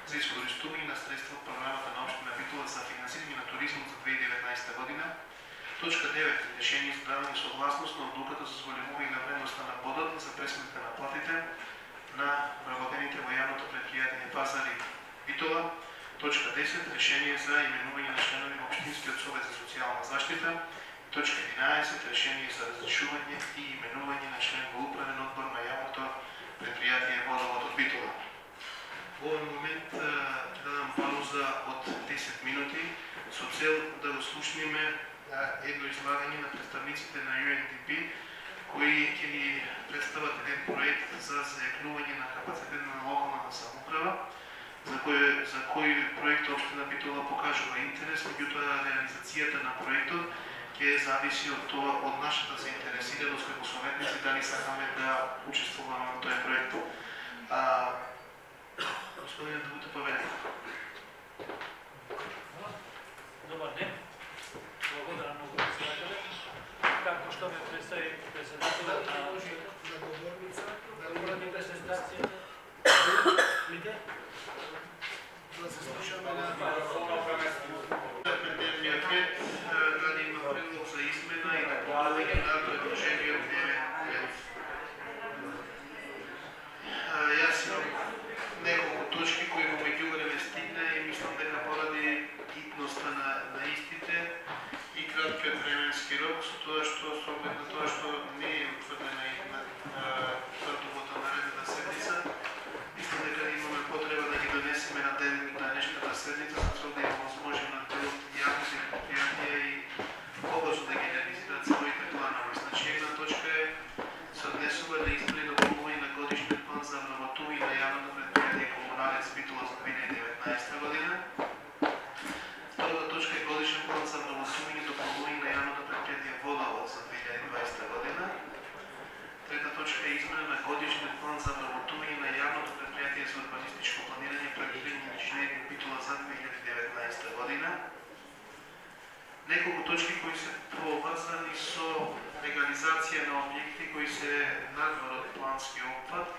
за искористување на средства од програмата на општина Битола за финансирање на туризмот за 2019 година. Точка 9. Решение за давање согласност на одлуката за зголемување на вредноста на бодот за пресметка на платите на вработените во јавното претпријатие Пазари Битола. Точка 10. Решение за именување на членови на Општинскиот совет за социјална заштита. Точка 11. Решение за разрешување и именување на член во управен одбор на јавното предпријатие Водовод од Битола. Во овој момент дадам пауза од 10 минути со цел да го слушнеме едно излагање на представниците на UNDP кои ќе ни представат еден проект за зајакнување на капацитет на локалната самоуправа, за кој проект општина Битола покажува интерес, меѓутоа реализацијата на проектот ќе зависи од тоа, од нашата заинтересираност како советници, дали сакаме да учествуваме во тој проект. Господин Дмитро Павелев. Добар ден. Благодарам многу председателе. Како што ме представи председателот на договорница, да уради презентација. Виде? Да се слушаме на дневниот ред, дали има предлог за измена и допълнение на предложениот дневен ред. Јас имам неколку точки кои во меѓувреме стигна и мислам дека поради хитноста на истите и краткиот временски рок, со тоа што со оглед на тоа што не е утврдена и тврдовата наредната седница, мислам дека имаме потреба да ги донесеме на денешната седница, за цел да има возможност на јавните предпријатија и побрзо да ги реализираат своите планови. Значи, една точка е се однесува на избори и дополнување на годишниот план за вработување на јавното предпријатие Комуналец Битола за 2019 година. Втората точка е годишен план за вработување и дополнување на јавното предпријатие Водовод за 2020 година. Трета точка е измена на годишниот план за вработување на јавното предпријатие за урбанистичко планирање и проектирање и инженеринг Битола за 2019 година. Неколку точки кои се поврзани со легализација на објекти кои се надвор од плански опфат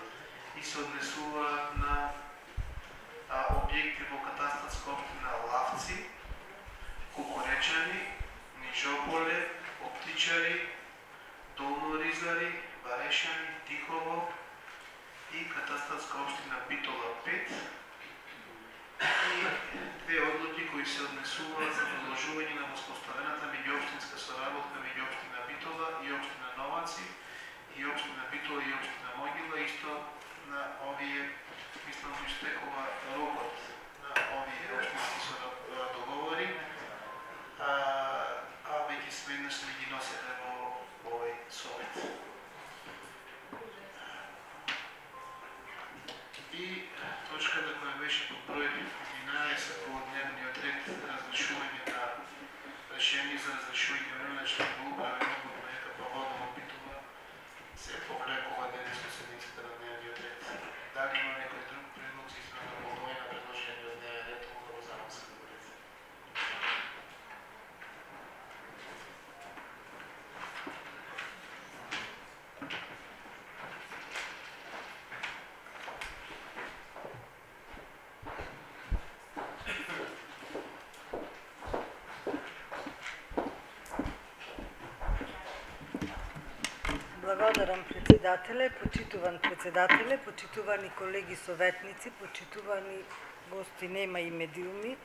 и се однесуваат на објекти во катастарска општина Лавци, Кукуречани, Нижополе, Оптичари, Долно Ризари, Барешани, Тихово и катастарска општина Битола 5 и две одлуки кои се однесуваат за продолжување на воспоставената меѓуопштинска соработка меѓу општина Битола и општина Новаци и општина Битола и општина Могила. Исто на овие, мислам, истекува рокот на овие општински договори, а веќе сведнаш не ги носите во овој совет. И точката која беше под број 11 по дневниот ред, разрешување на решение за разрешување на член во управен одбор на ЕКП Водовод Битола, се повлекува денес на седницата на дневниот ред. Дали има некој друг предлог за измена на допълнение на предложениот дневен ред, мога го замам се говорите. Благодарам председателе, почитувани колеги советници, почитувани гости, нема и медиуми.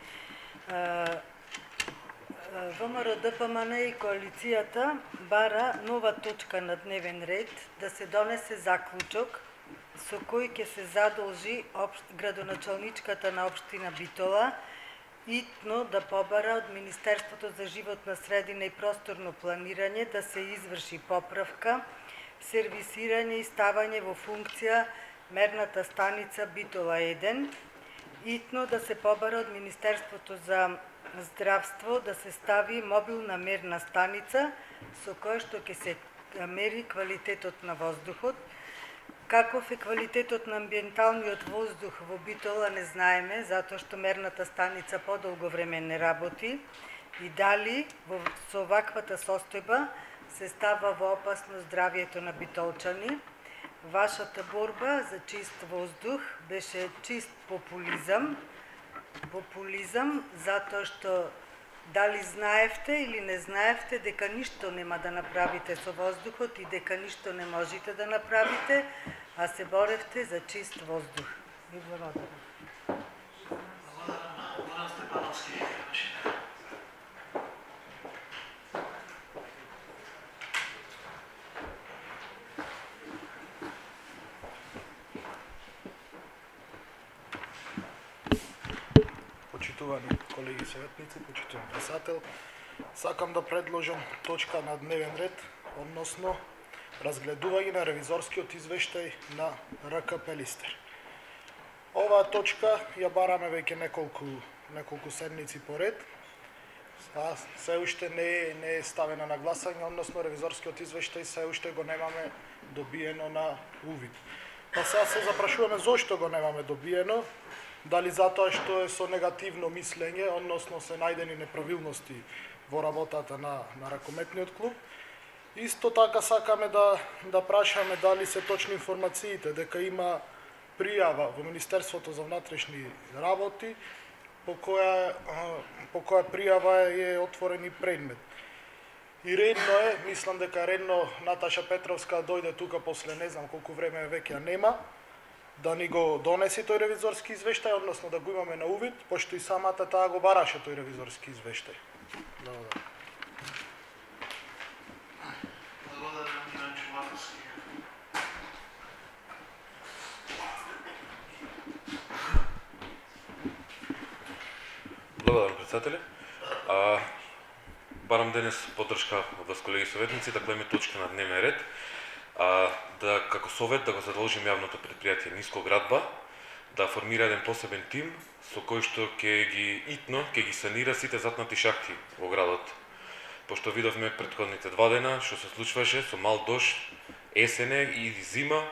ВМРО ДПМН и коалицијата бара нова точка на дневен ред да се донесе заклучок со кој ќе се задолжи градоначалничката на општина Битола итно да побара од Министерството за животна средина и просторно планирање да се изврши поправка, сервисирање и ставање во функција мерната станица Битола 1, итно да се побара од Министерството за здравство да се стави мобилна мерна станица со која што ќе се мери квалитетот на воздухот. Каков е квалитетот на амбиенталниот воздух во Битола не знаеме, затоа што мерната станица подолго време не работи и дали со ваквата состојба се става во опасност здравјето на битолчани. вашата борба за чист воздух беше чист популизам. Популизам затоа што дали знаевте или не знаевте дека ништо нема да направите со воздухот и дека ништо не можете да направите, а се боревте за чист воздух. Ви благодарам. Благодарам, Степановски. Почитувани колеги советници, почитуван председател, сакам да предложам точка на дневен ред, односно разгледување на ревизорскиот извештај на РК Пелистер. Оваа точка ја бараме веќе неколку седмици поред. Се уште не е ставена на гласање, односно ревизорскиот извештај се уште го немаме добиено на увид. Па сега се запрашуваме зошто го немаме добиено, дали затоа што е со негативно мислење, односно се најдени неправилности во работата на ракометниот клуб. Исто така сакаме да прашаме дали се точни информациите дека има пријава во Министерството за внатрешни работи по која пријава е отворен и предмет. И редно е, мислам дека редно Наташа Петровска дојде тука после не знам колку време веќе нема, да ни го донесе тој ревизорски извештај, односно да го имаме на увид, пошто и самата таа го бараше тој ревизорски извештај. Благодарам. Благодарам, Иван Чуватовски. Благодарам, председателе. Барам денес поддршка од вас, колеги советници, да гледаме точка на дневен ред, да како совет да го задолжим јавното предпријатие Нискоградба да формира еден посебен тим со кој што ќе ги санира сите затнати шахти во градот. Пошто видовме претходните 2 дена што се случваше со мал дожд, есене и зима,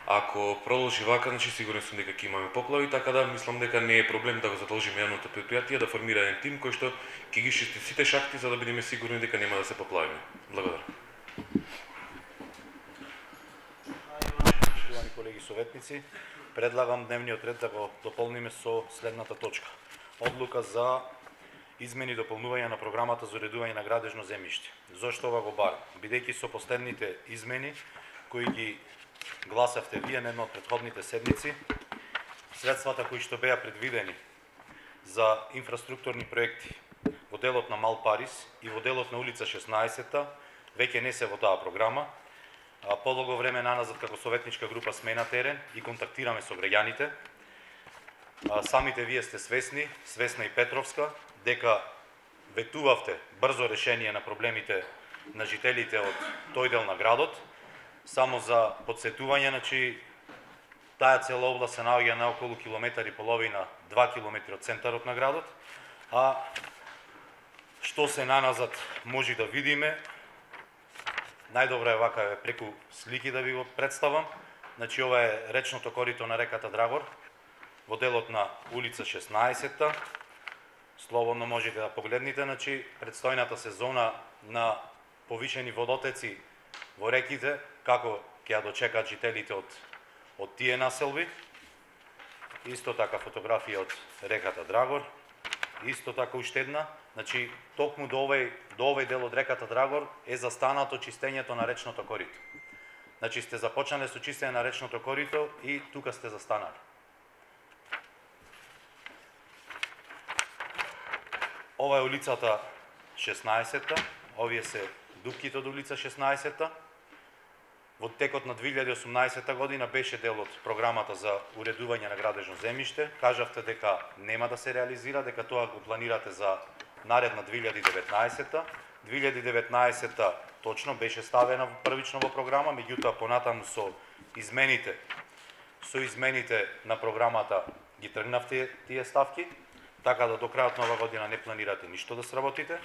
ако продолжи вака, значи сигурен сум дека ќе имаме поплави, така да мислам дека не е проблем да го задолжиме јавното предпријатие да формира еден тим кој што ќе ги чисти сите шахти за да бидеме сигурни дека нема да се поплавиме. Благодарам. Почитувани колеги советници, предлагам дневниот ред да го дополниме со следната точка. Одлука за измени и дополнување на програмата за уредување на градежно земјиште. Зошто ова го барам? Бидејќи со последните измени кои ги гласавте вие на една од претходните седмици, средствата кои што беа предвидени за инфраструктурни проекти во делот на Мал Парис и во делот на улица 16-та веќе не се во таа програма. Подолго време наназад како советничка група сме на терен и контактираме со граѓаните. Самите вие сте свесна и Петровска, дека ветувавте брзо решение на проблемите на жителите од тој дел на градот. Само за подсетување, значи, таа цела област се наоѓа на околу километар и половина, 2 километри од центарот на градот, а што се наназад може да видиме, најдобро е вака преку слики да ви го представам. Значи, ова е речното корито на реката Драгор, во делот на улица 16-та. Слободно можете да погледнете, значи, предстојната сезона на повишени водотеци во реките, како ќе ја дочекаат жителите од тие населби. Исто така фотографија од реката Драгор. Исто така уште една. Значи, токму до овој дел од реката Драгор е застанато чистењето на речното корито. Значи, сте започнале со чистење на речното корито и тука сте застанали. Ова е улицата 16-та, овие се дупките од улица 16-та. Во текот на 2018 година беше дел од програмата за уредување на градежно земјиште. Кажавте дека нема да се реализира, дека тоа го планирате за наредна 2019-та. 2019-та точно беше ставена првично во програма, меѓутоа понатаму со измените на програмата ги тргнавте тие ставки, така да до крајот на оваа година не планирате ништо да сработите.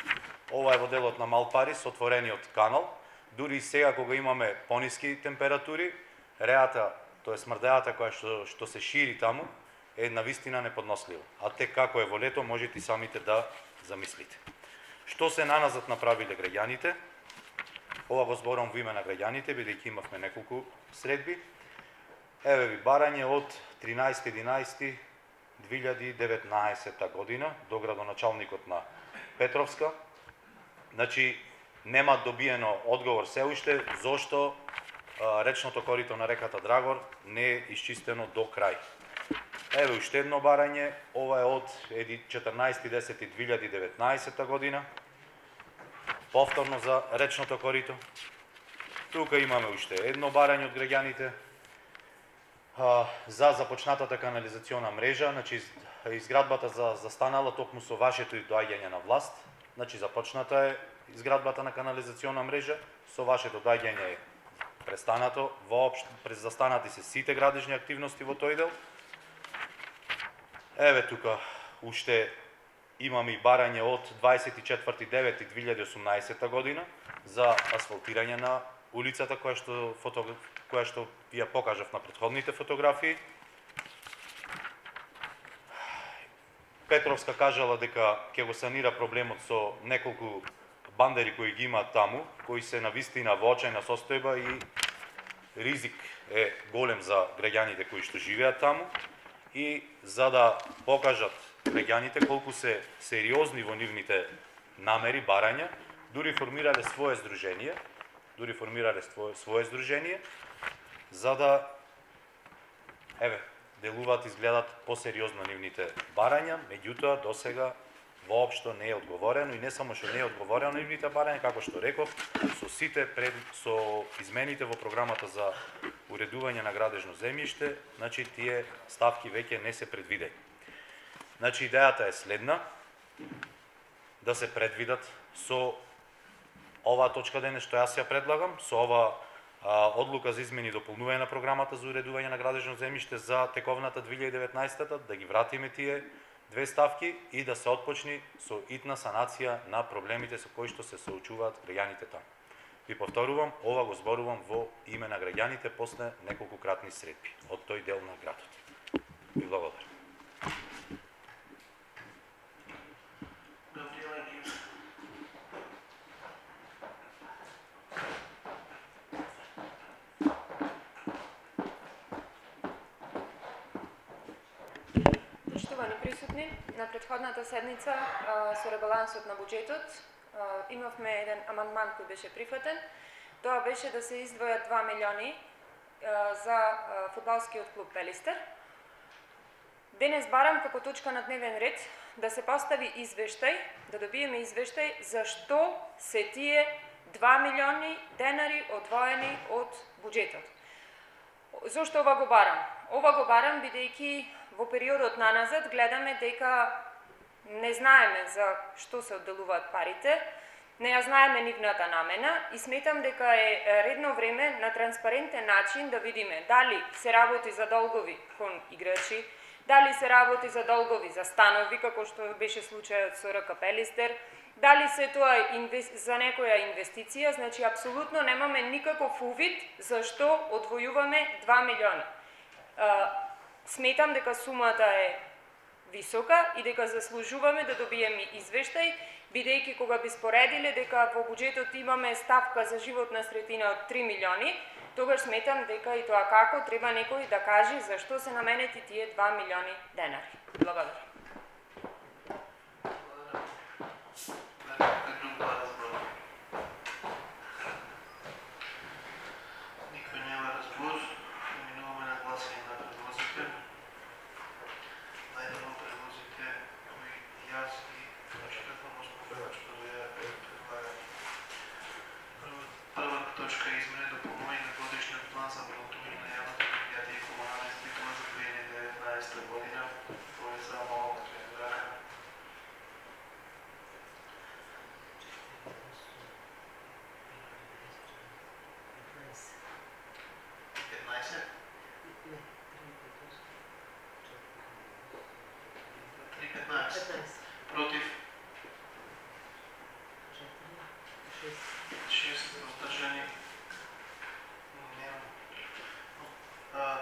Ова е во делот на Мал Парис, отворениот канал. Дури и сега кога имаме пониски температури, реата, тоа е смрдејата која што се шири таму, е навистина неподнослива. А тек како е во лето, можете и самите да замислите. Што се наназад направиле граѓаните? Ова го зборам во име на граѓаните, бидејќи имавме неколку средби. Еве ви барање од 13.11.2019 година до градоначалникот на Петровска. Значи, нема добиено одговор се уште зошто речното корито на реката Драгор не е исчистено до крај. Еве уште едно барање, ова е од 14.10.2019 година, повторно за речното корито. Тука имаме уште едно барање од граѓаните за започнатата канализациона мрежа, значи изградбата застанала токму со вашето доаѓање на власт, значи започната е изградбата на канализациона мрежа, со вашето доаѓање е престанато, воопшто застанати се сите градежни активности во тој дел. Еве тука уште имаме и барање од 24.9.2018 година за асфалтирање на улицата која што ви ја покажав на претходните фотографии. Петровска кажала дека ќе го санира проблемот со неколку бандери кои ги имаат таму, кои се навистина во очајна состојба и ризик е голем за граѓаните кои што живеат таму, и за да покажат граѓаните колку се сериозни во нивните намери, барања, дури формирале свое здружение, за да делуваат, изгледат посериозно нивните барања, меѓутоа досега воопшто не е одговорено, и не само што не е одговорено на нивните барања, како што реков, со измените во програмата за уредување на градежно земјиште, значи тие ставки веќе не се предвидени. Значи идејата е следна: да се предвидат со оваа точка денес што јас ја предлагам, со ова одлука за измени и дополнување на програмата за уредување на градежно земјиште за тековната 2019-та, да ги вратиме тие две ставки и да се отпочни со итна санација на проблемите со кои што се соочуваат граѓаните таму. Ви повторувам, ова го зборувам во име на граѓаните после неколку кратни средби од тој дел на градот. Ви благодарам. Поштовани присутни, на претходната седница со ребалансот на буџетот имавме еден амандман кој беше прифатен. Тоа беше да се издвојат 2 милиони за фудбалскиот клуб Пелистер. Денес барам како точка на дневен ред да се постави извештај, да добиеме извештај зашто се тие 2 милиони денари одвоени од буџетот. Зошто ова го барам? Ова го барам бидејќи во периодот наназад гледаме дека не знаеме за што се одделуваат парите, не ја знаеме нивната намена и сметам дека е редно време на транспарентен начин да видиме дали се работи за долгови кон играчи, дали се работи за долгови за станови, како што беше случајот со РК Пелистер, дали се тоа за некоја инвестиција, значи апсолутно немаме никаков увид зашто одвојуваме 2 милиони. Сметам дека сумата е висока и дека заслужуваме да добиеме извештај, бидејќи кога би споредиле дека во буџетот имаме ставка за животна средина од 3 милиони, тогаш сметам дека и тоа како треба некој да каже зашто се наменети тие 2 милиони денари. Благодарам. Никој нема разбор, минуваме на гласање на предлозите. Најдено предлозите кои јас и прочитавам, што ја предлагам. Прва точка е измене дополнување на годишниот план за вработување на јавното предпријатие и комунални институции за 2019 година, кој е за малку тренирака. Против? 6 воздържани.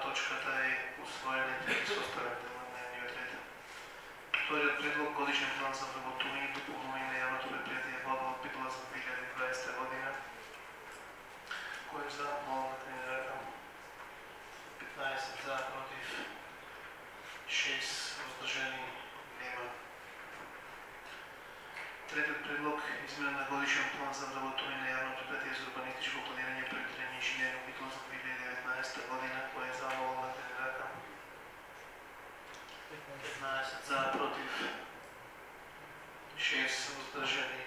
Точката е усвоените и составен дел на дневниот ред. Вториот предлог годишен план за вработување и дополнување на јавното предпријатие Вода од Битола за 2020 година, кој е за молна тренирака. 15 15 за, против 6, воздржани нема. Третиот предлог, измена на годишен план за вработување на јавно предпријатие за урбанистичко планирање, проектирање и инженеринг битул за 2019 година, кој е за молба на рака. 15 за, против 6, воздржани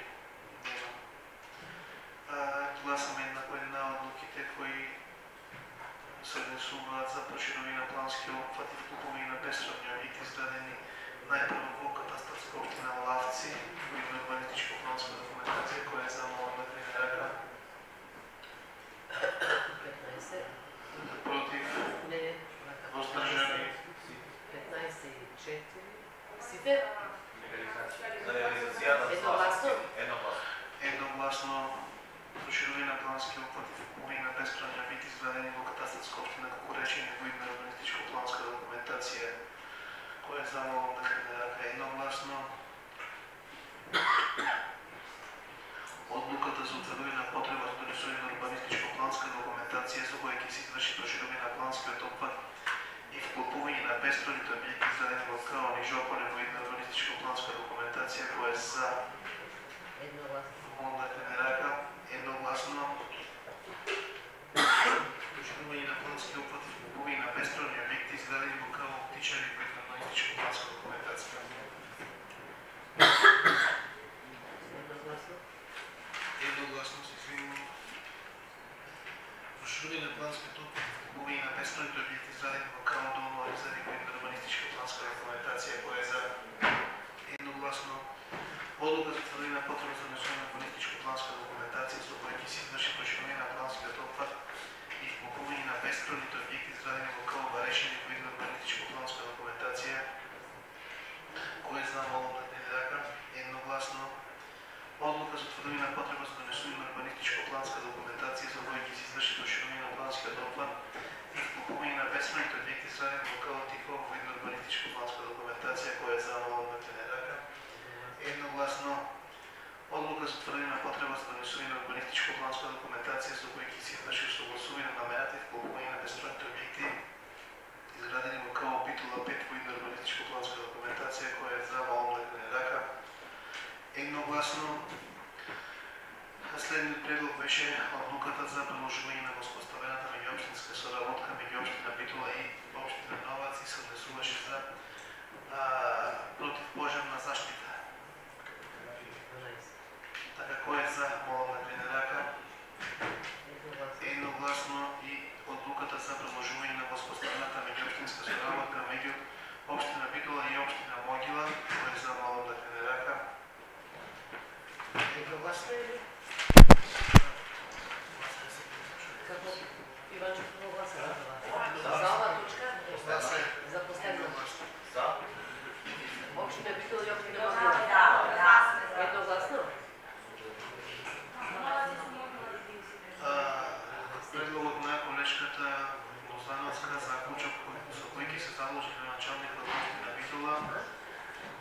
нема. Гласаме на една одлуките кои се однесуваат за проширување на плански опфат и вклупување на бесправни објекти изградени најпрво во катастарска општина Лавци, кои на урбанистичко планска документација која е за молба на рака. 15. Против, Не. воздржани 15 и 4. Сите? Едногласно. едногласно проширување на плански опфат и вклупување на бесправни објекти изградени во катастарска општина Кукуречиње, кои на урбанистичко планска документација која е за молба на рака. Едногласно одлуката за утврдување на потреба за донесување на урбанистичко планска документација со која ќе се изврши проширување на планскиот опфат и вклупување на бесправните објекти изградени во Каон и Жополе во една урбанистичко планска документација која е за молба на рака. Едногласно проширување на плански опфат и вклупување на бесправни објекти изградени во Каон Птичари во една урбанистичко планска документација. Едногласно се извинувам. Проширување на планскиот опфат и вклупување на бесправните објекти изградени во Каон Долно Оризари во една урбанистичка планска документација која е за едногласно одлука за утврдување на потреба за донесување на урбанистичко планска документација со која ќе се изврши проширување на планскиот опфат и вклупување на бесправните објекти изградени во Каон Барешени во една урбанистичко планска документација која е за молба на рака. Едногласно одлука за утврдување на потреба за донесување на урбанистичко планска документација со која ќе се изврши проширување на планскиот опфат и вклупување на бесправните објекти изградени во Каон Тихо во една урбанистичко планска документација која е за молба на рака. Едногласно одлука за утврдување на потреба за донесување на урбанистичко планска документација со која ќе се изврши согласување на намерата и вклупување на бесправните објекти изградени во Каон Битула 5 во една урбанистичко планска документација која е за молба на рака. Едногласно следниот предлог беше одлуката за продолжување на воспоставената меѓуопштинска соработка меѓу општина Битула и општина Новац и се однесуваше за противпожарна заштита. Така кој е за молба на рака. Едногласно и одлуката за продолжување на воспоставената меѓуопштинска соработка меѓу општина Битула и општина Могила кој е за молба на рака. Едногласно или? Како Иванчо како гласа? За ова точка? За последна. За. Општина Битола и општина Могила. Едногласно? Предлогот на колешката Лозановска заклучок со кој ќе се заложи на началникот на општина Битола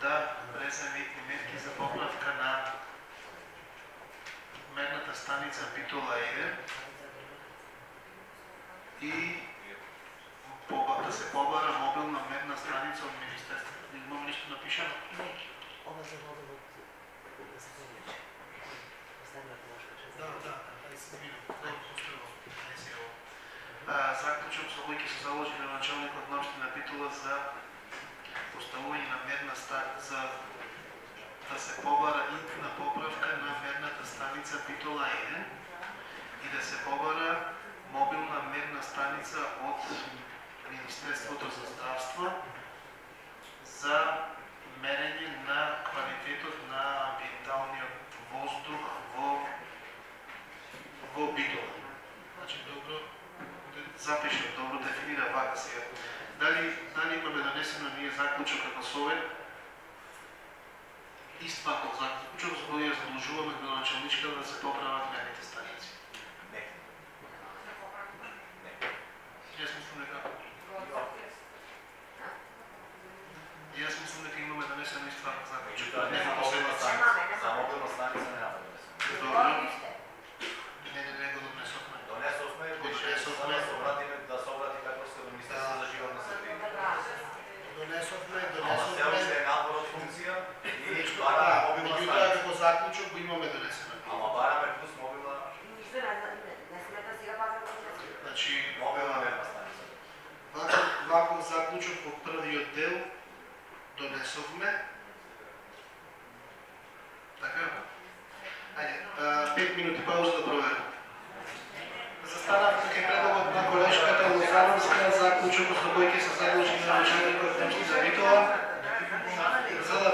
да преземи мерки за поправка на мерната станица Битола 1 и да се побара мобилна мерна станица од Министерството. Имам нешто напишано? Не. Ова за водовод да се помече. Последната ношка. Да, се извинувам. Заклучок со кој ќе се заложи на началникот на општина Битола за поставување на мерна станица да се побара и на поправка на мерната станица Битола 1 и да се побара мобилна мерна станица од Министерството за здравство за мерење на квалитетот на амбиенталниот воздух во Битола. Значи добро запишам, добро дефинира вака сега. Дали имаме донесено ние заклучок како совет? Истваков заклучок за кој ја задолжуваме градоначалничка да се поправат мерните станици. Не. Јас мислам дека имаме донесено Истваков заклучок. За мобилна станица нема донесено. Добро. Не го донесовме. Донесовме, ќе се обратиме да се обрати Петровска до Министерството заклучок во првиот дел донесовме. Така? Ајде, 5 минути пауза да проверим. Застанавте кај предлогот на колешката Лозановска заклучок со кој ќе се задолжи на началникот Немски за Битола за да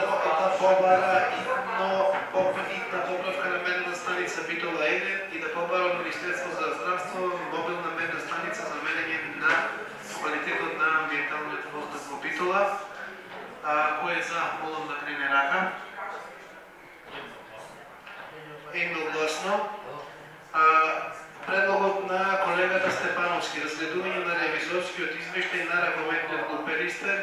побара итна поправка на мерна станица Битола 1 и да побара од Министерство за здравство мобилна мерна станица за мерење на квалитетот на амбиенталниот воздух во Битола. Кој е за, молам да крене рака. Едногласно. Предлогот на колегата Степановски, разгледување на ревизорскиот извештај на ракометниот глуперистер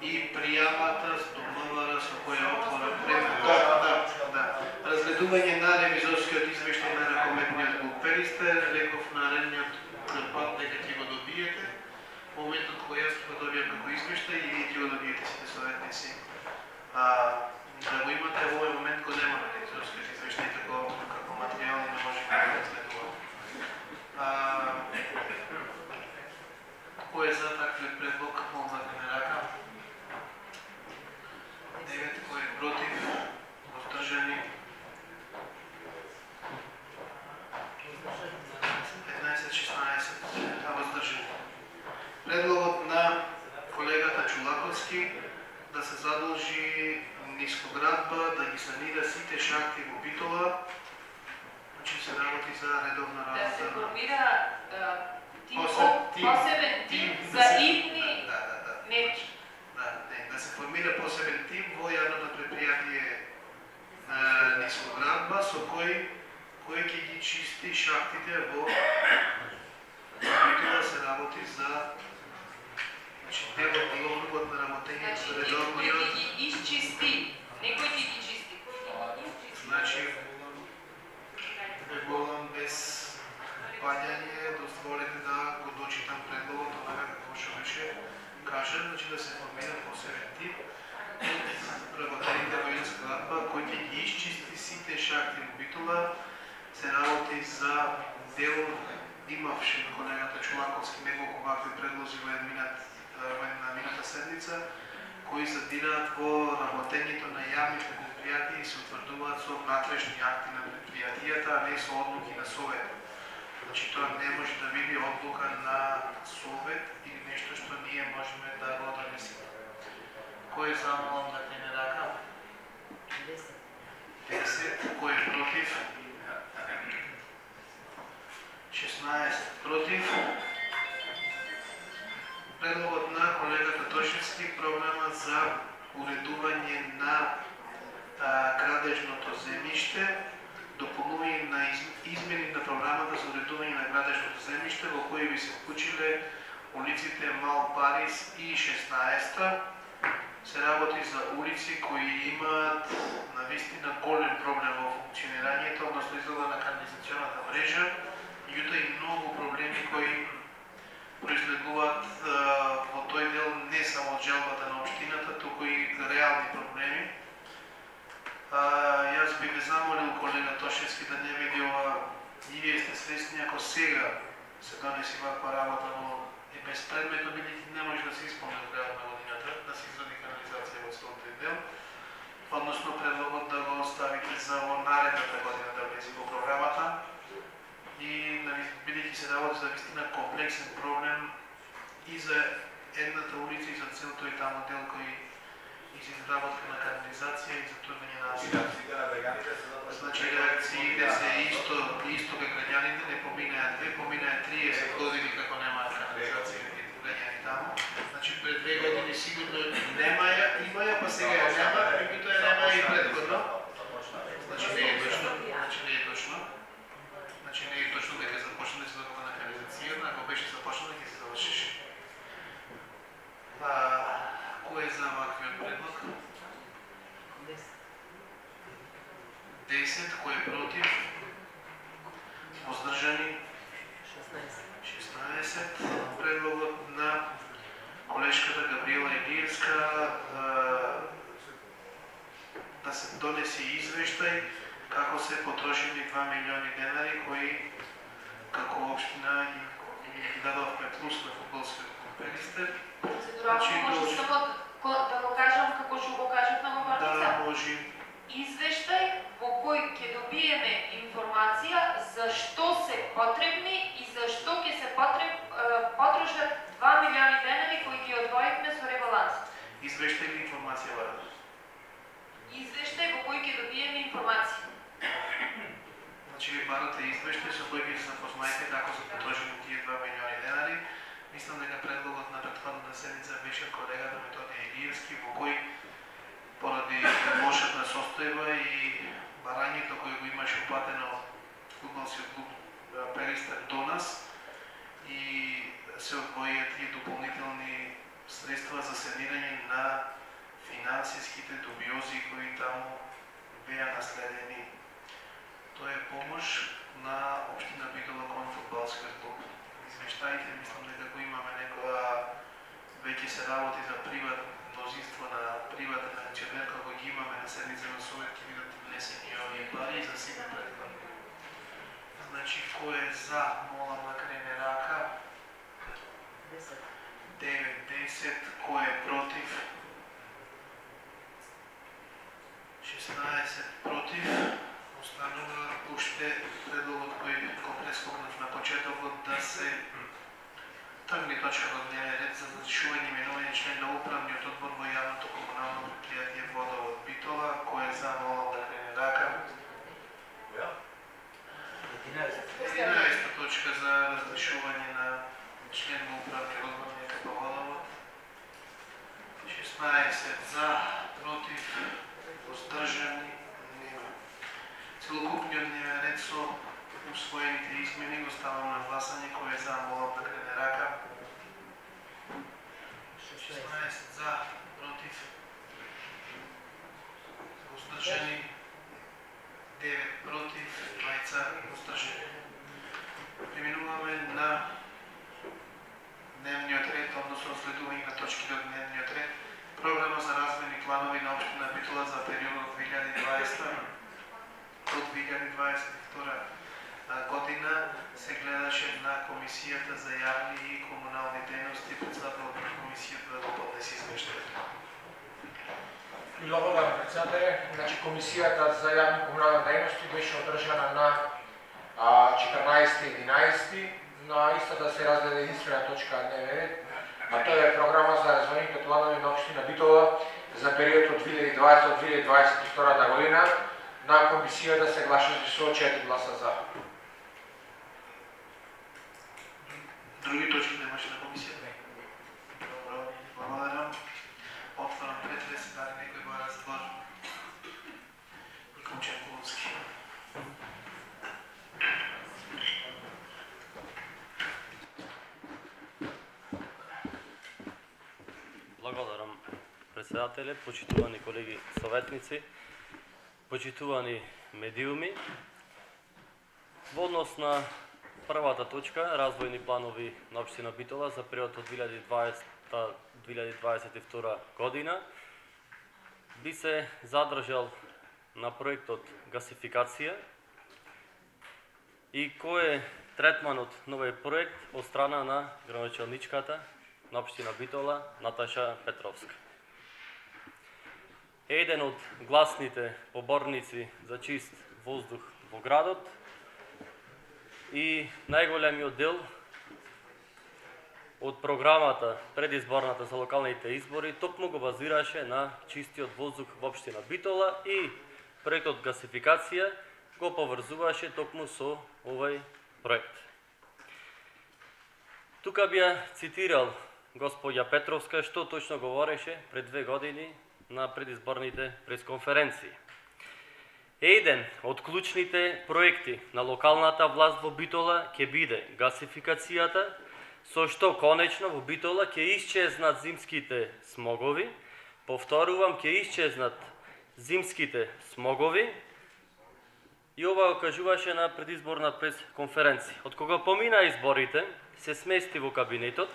и пријавата до МВР со која отвора разгледување на ревизорскиот извештај на ракометниот глуперистер, реков наредниот пат дека ќе го добиете. Моментот кога јас го добијам како извештај и вие ќе го добиете сите советници. Да го имате во овој момент го нема на ревизорскиот извештај како материјал и не може да го разгледуваме. Кој е за таквиот предлог, молам да крене рака. 9, кој е против, воздржани. 15-16, воздржани. Предлогот на колегата Чулаковски да се задолжи Нискоградба да ги санира сите шахти во Битола, значи се работи за редовна работа. Да се формира посебен тим за идни мерки. Да се формира посебен тим во јавното предпријатие Нискоградба со кој ќе ги чисти шахтите во Битола, се работи за делокрugот на работење за редовниот. Кој ги изчисти, некој ќе ги чисти. Значи, Регулам без паѓање, дозволете да го дочитам предлогот, онака како што беше кажен, значи да се формира посебен тип работените во Нискоградба кој ќе ги изчисти сите шахти во Битола, се работи за дел, имавше колегата Чулаковски неколку вакви предлози во една мината седница, кои задираат во работењето на јавните предпријатија и се утврдуваат со внатрешни акти на предпријатијата, а не со одлуки на Совет. Значи тоа не може да биде одлука на Совет или нешто што ние можеме да го донесеме. Кој е за, молам да крене рака? 10. Кој е против? 16 против. Предлогот на колегата Тошевски, програма за уредување на градежното земјиште, дополнување на измени на програмата за уредување на градежното земјиште, во кои би се вклучиле улиците Мал Парис и 16-та. Се работи за улици кои имаат навистина голем проблем во функционирањето, односно изгледа на канализационата мрежа, меѓутоа и многу проблеми кои произлегуваат во тој дел не само од желбата на општината, туку и реални проблеми. Јас би ве замолил, колега Тошевски, да не види ова, и вие сте свесни ако сега се донеси ваква работа, но е безпредметно, бидејќи не може да се исполни од крајот на годината, да се изради канализација во целиот тој дел, односно предлогот да го оставите за во наредната година да влезе во програмата. И бидејќи се работи за вистина комплексен проблем и за едната улица и за цел тој таму дел кој изработка на канализација и за турвање на асфалт. Значи реакциите се исто кај граѓаните, не поминаат 2, поминаат 30 години како немаат канализација и граѓани таму. Значи пред 2 години сигурно немаја, имаја, па сега ја нема, меѓутоа ја немаја и претходно. Значи не е точно. Значи не е точно дека започна да се заработа на канализацијата, ако беше започна ќе се завршеше. Кој е за ваквиот предлог? 10. Кој е против? Воздржани? 16. Предлогот на колешката Габриела Илиевска да се донесе извештај како се потрошени 2 милиони денари кои како општина ги дадовме плюс на фудбалскиот клуб Пелистер. Процедурално може само да го кажам како што го кажав на говорница? Да, може. Извештај во кој ќе добиеме информација за што се потребни и за што ќе се потрошат 2 милиони денари кои ги одвоивме со ребалансот. Извештај или информација бара? Извештај во кој ќе добиеме информација. Значи ви барате извештај со кој ќе се запознаете како се потрошени тие 2 милиони денари. Мислам дека предлогот на претходната седница беше колегата Методија Илиевски, во кој поради лошата состојба и барањето кој го имаше упатено фудбалскиот клуб Пелистер до нас и се одвоија тие дополнителни средства за санирање на финансиските дубиози кои таму беа наследени. Тоа е помош на општина Битола кон фудбалскиот клуб. Извештаите, мислам дека го имаме некоја веќе се работи за мнозинство на приватен акционер, како ги имаме на седница на Совет, ќе бидат внесени овие пари за сега предходно. Значи, кој е за, молам да крене рака. 9-10, кој е против? 16 против. Останува уште предлогот кој го прескокнав на почетокот да се тргне точка во дневен ред за разрешување именување член на управниот одбор во јавното комунално предпријатие Водовод Битола. Кој е за, молам да крене рака. 11 точка за разрешување на член на управниот одбор на ЕКП Водовод. 16 за, против, воздржани, нема. Целокупниот дневен ред со усвоените измени го ставам на гласање. Кој е за, молам да крене рака. 16 за, против, воздржани, 9 против, 2 воздржани. Преминуваме на дневниот ред, односно следување на точките од дневниот ред. Програма за развојни планови на општина Битола за периодот 2020 до 2022 година се гледаше на Комисијата за јавни и комунални дејности. Председателот на комисијата да го поднесе извештајот. Благодарам, председателе. Значи, Комисијата за јавни и комунални дејности беше одржана на 14.11. На истата се разгледа единствена точка на дневен ред, а тоа е програма за развојните планови на општина Битола за периодот од 2020 до 2022 година. На комисијата се гласаше со 4 гласа за. Други точки немаше на комисијата? Добро, благодарам. Отварам претрес, дали некој бара збор? Ником Чекуловски. Благодарам, председателе, почитувани колеги советници, почитувани медиуми. Во однос на првата точка, развојни планови на општина Битола за период од 2020-2022 година, би се задржал на проектот гасификација и кој е третманот на овој проект од страна на градоначалничката на општина Битола Наташа Петровска. Еден од гласните поборници за чист воздух во градот и најголемиот дел од програмата предизборната за локалните избори токму го базираше на чистиот воздух во општина Битола и проектот гасификација го поврзуваше токму со овој проект. Тука би ја цитирал господја Петровска што точно говореше пред 2 години на предизборните пресконференции. Еден од клучните проекти на локалната власт во Битола ќе биде гасификацијата, со што конечно во Битола ќе исчезнат зимските смогови, повторувам, ќе исчезнат зимските смогови, и ова го кажуваше на предизборна пресконференција. Од кога помина изборите, се смести во кабинетот,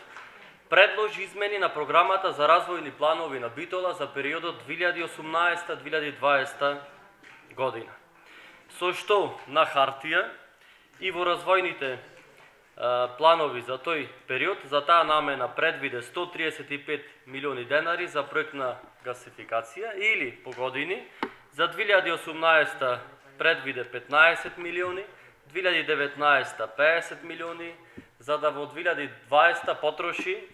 предложи измени на програмата за развојни планови на Битола за периодот 2018-2020 година. Со што на хартија и во развојните планови за тој период. За таа намена предвиде 135 милиони денари за проектна гасификација или по години. За 2018 предвиде 15 милиони, 2019 50 милиони, за да во 2020 потроши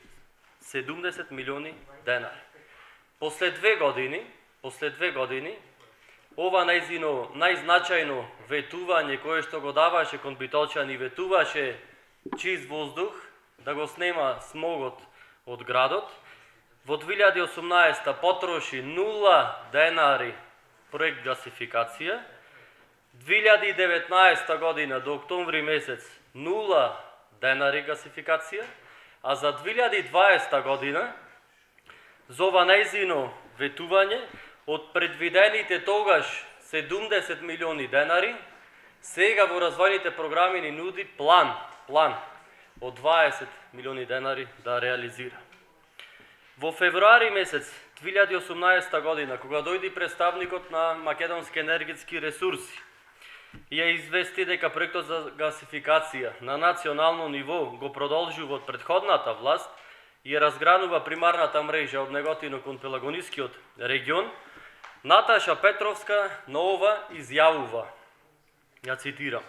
70 милиони денари. После две години, ова најзначајно ветување кое што го даваше кон битолчани, ветуваше чист воздух, да го снема смогот од градот. Во 2018 потроши 0 денари проект гасификација. 2019 година до октомври месец 0 денари гасификација, а за 2020 година за ова нејзино ветување од предвидените тогаш 70 милиони денари, сега во развојните програми ни нуди план од 20 милиони денари да реализира. Во февруари месец 2018 година, кога дојди представникот на Македонски енергетски ресурси, ја извести дека проектот за гасификација на национално ниво го продолжува од претходната власт и ја разгранува примарната мрежа од Неготино кон Пелагонискиот регион, Наташа Петровска на ова изјавува, ја цитирам: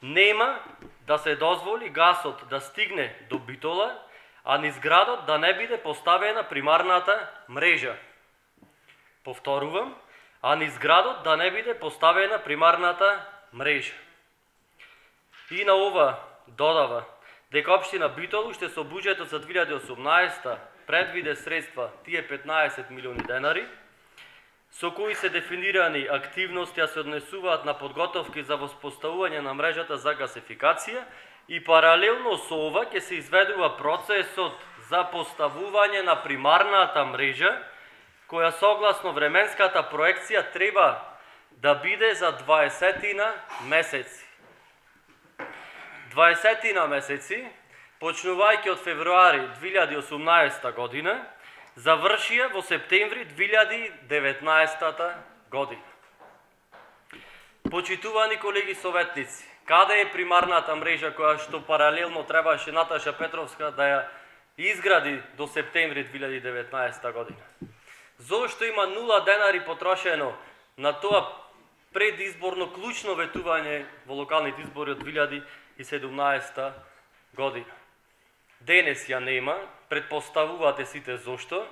"Нема да се дозволи гасот да стигне до Битола, а низ градот да не биде поставена примарната мрежа." Повторувам, а низ градот да не биде поставена примарната мрежа. И на ова додава дека општина Битол уште со буџетот за 2018 предвиде средства, тие 15 милиони денари, со кои се дефинирани активности, а се однесуваат на подготовки за воспоставување на мрежата за гасификација и паралелно со ова ќе се изведува процесот за поставување на примарната мрежа, која согласно временската проекција треба да биде за 20 месеци. 20 месеци, почнувајќи од февруари 2018 година, завршија во септември 2019 година. Почитувани колеги советници, каде е примарната мрежа која што паралелно требаше Наташа Петровска да ја изгради до септември 2019 година? Зошто има 0 денари потрошено на тоа предизборно клучно ветување во локалните избори од 2017 година? Денес ја нема, предпоставувате сите зошто,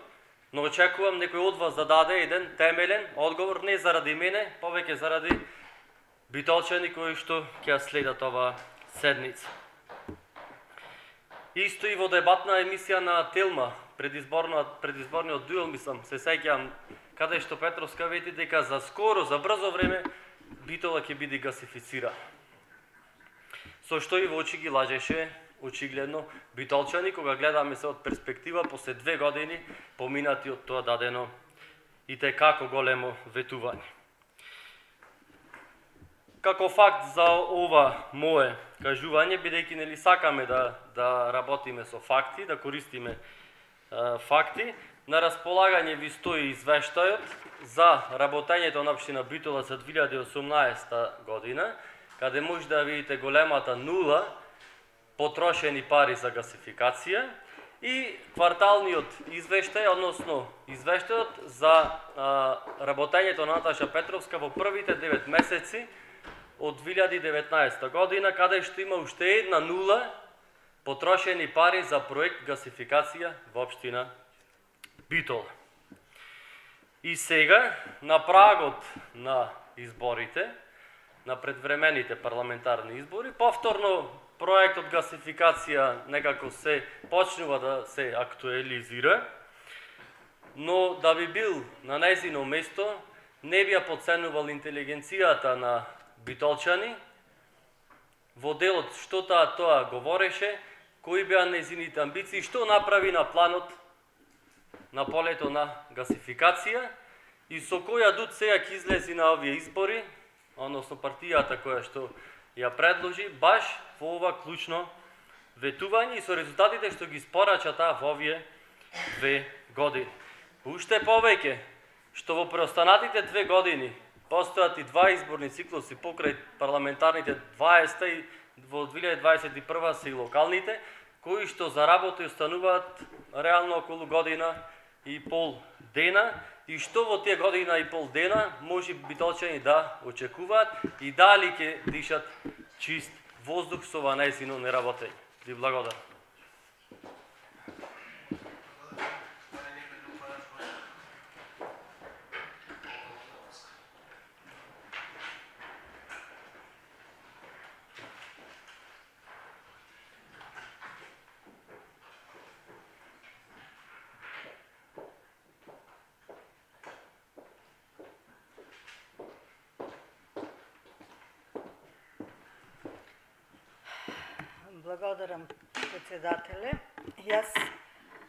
но очекувам некој од вас да даде еден темелен одговор, не заради мене, повеќе заради битолчани кои што ќе следат ова седница. Исто и во дебатна емисија на Телма, предизборниот дуел, мислам, се сеќавам, каде што Петровска вети дека за скоро, за брзо време, Битола ќе биде гасифицирана. Со што и во очи ги лажеше очигледно битолчани, кога гледаме се од перспектива после 2 години поминати од тоа дадено и како големо ветување. Како факт за ова мое кажување, бидејќи нели сакаме да работиме со факти, да користиме факти, на располагање ви стои извештајот за работењето на општина Битола за 2018 година, каде може да видите големата 0 потрошени пари за гасификација и кварталниот извештај, односно извештајот за работењето на Наташа Петровска во првите 9 месеци од 2019 година, каде што има уште една 0 потрошени пари за проект гасификација во општина Битола. И сега, на прагот на изборите, на предвремените парламентарни избори, повторно проектот гасификација некако се почнува да се актуализира, но да би бил на нејзино место, не би ја подценувал интелигенцијата на битолчани, во делот што тоа говореше, кои беа нејзините амбиции, што направи на планот на полето на гасификација и со која дуд сега ќе излези на овие избори, односно партијата која што ја предложи, баш во ова клучно ветување и со резултатите што ги спорача таа во овие 2 години. Уште повеќе, што во преостанатите 2 години постојат и 2 изборни циклуси покрај парламентарните 20 во 2021 се и локалните, кои што за работа остануваат реално околу година и пол дена, и што во тие година и пол дена може битолчани да очекуваат и дали ќе дишат чист воздух со ова најзино неработење. Ви благодарам. Благодарам, председателе. Јас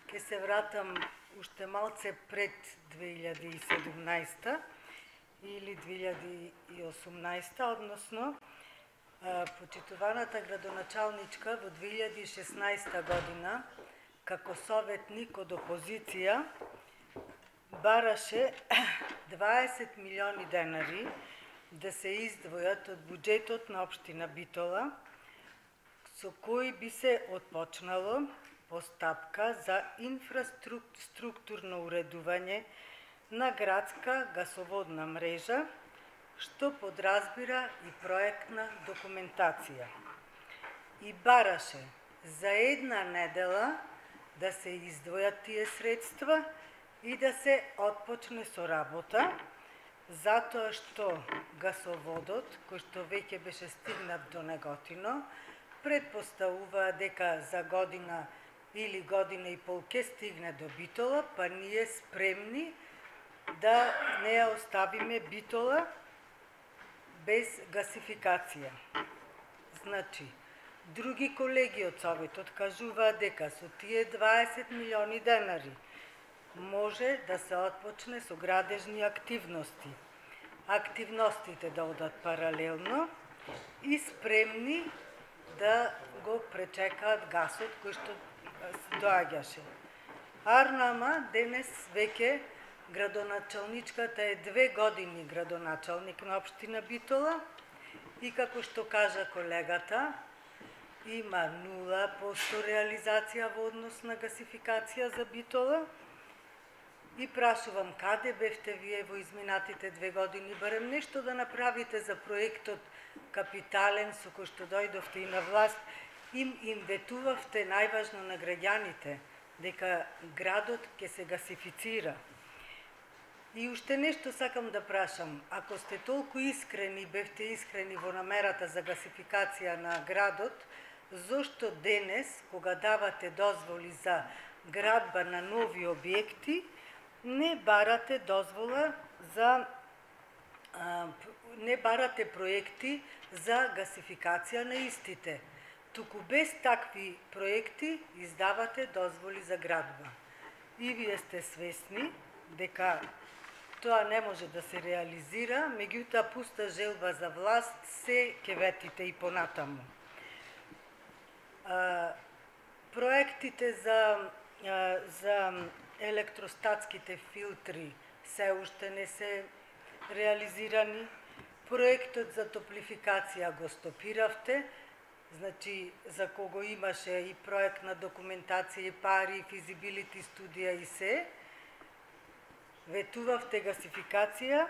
ќе се вратам уште малце пред 2017 или 2018, односно почитуваната градоначалничка во 2016 година, како советник од опозиција, бараше 20 милиони денари да се издвојат од буџетот на општина Битола, со кои би се отпочнало постапка за инфраструктурно уредување на градска гасоводна мрежа, што подразбира и проектна документација. И бараше за една недела да се издвојат тие средства и да се отпочне со работа, затоа што гасоводот, кој што веќе беше стигнат до Неготино, предпоставува дека за година или година и пол ке стигне до Битола, па ние спремни да не ја оставиме Битола без гасификација. Значи, други колеги од Советот кажуваат дека со тие 20 милиони денари може да се отпочне со градежни активности. Активностите да одат паралелно и спремни да го пречекаат гасот кој што доаѓаше. Арнама денес веќе градоначалничката е 2 години градоначалник на општина Битола и како што кажа колегата, има 0% реализација во однос на гасификација за Битола. И прашувам, каде бевте вие во изминатите 2 години, барем нешто да направите за проектот капитален со кој што дојдовте и на власт, им ветувавте најважно на граѓаните, дека градот ќе се гасифицира. И уште нешто сакам да прашам, ако сте толку искрени, бевте искрени во намерата за гасификација на градот, зошто денес, кога давате дозволи за градба на нови објекти, не барате дозвола за не барате проекти за гасификација на истите. Туку без такви проекти издавате дозволи за градба. И вие сте свесни дека тоа не може да се реализира, меѓутоа пуста желба за власт се ќе ветите и понатаму. Проектите за електростатските филтри се уште не се реализирани. Проектот за топлификација го стопиравте, значи за кого имаше и проектна документација, и пари, и физибилити студија и се. Ветувавте гасификација,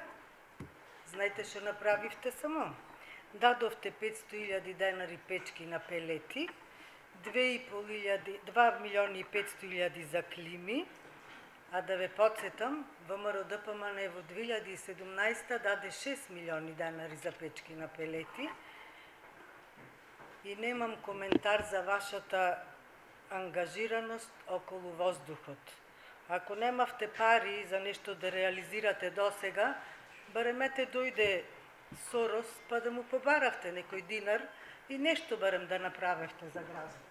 знаете што направивте само? Дадовте 500.000 денари печки на пелети, 2 милиони и 500.000 за клими, а да ве подсетам, ВМРО ДПМН во 2017 даде 6 милиони денари за печки на пелети и немам коментар за вашата ангажираност околу воздухот. Ако немавте пари за нешто да реализирате досега, баремете дојде Сорос па да му побаравте некој динар и нешто барем да направевте за градот.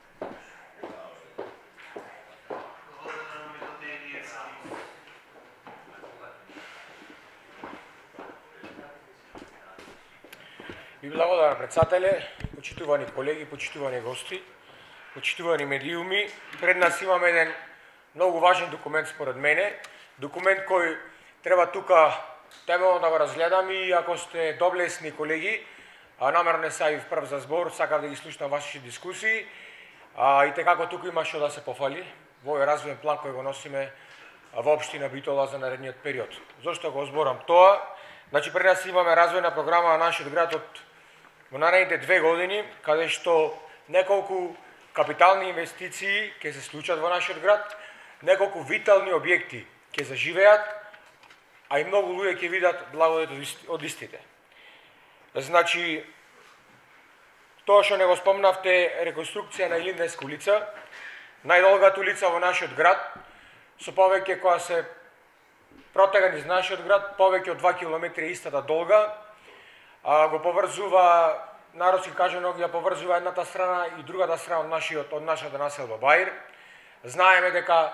Ви благодарам, председателе, почитувани колеги, почитувани гости, почитувани медиуми. Пред нас имаме еден многу важен документ според мене, документ кој треба тука темелно да го разгледаме и ако сте доблесни колеги, намерно не се јавив прв за збор, сакав да ги слушнам вашите дискусии, и како туку има што да се пофали во овој развојен план кој го носиме во општина Битола за наредниот период. Зошто го зборам тоа? Значи, пред нас имаме развојна програма на нашиот град во наредните 2 години, каде што неколку капитални инвестиции ќе се случат во нашиот град, неколку витални објекти ќе заживеат, а и многу луѓе ќе видат благодет од истите. Значи, тоа што не го спомнавте, реконструкција на Илинденска улица, најдолгата улица во нашиот град, со повеќе која се протега низ нашиот град, повеќе од 2 километри истата долга, го поврзува, народски кажано, ја поврзува едната страна и другата страна од нашата населба Баир. Знаеме дека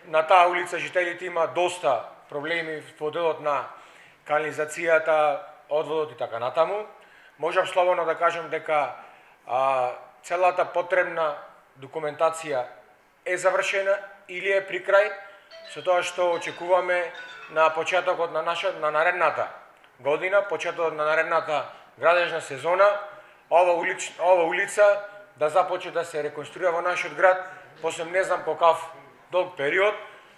на таа улица жителите има доста проблеми во делот на канализацијата, одводот и така натаму. Можам слободно да кажам дека целата потребна документација е завршена или е при крај, со тоа што очекуваме на почетокот на наредната година, почетокот на наредната градежна сезона, ова улица да започне да се реконструира во нашиот град, после не знам по каков долг период,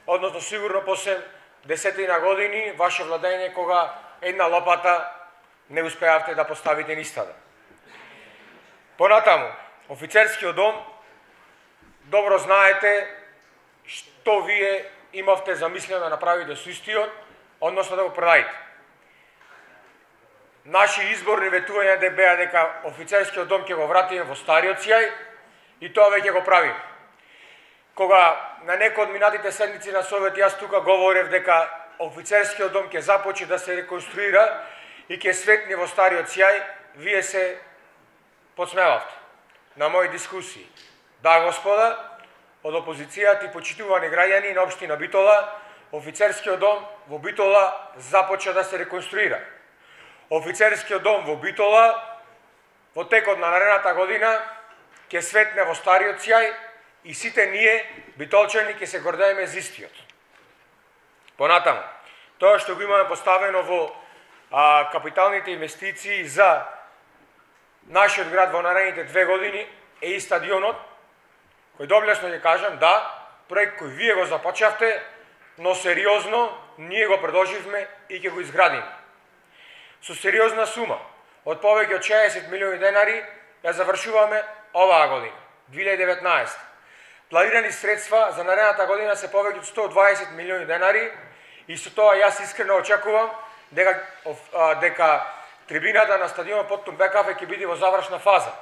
односно сигурно после 10 години ваше владење кога една лопата не успеавте да поставите нистата. Понатаму, офицерскиот дом, добро знаете што вие имавте замислено да направите со истиот, односно да го продадите. Наши изборни ветувања беа дека офицерскиот дом ќе го вратиме во стариот сјај и тоа веќе го правиме. Кога на некој од минатите седници на Совет јас тука говорев дека офицерскиот дом ќе започне да се реконструира и ќе светне во стариот сјај, вие се подсмевавте на мои дискусии. Да, господа, од опозицијата и почитувани граѓани на општина Битола, офицерскиот дом во Битола започна да се реконструира. Офицерскиот дом во Битола во текот на наредната година ќе светне во стариот сјај и сите ние, битолчани, ќе се гордееме за истиот. Понатаму, тоа што го имаме поставено во капиталните инвестиции за нашиот град во наредните 2 години е и стадионот, кој доблесно ќе кажам, да, проект кој вие го започнавте, но сериозно ние го продолживме и ќе го изградиме. Со сериозна сума од повеќе од 60 милиони денари ја завршуваме оваа година, 2019. Планирани средства за наредната година се повеќе од 120 милиони денари и со тоа јас искрено очекувам дека трибината на стадионот Поттун Бекафе ќе биде во завршна фаза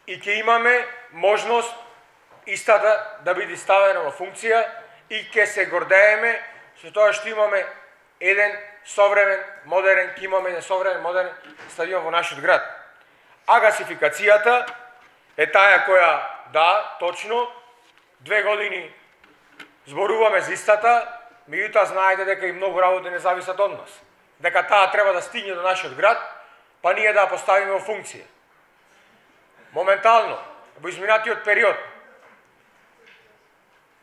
и ќе имаме можност истата да биде ставена во функција и ќе се гордееме со тоа што имаме еден современ, модерен, ќе имаме еден современ, модерен стадион во нашиот град. А гасификацијата е таа која, да, точно, 2 години зборуваме за истата, меѓутоа знаете дека и многу работи не зависат од нас. Дека таа треба да стигне до нашиот град, па ние да ја поставиме во функција. Моментално, во изминатиот период,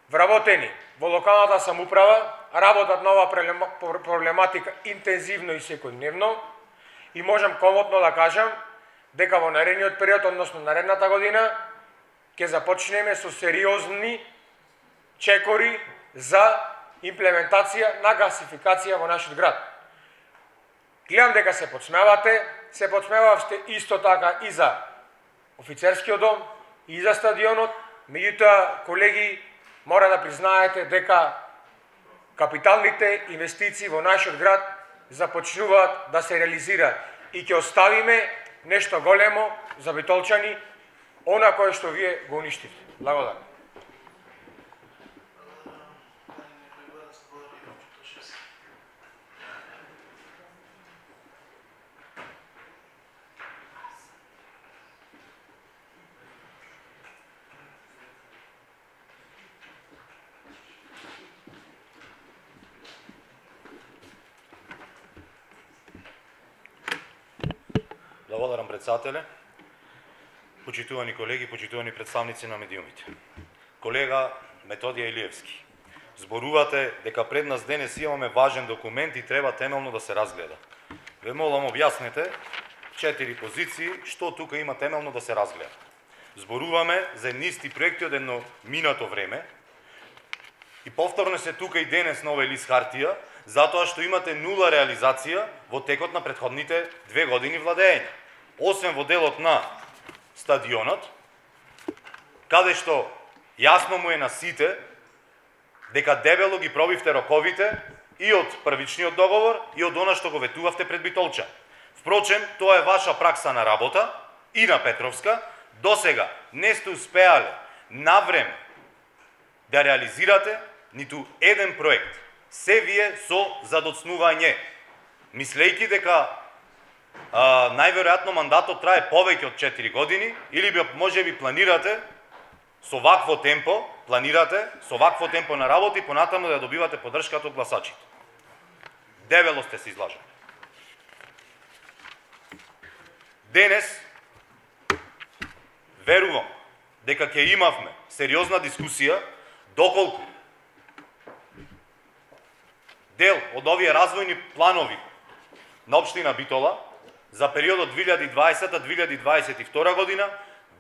вработени во локалната самоуправа, работат на оваа проблематика интензивно и секојдневно и можам комотно да кажам дека во наредниот период, односно наредната година, ќе започнеме со сериозни чекори за имплементација на гасификација во нашиот град. Гледам дека се подсмевавте исто така и за офицерскиот дом, и за стадионот, меѓутоа, колеги, мора да признаете дека капиталните инвестиции во нашиот град започнуваат да се реализираат и ќе оставиме нешто големо за битолчани, она кое што вие го уништивте. Благодарам. Благодарам, председателе. Почитувани колеги, почитувани представници на медиумите. Колега Методија Илиевски, зборувате дека пред нас денес имаме важен документ и треба темелно да се разгледа. Ве молам, објаснете 4 позиции, што тука има темелно да се разгледа. Зборуваме за едни исти проекти од едно минато време и повторно се тука и денес на овој лист хартија, затоа што имате нула реализација во текот на претходните 2 години владење. Освен во делот на стадионот, каде што јасно му е на сите дека дебело ги пробивте роковите и од првичниот договор и од она што го ветувавте пред Битолча. Впрочем, тоа е ваша пракса на работа и на Петровска. Досега не сте успеале навреме да реализирате ниту еден проект. Се вие со задоцнување. Мислејќи дека најверојатно мандатот трае повеќе од 4 години или можеби планирате со вакво темпо, на работа и понатаму да добивате поддршката од гласачите. Дебело сте се излажали. Денес верувам дека ќе имавме сериозна дискусија доколку дел од овие развојни планови на општина Битола за периодот 2020-2022 година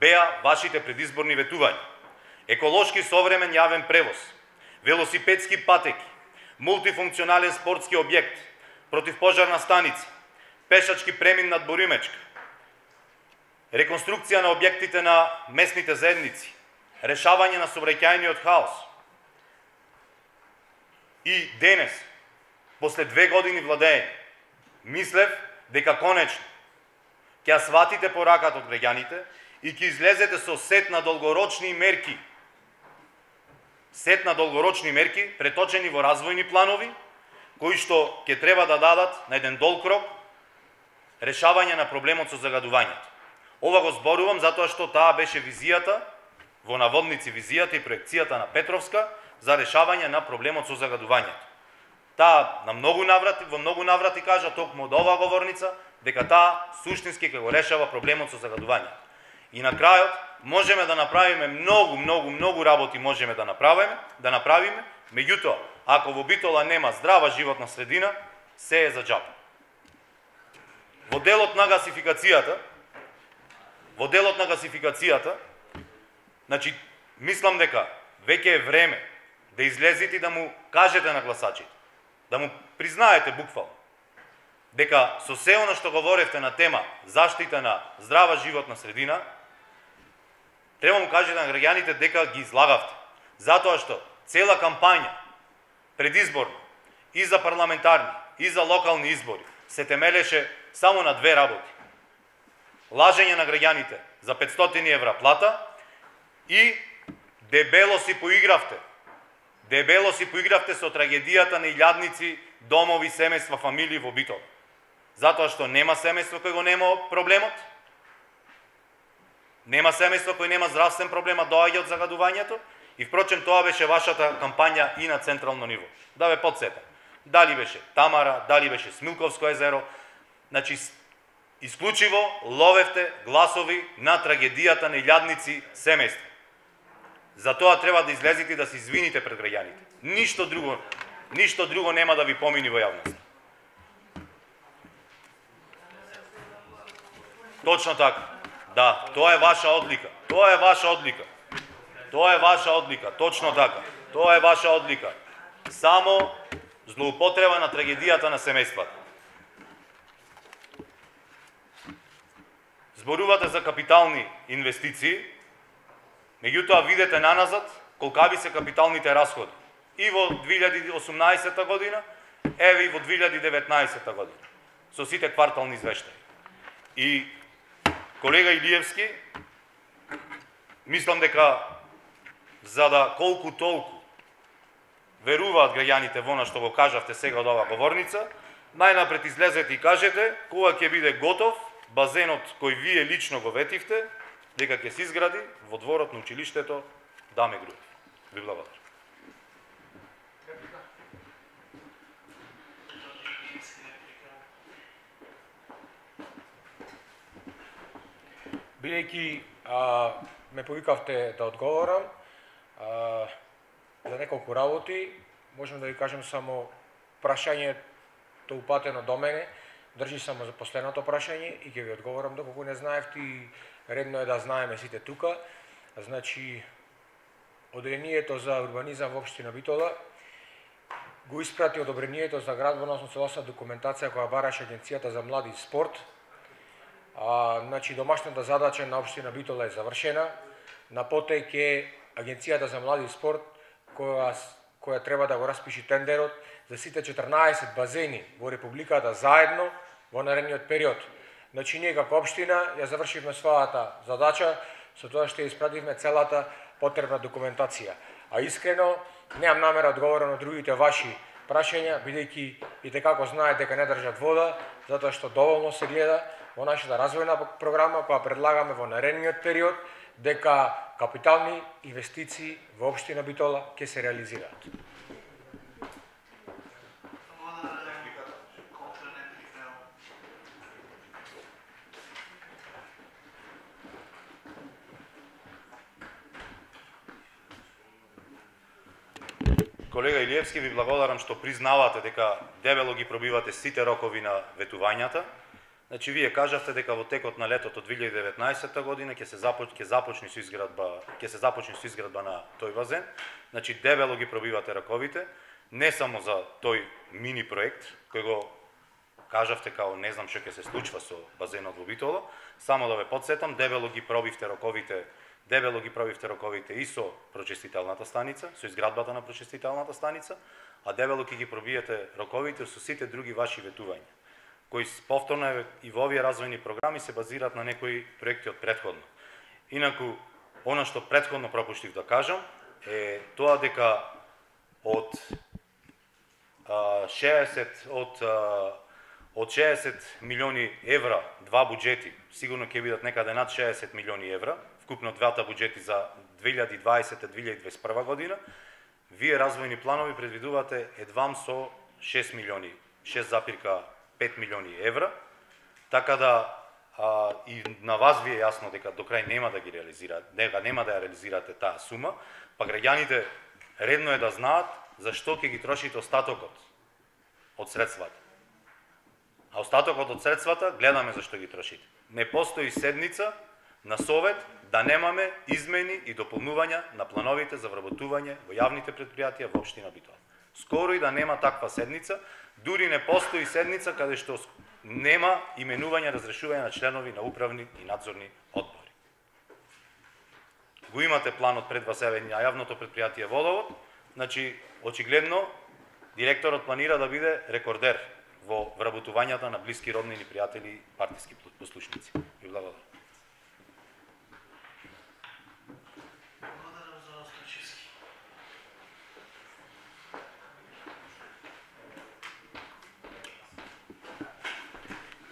беа вашите предизборни ветувања. Еколошки современ јавен превоз, велосипедски патеки, мултифункционален спортски објект, противпожарна станица, пешачки премин над Боримечка, реконструкција на објектите на местните заедници, решавање на сообраќајниот хаос. И денес, после 2 години владење, мислев дека конечно ќе сватите пораката од граѓаните и ќе излезете со сет на долгорочни мерки, преточени во развојни планови, кои што ќе треба да дадат на еден долг рок решавање на проблемот со загадувањето. Ова го зборувам затоа што таа беше визијата, во наводници визијата и проекцијата на Петровска за решавање на проблемот со загадувањето. Таа во многу наврати кажа токму од оваа говорница дека таа суштински ќе го решава проблемот со загадувањето. И на крајот можеме да направиме многу работи можеме да направиме, меѓутоа ако во Битола нема здрава животна средина, се е за џабе. Во делот на гасификацијата, значи мислам дека веќе е време да излезете и да му кажете на гласачите, да му признаете буквално дека со се она што говоревте на тема заштита на здрава животна средина, треба му кажете на граѓаните дека ги излагавте. Затоа што цела кампања предизборна и за парламентарни и за локални избори се темелеше само на 2 работи. Лажење на граѓаните за 500 евра плата и дебело си поигравте со трагедијата на илјадници домови, семејства, фамилии во Битола. Затоа што нема семејство кој го нема проблемот, нема семејство кој нема здравствен проблем, доаѓа од загадувањето и впрочем тоа беше вашата кампања и на централно ниво. Да ве подсетам. Дали беше Тамара, дали беше Смилковско езеро, значи исклучиво ловевте гласови на трагедијата на илјадници семејства. Затоа треба да излезете и да се извините пред граѓаните. Ништо друго нема да ви помини во јавност. Точно така. Да, тоа е ваша одлика. Точно така. Тоа е ваша одлика. Само злоупотреба на трагедијата на семејствата. Зборувате за капитални инвестиции, меѓутоа видете наназад колкави се капиталните расходи. И во 2018 година, еве и во 2019 година, со сите квартални извештаи. И колега Илиевски, мислам дека за да колку толку веруваат граѓаните во она што го кажавте сега од оваа говорница, најнапред излезете и кажете кога ќе биде готов базенот кој вие лично го ветивте, дека ќе се изгради во дворот на училиштето Даме Груев. Ви благодарам. Бидејќи ме повикавте да одговорам за неколку работи, можам да ви кажем само прашањето упатено до мене, држи само за последното прашање и ќе ви одговорам доколку не знаевте и редно е да знаеме сите тука. Значи, одобрението за урбанизам во општина Битола го испрати одобрението за градба, односно целосна документација која бараше Агенцијата за млади и спорт. Значи, домашната задача на општина Битола е завршена. На потек е Агенцијата за млади и спорт која треба да го распиши тендерот за сите 14 базени во Републиката заедно во наредниот период. Значи, ние како општина ја завршивме својата задача, со тоа што ја испративме целата потребна документација. А искрено, немам намера одговорам на другите ваши прашања, бидејќи и како знаете дека не држат вода, затоа што доволно се гледа во нашата развојна програма која предлагаме во наредниот период, дека капитални инвестиции во општина Битола ќе се реализираат. Колега Илиевски, ви благодарам што признавате дека дебело ги пробивате сите рокови на ветувањата. Значи, вие кажавте дека во текот на летото 2019 година ќе се започне со изградба на тој базен. Значи, дебело ги пробивате роковите, не само за тој мини проект кој го кажавте као не знам што ќе се случува со базенот во Битола, само да ве потсетам, дебело ги пробивте роковите и со прочистителната станица, со изградбата на прочистителната станица, а дебело ќе ги пробиете роковите со сите други ваши ветувања, кои повторно и во овие развојни програми се базираат на некои проекти од претходно. Инаку, она што претходно пропуштив да кажам е тоа дека од 60 милиони евра два буџети, сигурно ќе бидат некаде над 60 милиони евра, вкупно двата буџети за 2020-2021 година, вие развојни планови предвидувате едвам со 6,5 милиони евра, така да и на вас ви е јасно дека до крај нема да ги реализирате, нема да ја реализирате таа сума, па граѓаните редно е да знаат зашто ќе ги трошите остатокот од средствата. А остатокот од средствата гледаме зашто ги трошите. Не постои седница на совет да немаме измени и дополнувања на плановите за вработување во јавните предпријатија во општина Битола. Скоро и да нема таква седница, дури не постои седница каде што нема именување, разрешување на членови на управни и надзорни одбори. Го имате планот пред вас еве на јавното предпријатие Водовод, значи очигледно директорот планира да биде рекордер во вработувањата на блиски роднини, пријатели и партиски послушници. Ви благодарам.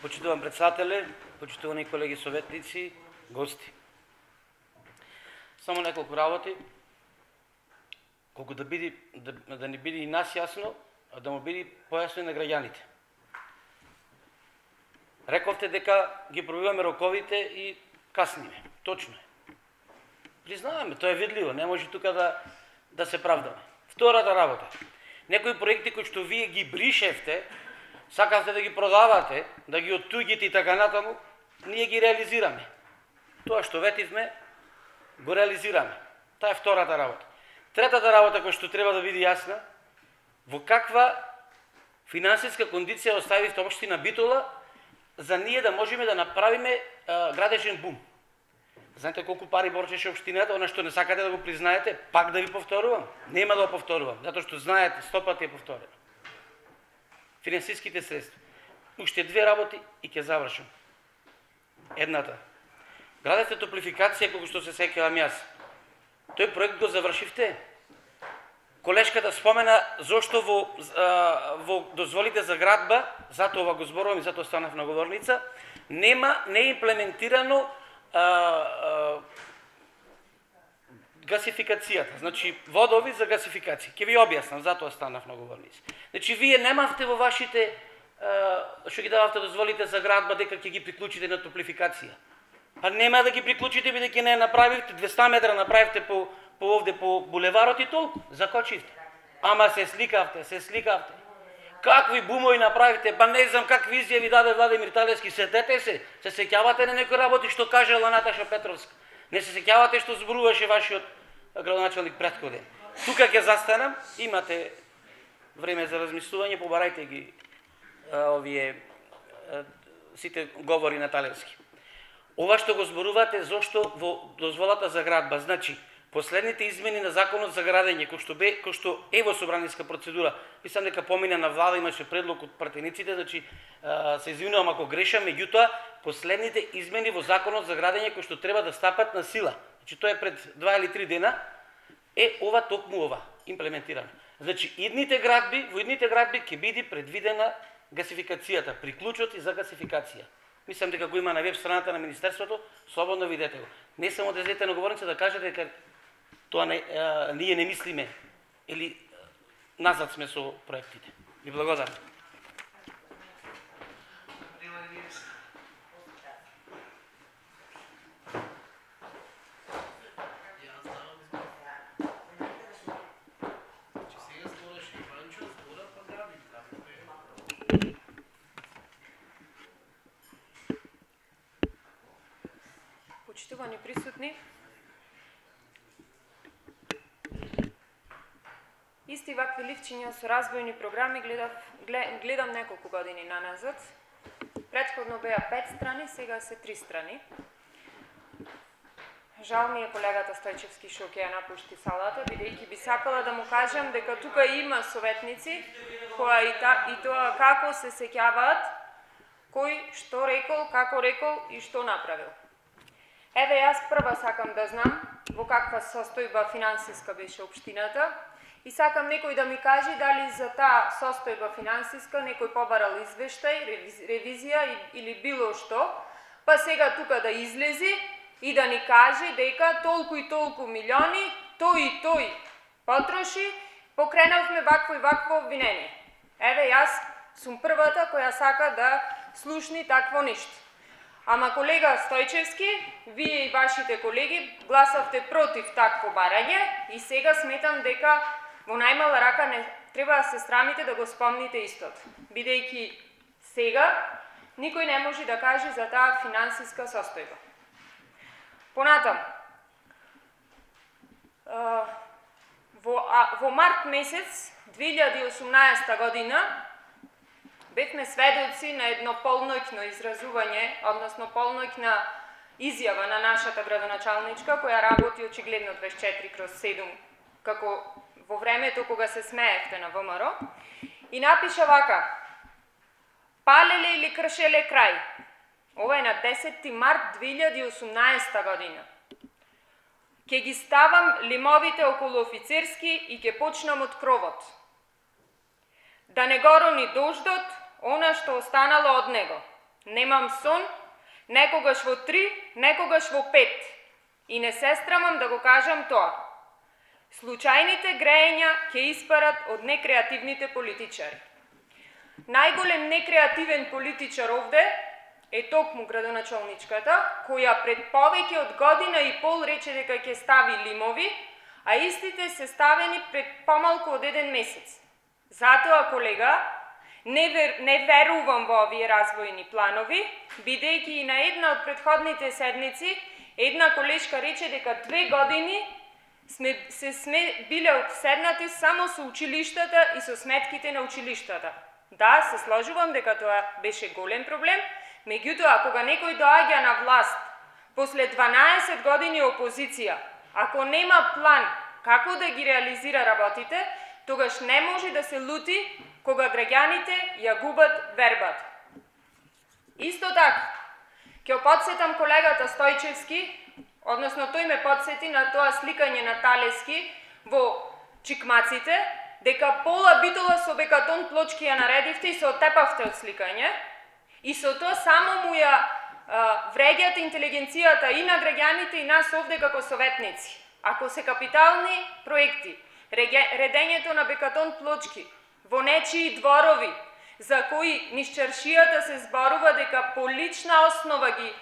Почитуван председателе, почитувани колеги советници, гости. Само неколку работи, колку да не биде и нас јасно, а да му биде појасно и на граѓаните. Рековте дека ги пробиваме роковите и касниме. Точно е. Признаваме, тоа е видливо, не може тука да се правдаме. Втората работа. Некои проекти кои што вие ги бришевте, сакавте да ги продавате, да ги оттуѓите и така натаму, ние ги реализираме. Тоа што ветивме, го реализираме. Таа е втората работа. Третата работа која што треба да биде јасна, во каква финансиска кондиција оставивте општина Битола за ние да можеме да направиме градежен бум. Знаете колку пари борчеше општината, она што не сакате да го признаете, пак да ви повторувам, нема да го повторувам, затоа што знаете, 100 пати е повторено. Финансиските средства. Уште две работи и ќе завршам. Едната. Градевте топлификација, колку што се сеќавам јас. Тој проект го завршивте. Колешката спомена зошто во дозволите за градба, затоа го зборувам и затоа станав на говорница, не е имплементирано гасификацијата, значи водови за гасификација. Ќе ви објаснам, затоа станав на говорница. Значи вие немавте во вашите што ги дававте дозволите за градба дека ќе ги приклучите на топлификација. Па нема да ги приклучите бидејќи не направивте 200 метра направивте по овде по булеварот и толку, закочивте. Ама се сликавте. Какви бумови направите, па не знам какви изјави даде Владимир Талевски, сетете се сеќавате на некои работи што кажала Наташа Петровска. Не се сеќавате што зборуваше вашиот градоначалник претходен. Тука ќе застанам, имате време за размислување, побарајте ги овие сите говори на Талевски. Ова што го зборувате зошто во дозволата за градба, значи последните измени на законот за градење, кој што е во собраниска процедура, мислам дека помина на влада, имаше предлог од пратениците, значи се извинувам ако грешам, меѓутоа последните измени во законот за градење кои што треба да стапат на сила, значи тоа е пред 2 или 3 дена, е ова токму ова имплементирано. Значи во идните градби ќе биде предвидена гасификацијата, приклучот и за гасификација. Мислам дека го има на веб страната на Министерството, слободно видете го. Не само да излезете на говорница да кажете дека тоа ние не мислиме или назад сме со проектите. Ви благодарам. Почитувани присутни, исти вакви ливчиња со развојни програми гледам неколку години наназад. Претходно беа 5 страни, сега се 3 страни. Жал ми е колегата Стојчевски што ќе ја напушти салата, бидејќи би сакала да му кажам дека тука има советници кои и тоа како се сеќаваат, кој што рекол, како рекол и што направил. Еве јас прва сакам да знам во каква состојба финансиска беше општината и сакам некој да ми каже дали за таа состојба финансиска некој побарал извештај, ревизија или било што, па сега тука да излези и да ни каже дека толку и толку милиони, тој и тој потроши, покренавме вакво и вакво обвинение. Еве јас сум првата која сака да слушни такво нешто. Ама колега Стојчевски, вие и вашите колеги гласавте против такво барање и сега сметам дека во најмала рака не треба да се срамите да го спомните истото. Бидејќи сега никој не може да каже за таа финансиска состојба. Понатам, во март месец 2018 година бевме сведоци на едно полноќно изразување, односно полноќна изјава на нашата градоначалничка, која работи очигледно 24/7, како во времето кога се смеевте на ВМРО, и напиша вака: палеле или кршеле крај. Ова е на 10 март 2018 година. Ке ги ставам лимовите околу офицерски и ке почнам од кровот. Да не го рони дождот, она што останало од него. Немам сон, некогаш во 3, некогаш во 5. И не се страмам да го кажам тоа. Случајните грејења ќе испарат од некреативните политичари. Најголем некреативен политичар овде е токму градоначалничката, која пред повеќе од година и пол рече дека ќе стави лимови, а истите се ставени пред помалку од 1 месец. Затоа, колега, не верувам во овие развојни планови, бидејќи и на една од предходните седмици една колешка рече дека 2 години сме биле обседнати само со училиштата и со сметките на училиштата. Да, се сложувам дека тоа беше голем проблем, меѓутоа кога некој доаѓа на власт после 12 години опозиција, ако нема план како да ги реализира работите, тогаш не може да се лути кога граѓаните ја губат вербата. Исто така, ќе подсетам колегата Стојчевски, односно тој ме подсети на тоа сликање на Талевски во Чикмаците, дека пола битола со бекатон плочки ја наредивте и се отепавте од сликање, и со тоа само му ја вреѓате интелигенцијата и на граѓаните и нас овде како советници. Ако се капитални проекти, редењето на бекатон плочки во нечии дворови, за кои низ чаршијата се зборува дека по лична основа ги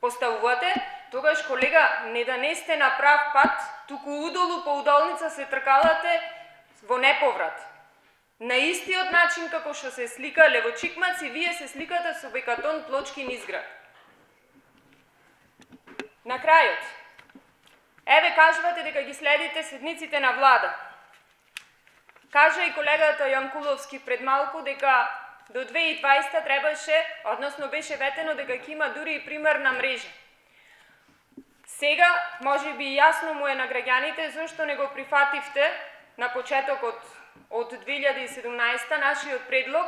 поставувате, тогаш, колега, не да не сте на прав пат, туку удолу по удолница се тркалате во неповрат. На истиот начин како што се слика Левочикмаци, вие се сликате со бекатон плочки низ град. На крајот, еве кажувате дека ги следите седниците на влада. Кажа и колегата Јанкуловски пред малку дека до 2020 требаше, односно беше ветено дека ќе има дури и примерна мрежа. Сега, може би јасно му е на граѓаните зашто не го прифативте на почетокот од 2017 нашиот предлог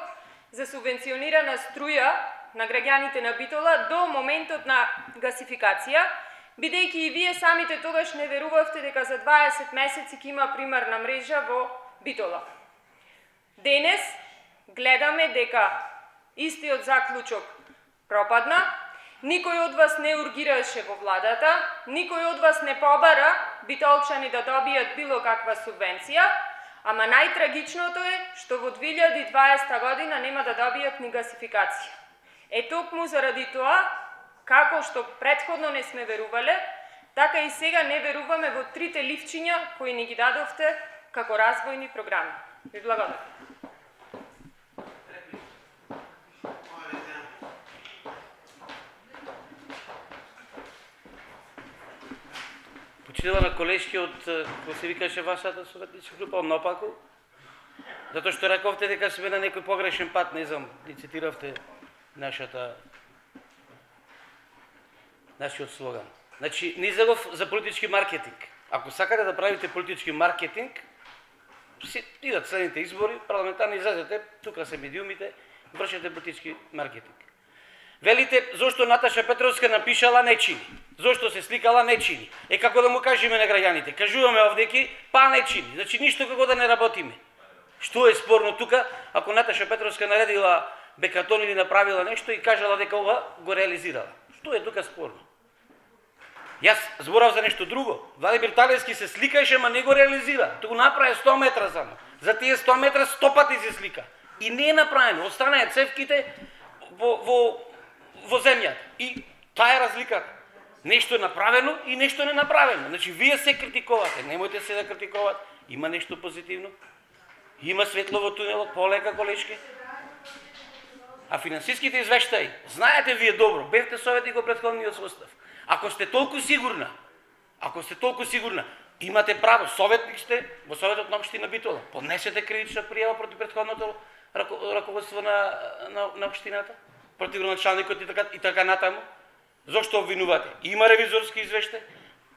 за субвенционирана струја на граѓаните на Битола до моментот на гасификација, бидејќи и вие самите тогаш не верувавте дека за 20 месеци ќе има примерна мрежа во Битола. Денес гледаме дека истиот заклучок пропадна, никој од вас не ургираше во владата, никој од вас не побара битолчани да добијат било каква субвенција, ама најтрагичното е што во 2020 година нема да добијат ни гасификација. Токму заради тоа, како што претходно не сме верувале, така и сега не веруваме во трите ливчиња кои ни ги дадовте како развојни програми. Ви благодарам. Почитувана колешки од, кој се викаше вашата советничка група, од Нопаку, затоа што рековте дека сме на некој погрешен пат, не знам, ни цитиравте нашиот слоган. Значи, не излегов за политички маркетинг. Ако сакате да правите политички маркетинг, си идат следните избори, парламентарни излезете, тука се медиумите, вршете политички маркетинг. Велите, зошто Наташа Петровска напишала не чини, зошто се сликала не чини. Како да му кажеме на граѓаните, кажуваме овдеки, па не чини, значи ништо како да не работиме. Што е спорно тука, ако Наташа Петровска наредила бекатон или направила нешто и кажала дека ова го реализирала? Што е тука спорно? Јас зборав за нешто друго. Владимир Талевски се сликаше, ма не го реализира. Тоа го направи 100 метра само. За тие 100 метра 100 пати се слика. И не е направено. Останаа цевките во земјата. И таа е разликата. Нешто е направено и нешто не направено. Значи, вие се критикувате. Немојте се да критикувате. Има нешто позитивно. Има светло во тунелот, полека колешки. А финансиските извештаи, знаете вие добро, бевте советник во претходниот состав. Ако сте толку сигурна, имате право, советник сте во Советот на општина Битола, поднесете кривична пријава против претходното раководство на општината, против градоначалникот и така натаму. Зошто обвинувате? Има ревизорски извештај,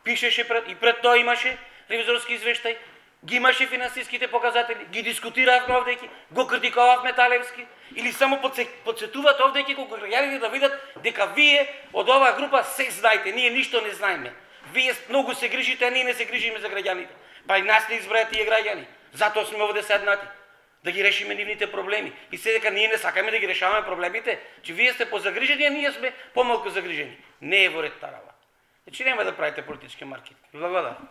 пишеше пред тоа имаше ревизорски извештај, ги имаше финансиските показатели, ги дискутиравме овдеки, го критикувавме Талевски, или само подсетуваат овдеки колку граѓаните да видат дека вие од оваа група се знаете, ние ништо не знаеме. Вие многу се грижите, а ние не се грижиме за граѓаните. Па и нас не избраат тие граѓани. Затоа сме овде седнати, да ги решиме нивните проблеми. И се дека ние не сакаме да ги решаваме проблемите, че вие сте позагрижени, а ние сме помалку загрижени. Не е во ред тарава. Значи нема да правите политички маркетинг. Благодарам.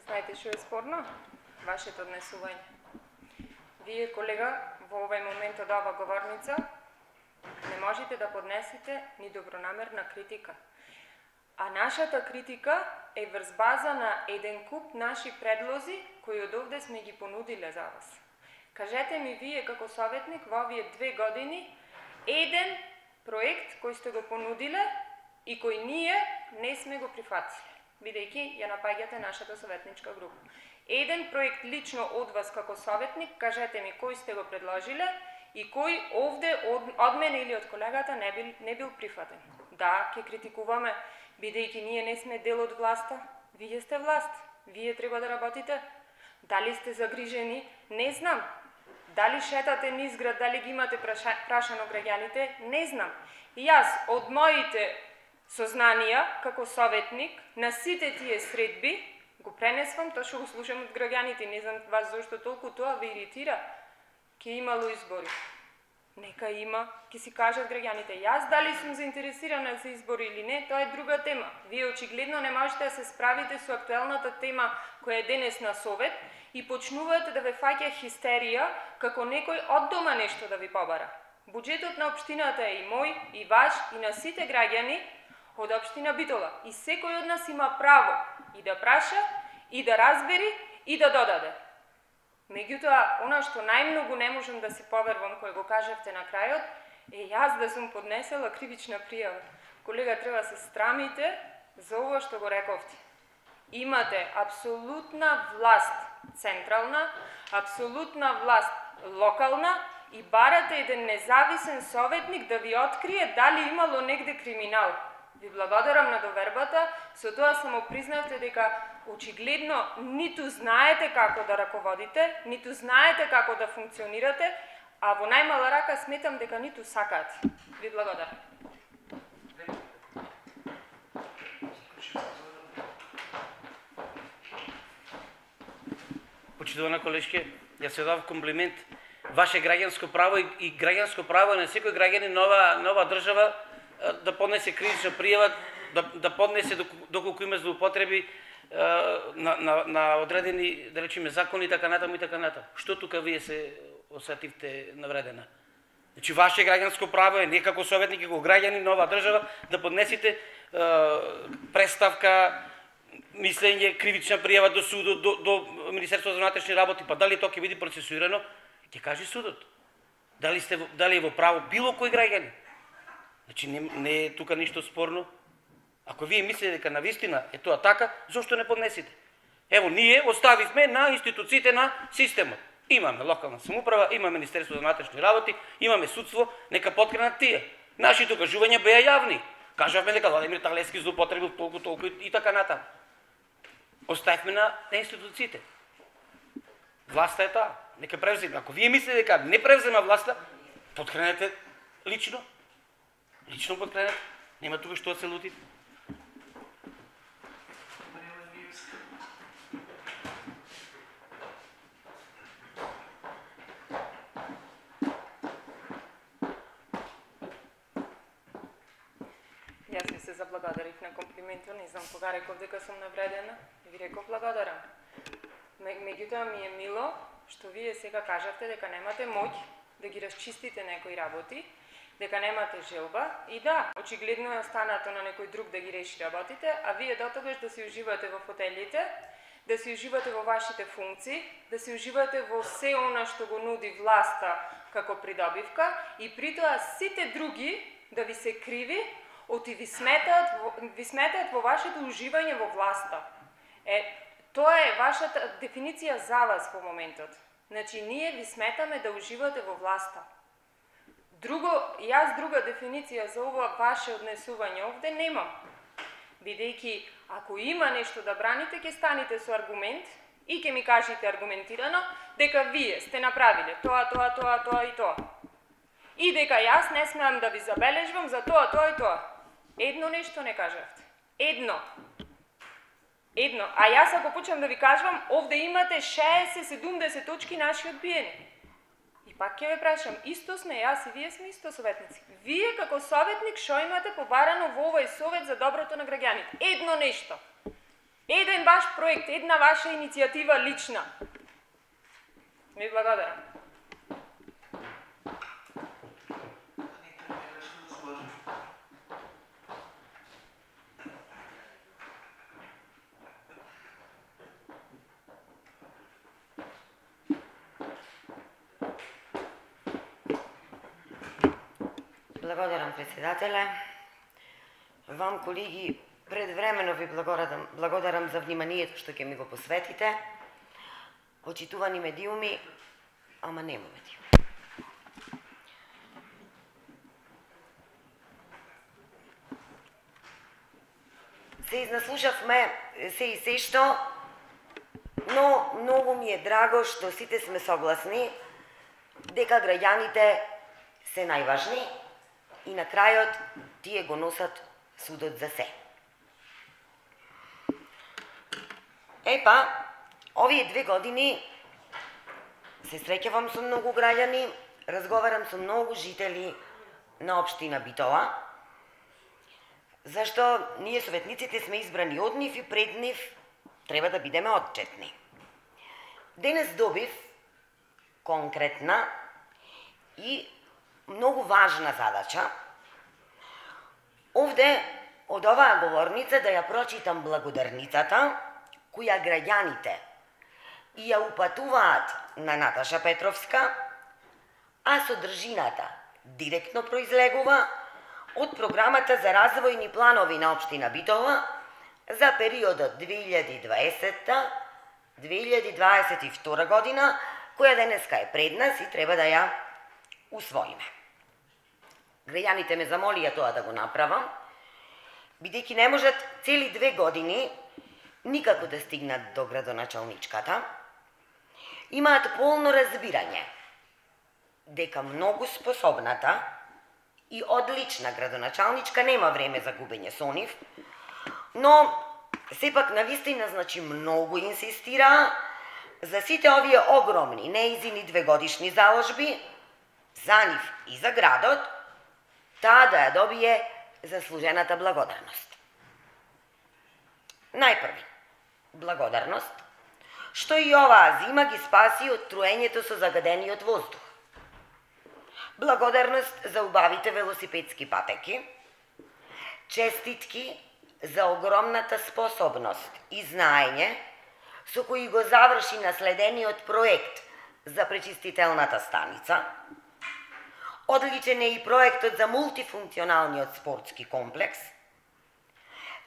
Знаете што е спорно? Вашето однесување. Вие, колега, во овој момент од ова говорница не можете да поднесете ни добронамерна критика. А нашата критика е врз база на еден куп наши предлози кои од овде сме ги понудиле за вас. Кажете ми вие како советник во овие 2 години еден проект кој сте го понудиле и кој ние не сме го прифатиле, бидејќи ја напаѓате нашата советничка група. Еден проект лично од вас како советник, кажете ми кој сте го предложиле и кој овде од мене или од колегата не бил прифатен. Да, ќе критикуваме, бидејќи ние не сме дел од власта, вие сте власт, вие треба да работите. Дали сте загрижени? Не знам. Дали шетате низ град, дали ги имате прашано граѓаните? Не знам. И јас од моите сознанија како советник на сите тие средби го пренесвам тоа што го слушам од граѓаните. Не знам вас зашто толку тоа ве иритира. Ке имало избори. Нека има, ќе си кажат граѓаните. Јас дали сум заинтересирана за избори или не, тоа е друга тема. Вие очигледно не можете да се справите со актуелната тема која е денес на Совет и почнувате да ве фаќа хистерија како некој од дома нешто да ви побара. Буџетот на општината е и мој, и ваш, и на сите граѓани од општина Битола. И секој од нас има право и да праша, и да разбери, и да додаде. Меѓутоа, она што најмногу не можам да си поверувам кој го кажавте на крајот, е јас да сум поднесела кривична пријава. Колега, треба се страмите за ово што го рековте. Имате апсолутна власт централна, апсолутна власт локална и барате еден независен советник да ви открие дали имало негде криминал. Ви благодарам на довербата, со тоа само признавте дека очигледно ниту знаете како да раководите, ниту знаете како да функционирате, а во најмала рака сметам дека ниту сакате. Ви благодарам. Почитувана колешке, јас се дав комплимент. Ваше граѓанско право и граѓанско право на секој граѓанин нова држава да поднесе кривична пријава, да поднесе доколку има злоупотреби на одредени, да речеме, закони и така натаму и така натаму. Што тука вие се осетивте навредена? Значи, ваше граѓанско право е не како советник, како граѓанин нова држава да поднесете представка, мислење, кривична пријава до судот, до Министерството за внатрешни работи, па дали тоа ќе биде процесуирано, ќе каже судот. Дали е во право било кој граѓанин? Значи, не е тука ништо спорно. Ако вие мислите дека навистина е тоа така, зошто не поднесите? Ево, ние оставивме на институциите на системот. Имаме локална самоуправа, имаме Министерство за внатрешни работи, имаме судство, нека поткренат тие. Нашите кажувања беа јавни. Кажавме дека Владимир Талевски злоупотребил толку и така натаму. Оставивме на институциите. Власта е таа. Нека превземе. Ако вие мислите дека не превзема власта, подкренете лично. Лично подкренете. Нема тука што да се лутите. Јас ви се заблагодарив на комплиментот, не знам кога реков дека сум навредена, и ви реков благодарам. Меѓутоа ми е мило што вие сега кажавте дека немате моќ да ги расчистите некои работи, дека немате желба и да, очигледно е останато на некој друг да ги реши работите, а вие дотогаш да си уживате во фотелите, да си уживате во вашите функции, да си уживате во се она што го нуди власта како придобивка и притоа сите други да ви се криви, оти ви сметаат во вашето уживање во власта. Тоа е вашата дефиниција за вас во моментот. Значи, ние ви сметаме да уживате во власта. Јас друга дефиниција за ова ваше однесување овде немам. Бидејќи, ако има нешто да браните, ќе станете со аргумент и ќе ми кажете аргументирано дека вие сте направиле тоа и тоа. И дека јас не смеам да ви забележвам за тоа и тоа. Едно нешто не кажавте. Едно. А јас ако почнам да ви кажувам, овде имате 60-70 точки наши одбиени. И пак ќе ве прашам, исто сме, јас и вие сме исто советници. Вие како советник што имате побарано во овој совет за доброто на граѓаните? Едно нешто. Еден ваш проект, една ваша иницијатива лична. Ви благодарам. Благодарам, председателе. Вам, колеги, предвремено ви благодарам за вниманието што ќе ми го посветите. Почитувани медиуми, ама нема медиуми. Се изнаслушавме се и се што, но многу ми е драго што сите сме согласни дека граѓаните се најважни и на крајот тие го носат судот за се. Овие 2 години се среќавам со многу граѓани, разговарам со многу жители на општина Битола, зашто ние советниците сме избрани од нив и пред нив треба да бидеме отчетни. Денес добив конкретна и многу важна задача. Овде, од оваа говорница, да ја прочитам благодарницата, која граѓаните и ја упатуваат на Наташа Петровска, а содржината директно произлегува од програмата за развојни планови на општина Битола за периодот 2020-2022 година, која денеска е пред нас и треба да ја усвоиме. Граѓаните ме замолија тоа да го направам, бидејќи не можат цели 2 години никако да стигнат до градоначалничката, имаат полно разбирање дека многу способната и одлична градоначалничка нема време за губење со нив, но сепак навистина, значи, многу инсистира за сите овие огромни неизини 2-годишни заложби, за нив и за градот, таа да ја добие заслужената благодарност. Најпрви, благодарност, што и оваа зима ги спаси од труењето со загадениот воздух. Благодарност за убавите велосипедски патеки, честитки за огромната способност и знаење со кои го заврши наследениот проект за пречистителната станица. Одличен е и проектот за мултифункционалниот спортски комплекс.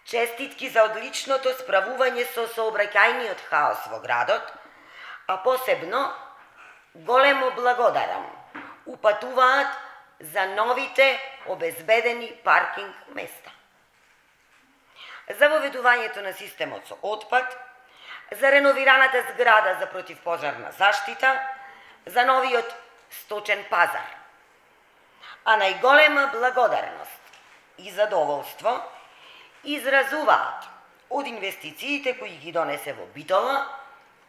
Честитки за одличното справување со сообраќајниот хаос во градот, а посебно големо благодарам упатуваат за новите обезбедени паркинг места. За воведувањето на системот со отпад, за реновираната зграда за противпожарна заштита, за новиот сточен пазар. А најголема благодарност и задоволство изразуваат од инвестициите кои ги донесе во Битола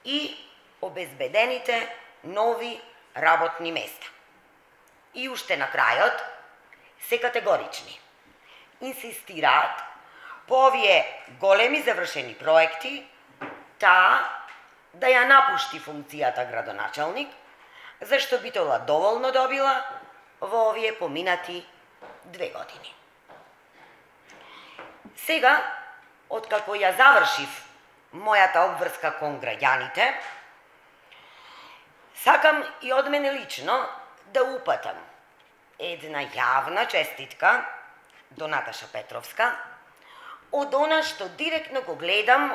и обезбедените нови работни места. И уште на крајот се категорични. Инсистираат по овие големи завршени проекти таа да ја напушти функцијата градоначалник, зашто Битола доволно добила во овие поминати 2 години. Сега, откако ја завршив мојата обврска кон граѓаните, сакам и од мене лично да упатам една јавна честитка до Наташа Петровска од она што директно го гледам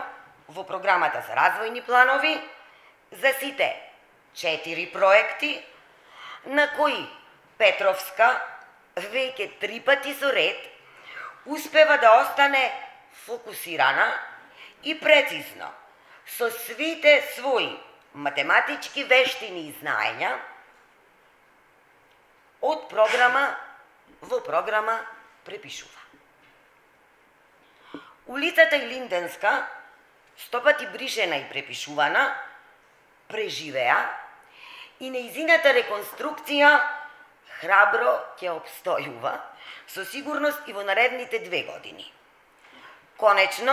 во програмата за развојни планови за сите 4 проекти на кои Петровска веќе 3 пати со ред успева да остане фокусирана и прецизно со свите своји математички вештини и знаења од програма во програма препишува. Улицата Илинденска, 100 пати бришена и препишувана, преживеа и нејзината реконструкција храбро ќе обстојува, со сигурност и во наредните 2 години. Конечно,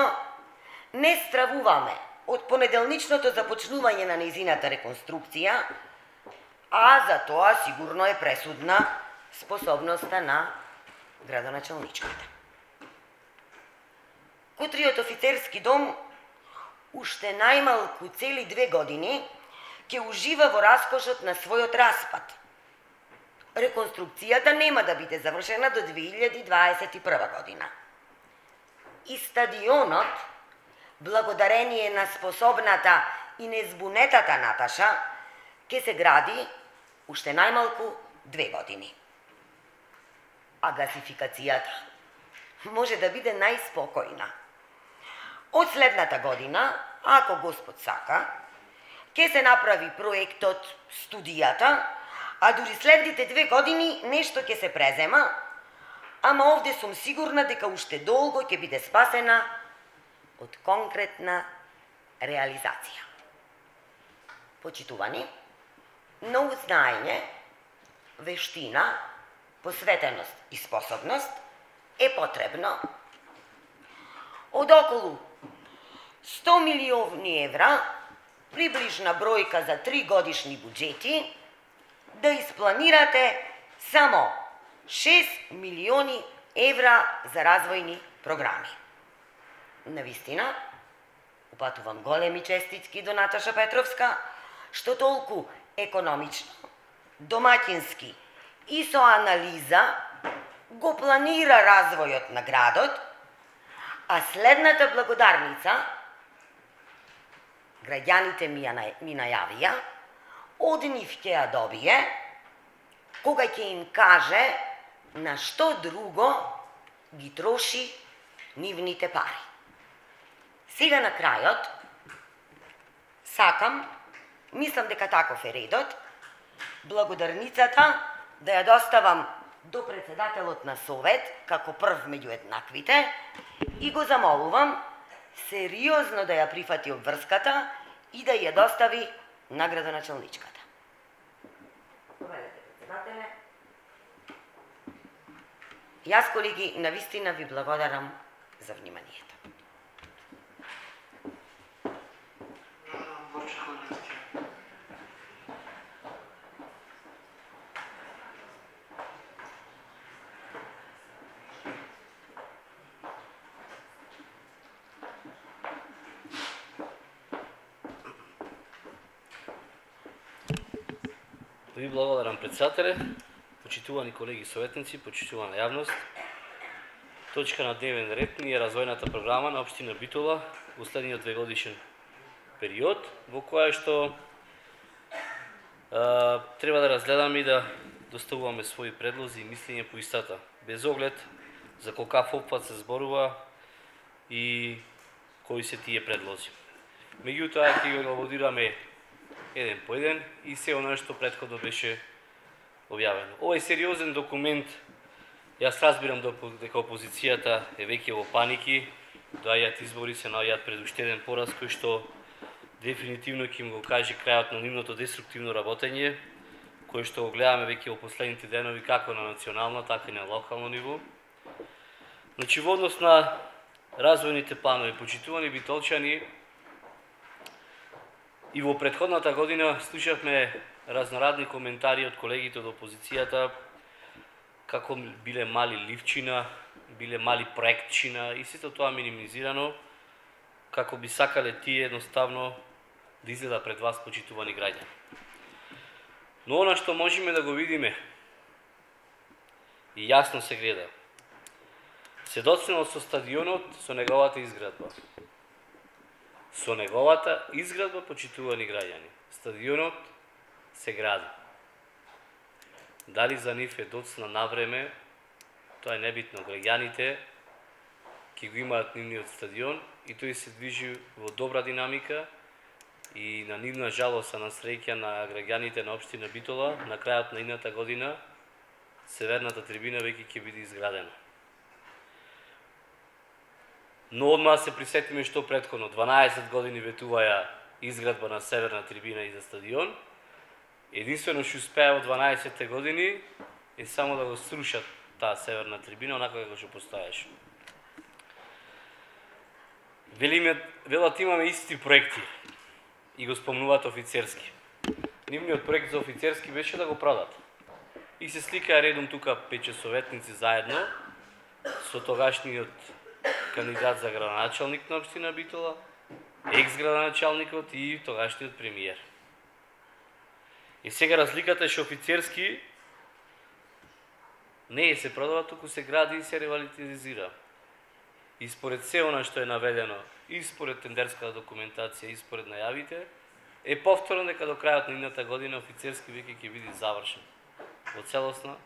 не стравуваме од понеделничното започнување на нејзината реконструкција, а за тоа сигурно е пресудна способноста на градоначалничката. Кутриот офицерски дом уште најмалку цели 2 години ќе ужива во раскошот на својот распад. Реконструкцијата нема да биде завршена до 2021 година. И стадионот, благодарение на способната и незбунетата Наташа, ќе се гради уште најмалку 2 години. А гасификацијата може да биде најспокојна. Од следната година, ако Господ сака, ќе се направи проектот, студијата, а дури следните 2 години нешто ќе се презема, ама овде сум сигурна дека уште долго ќе биде спасена од конкретна реализација. Почитувани, многу знаење, вештина, посветеност и способност е потребно. Од околу 100 милиони евра приближна бројка за 3 годишни буџети, да испланирате само 6 милиони евра за развојни програми. Навистина, упатувам големи честитки до Наташа Петровска, што толку економично, домаќински и со анализа го планира развојот на градот, а следната благодарница граѓаните ми најавија, од нив ќе ја добие, кога ќе им каже на што друго ги троши нивните пари. Сега на крајот, сакам, мислам дека таков е редот, благодарницата да ја доставам до председателот на Совет, како прв меѓу еднаквите, и го замолувам сериозно да ја прифати обврската и да ја достави на градоначалничката. Председателе, јас, колеги, навистина ви благодарам за вниманието. Ви благодарам, председателе, почитувани колеги советници, почитувана јавност. Точка на дневен ред ни е развојната програма на општина Битола во следниот 2-годишен период, во која што треба да разгледаме и да доставуваме своји предлози и мислења по истата, без оглед за колкав опфат се зборува и кои се тие предлози. Меѓутоа, ќе ги елаборираме еден по еден и се оно што претходно беше објавено. Овој сериозен документ, јас разбирам дека опозицијата е веќе во паники, доаѓаат избори, се наоѓаат пред уште еден пораз кој што дефинитивно ќе им го каже крајот на нивното деструктивно работење, кој што го гледаме веќе во последните денови како на национално, така и на локално ниво. Значи, во однос на развојните планови, почитувани битолчани, и во претходната година слушавме разнорадни коментари од колегите од опозицијата, како биле мали ливчина, биле мали проектчина и сето тоа минимизирано, како би сакале тие едноставно да изгледа пред вас, почитувани граѓани. Но она што можеме да го видиме и јасно се гледа, се доцнено со стадионот, со неговата изградба. Со неговата изградба, почитувани граѓани. Стадионот се гради. Дали за нив е доцна на време, тоа е небитно. Граѓаните ќе го имаат нивниот стадион и тој се движи во добра динамика и на нивна жалост, на среќа на граѓаните на општина Битола, на крајот на идната година северната трибина веќе ќе биде изградена. Но одма се присетиме што претходно 12 години ветуваја изградба на северна трибина и за стадион. Единствено што успеа во 12 години е само да го срушат таа северна трибина онака како што постоеше. Велат имаме исти проекти и го спомнуваат офицерски. Нивниот проект за офицерски беше да го продат. И се сликаа редом тука 5 советници заедно со тогашниот кандидат за градоначалник на општина Битола, екс-градоначалникот и тогашниот премиер. И сега разликата е што офицерски не се продава, туку се гради и се ревитализира. И според се она што е наведено, и според тендерската документација, и според најавите, е повторно дека до крајот на идната година офицерски веќе ќе биде завршен во целосна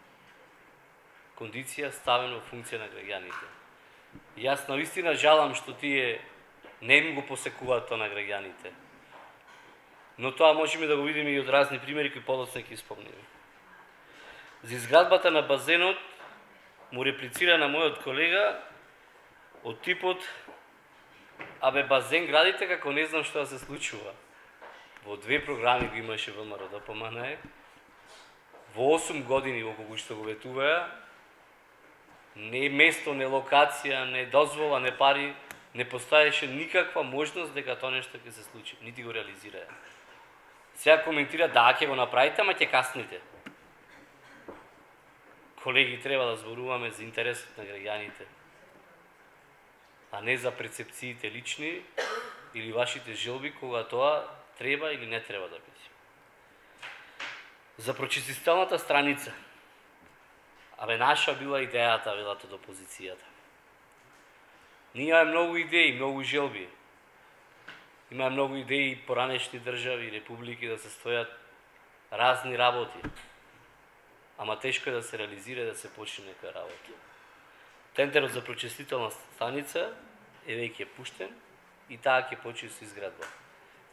кондиција, ставен во функција на граѓаните. Јас навистина жалам што тие не им го посекуваат тоа на граѓаните. Но тоа можеме да го видиме и од разни примери кои подоцна ќе спомнеме. За изградбата на базенот му реплицира на мојот колега од типот: абе, базен градите како не знам што да се случува. Во 2 програми го имаше ВМРО ДПМН, во 8 години во кога што го ветуваја, не место, не локација, не дозвола, не пари, не постоеше никаква можност дека тоа нешто ќе се случи, нити го реализираа. Сега коментира да ќе го направите, ама ќе касните. Колеги, треба да зборуваме за интересот на граѓаните, а не за прецепциите лични или вашите желби кога тоа треба или не треба да биде. За прочистителната страница. Абе, наша била идејата, велат од опозицијата. Ние имаме многу идеи, многу желби. Има многу идеи поранешни држави, републики да се стојат разни работи. Ама тешко е да се реализира и да се почне некоја работа. Тендерот за прочистителна станица е веќе пуштен и таа ќе почне со изградба.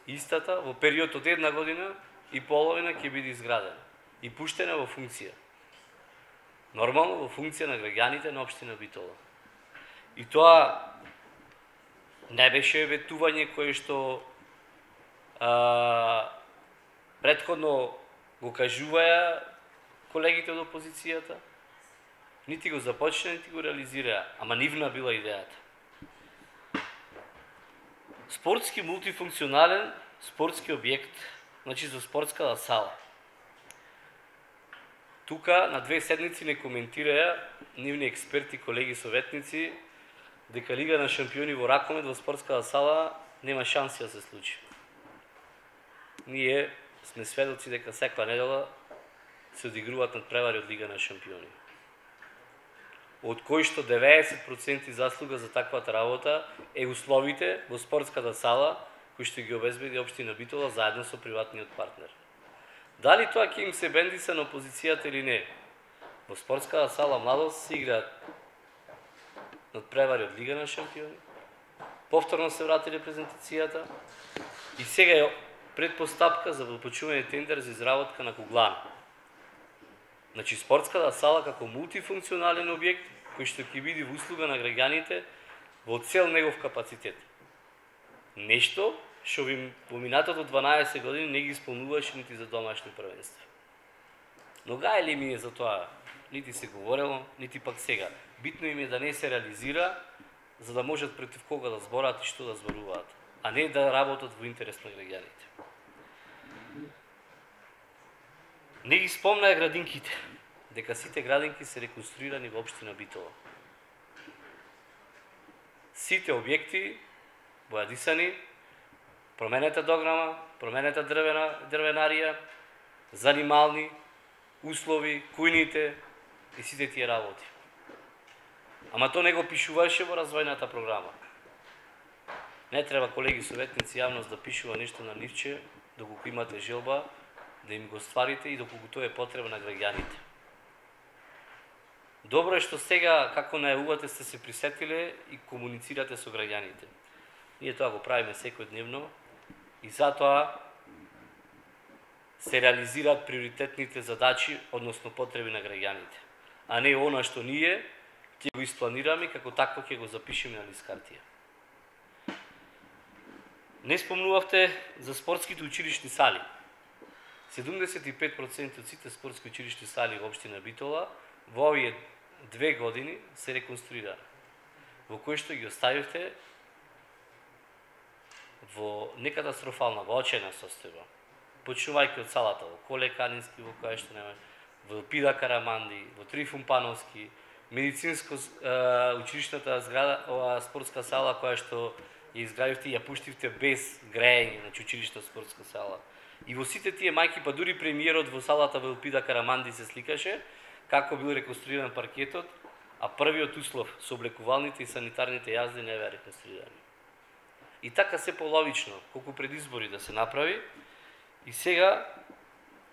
Истата во период од 1 година и половина ќе биде изградена и пуштена во функција. Нормално во функција на граѓаните на општина Битола. И тоа не беше ветување кое што претходно го кажуваја колегите од опозицијата, нити го започна, нити го реализираа, ама нивна била идејата. Спортски мултифункционален спортски објект, значи за спортската сала. Тука на 2 седмици не коментираја нивни експерти, колеги, советници, дека Лига на шампиони во ракомет во спортската сала нема шанси да се случи. Ние сме сведоци дека секоја недела се одигруваат надпревари од Лига на шампиони. Од кои што 90% заслуга за таквата работа е условите во спортската сала кои што ги обезбеди општина Битола заедно со приватниот партнер. Дали тоа ќе им се бендиса на опозицијата или не? Во спортската сала Младост се играат надпревари од Лига на шампиони, повторно се врати репрезентацијата и сега е предпоставка за почнување тендер за изработка на куглана. Значи спортската сала како мултифункционален објект кој што ќе биде во услуга на граѓаните во цел негов капацитет. Нешто што во минатото 12 години не ги исполнуваше нити за домашни првенства. Но гајле им е за тоа, нити се говорело, нити пак сега. Битно им е да не се реализира, за да можат против кога да збораат и што да зборуваат, а не да работат во интерес на граѓаните. Не ги спомнаа градинките, дека сите градинки се реконструирани во општина Битола. Сите објекти бојадисани, променета дограма, променета дрвенарија, занимални, услови, кујните и сите тие работи. Ама тоа не го пишуваше во развојната програма. Не треба, колеги советници, јавност да пишува нешто на ливче, доколку имате желба, да им го стварите и доколку тоа е потреба на граѓаните. Добро е што сега, како најавувате, сте се присетиле и комуницирате со граѓаните. Ние тоа го правиме секојдневно и затоа се реализираат приоритетните задачи, односно потреби на граѓаните, а не она што ние ќе го испланираме како такво ќе го запишеме на лист хартија. Не спомнувавте за спортските училишни сали. 75% од сите спортски училишни сали во општина Битола во овие 2 години се реконструираа, во кои што ги оставивте во некатастрофална, во очајна состојба. Почнувајќи од салата во Коле Канински, во која што нема, во Пида Караманди, во Трифун Пановски, медицинско училишната зграда, ова спортска сала која што ја изградивте и ја пуштивте без грејење, значи училишна спортска сала. И во сите тие мајки, па дури премиерот во салата во Пида Караманди се сликаше како бил реконструиран паркетот, а првиот услов со облекувалните и санитарните јазди не беа реконструирани. И така се половично, колку пред избори да се направи, и сега,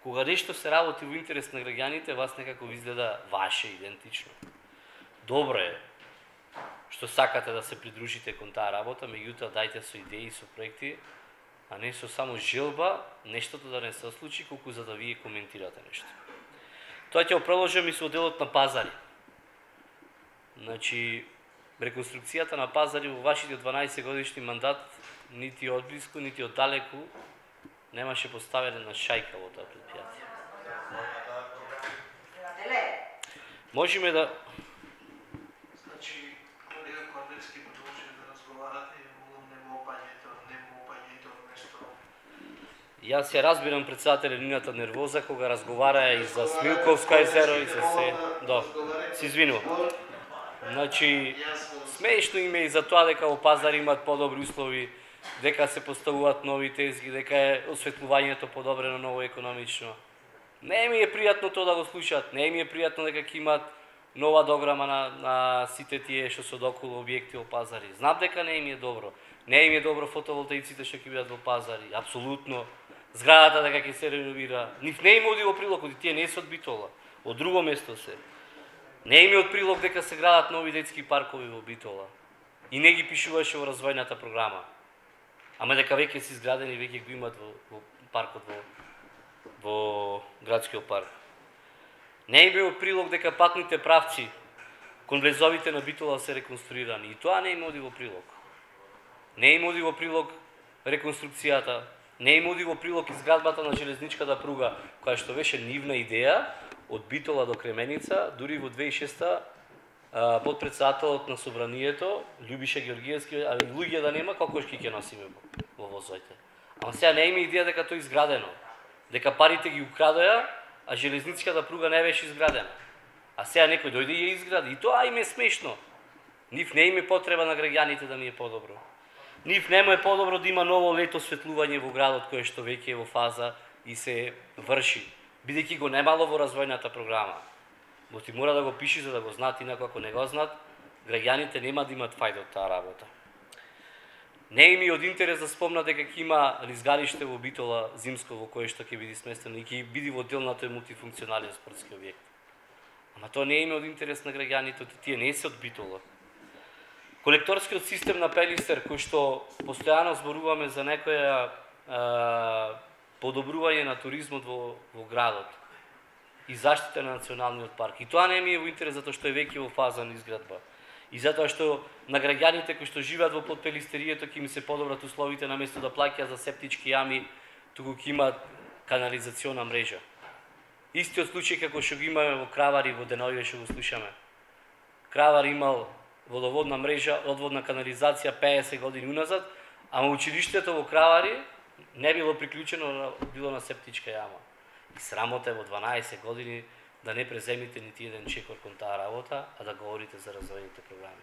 кога нешто се работи во интерес на граѓаните, вас некако изгледа ваше, идентично. Добро е што сакате да се придружите кон таа работа, меѓутоа дајте со идеи, со проекти, а не со само желба нештото да не се случи, колку за да вие коментирате нешто. Тоа ќе го продолжам и со делот на пазари. Значи, реконструкцијата на пазари во вашите 12 годишни мандат, нити одблиску, нити оддалеку, немаше поставена на шајка во тоа предпријатие. Можеме да... Значи, колега Кордевски продолжи да разговара Јас ја разбирам председателя нивната нервоза кога разговара и за Смилковска езеро и за се. Се извинувам. Значи, смешно им е и за тоа дека во Пазар имат подобри услови, дека се поставуваат нови тезги, дека е осветлувањето подобрено, ново економично. Не ми е пријатно тоа да го слушаат, не ми е пријатно дека ќе имат нова дограма на сите тие што се околу објекти во Пазари. Знам дека не им е добро. Не им е добро фотоволтаиците што ќе бидат во Пазари, апсолутно. Зградата дека ќе се реновира. Нив не им оди во прилог, оди тие не се од Битола. Од друго место се. Не им е од прилог дека се градат нови детски паркови во Битола. И не ги пишуваше во развојната програма. Ама дека веќе се изградени, веќе го имат во паркот во градскиот парк. Не им е од прилог дека патните правци кон влезовите на Битола се реконструирани. И тоа не им оди во прилог. Не им оди во прилог реконструкцијата, не им оди во прилог изградбата на железничката пруга, која што беше нивна идеја од Битола до Кременица, дури во 2006 подпредседателот на собранието Љубиша Георгиевски, али луѓе да нема, кокошки ќе носиме во возовите. Ама сега не има идеја дека тоа е изградено, дека парите ги украдоја, а железничката пруга не беше изградена. А сега некој дојде и ја изгради. И тоа им е смешно. Нив не им е потреба на граѓаните да ми е подобро. Нив нема е подобро да има ново лето осветлување во градот кое што веќе е во фаза и се врши, бидејќи го немало во развојната програма. Но ти мора да го пиши за да го знаат, инаку ако не го знаат, граѓаните нема да имат фајда од таа работа. Не им е од интерес да спомнат дека ќе има лизгалиште во Битола зимско во кое што ќе биде сместено и ќе биде во дел на тој мултифункционален спортски објект. Ама тоа не им е од интерес на граѓаните, тие не се од Битола. Колекторскиот систем на Пелистер, кој што постојано зборуваме за некоја подобрување на туризмот во градот и заштита на националниот парк. И тоа не ми е во интерес затоа што е веќе во фаза на изградба. И затоа што на граѓаните кои што живеат во подпелистерието ќе им се подобрат условите наместо да плаќаат за септички јами, туку ќе имаат канализациона мрежа. Истиот случај како што го имаме во Кравари, во деновиве што го слушаме. Кравар имал водоводна мрежа, одводна канализација 50 години уназад, ама училиштето во Кравари не било приклучено, било на септичка јама. И срамота е во 12 години да не преземите нити еден чекор кон таа работа, а да говорите за развојните програми.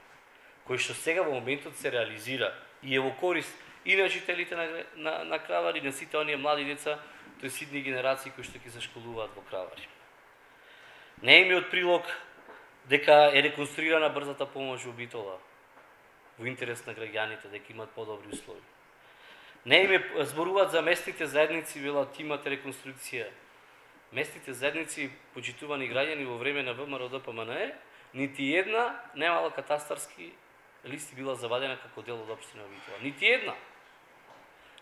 Кој што сега во моментот се реализира и е во корист и на жителите на Кравари, и на сите оние млади деца, тој ситни генерации кои што ќе се школуваат во Кравари. Не им е од прилог дека е реконструирана брзата помош во Битола, во интерес на граѓаните, дека имат подобри услови. Не им е зборуваат за местните заедници, велат имат реконструкција. Местните заедници, почитувани граѓани во време на ВМРО ДПМНЕ, нити една немала катастарски листи била завадена како дел од општина Битола. Нити една.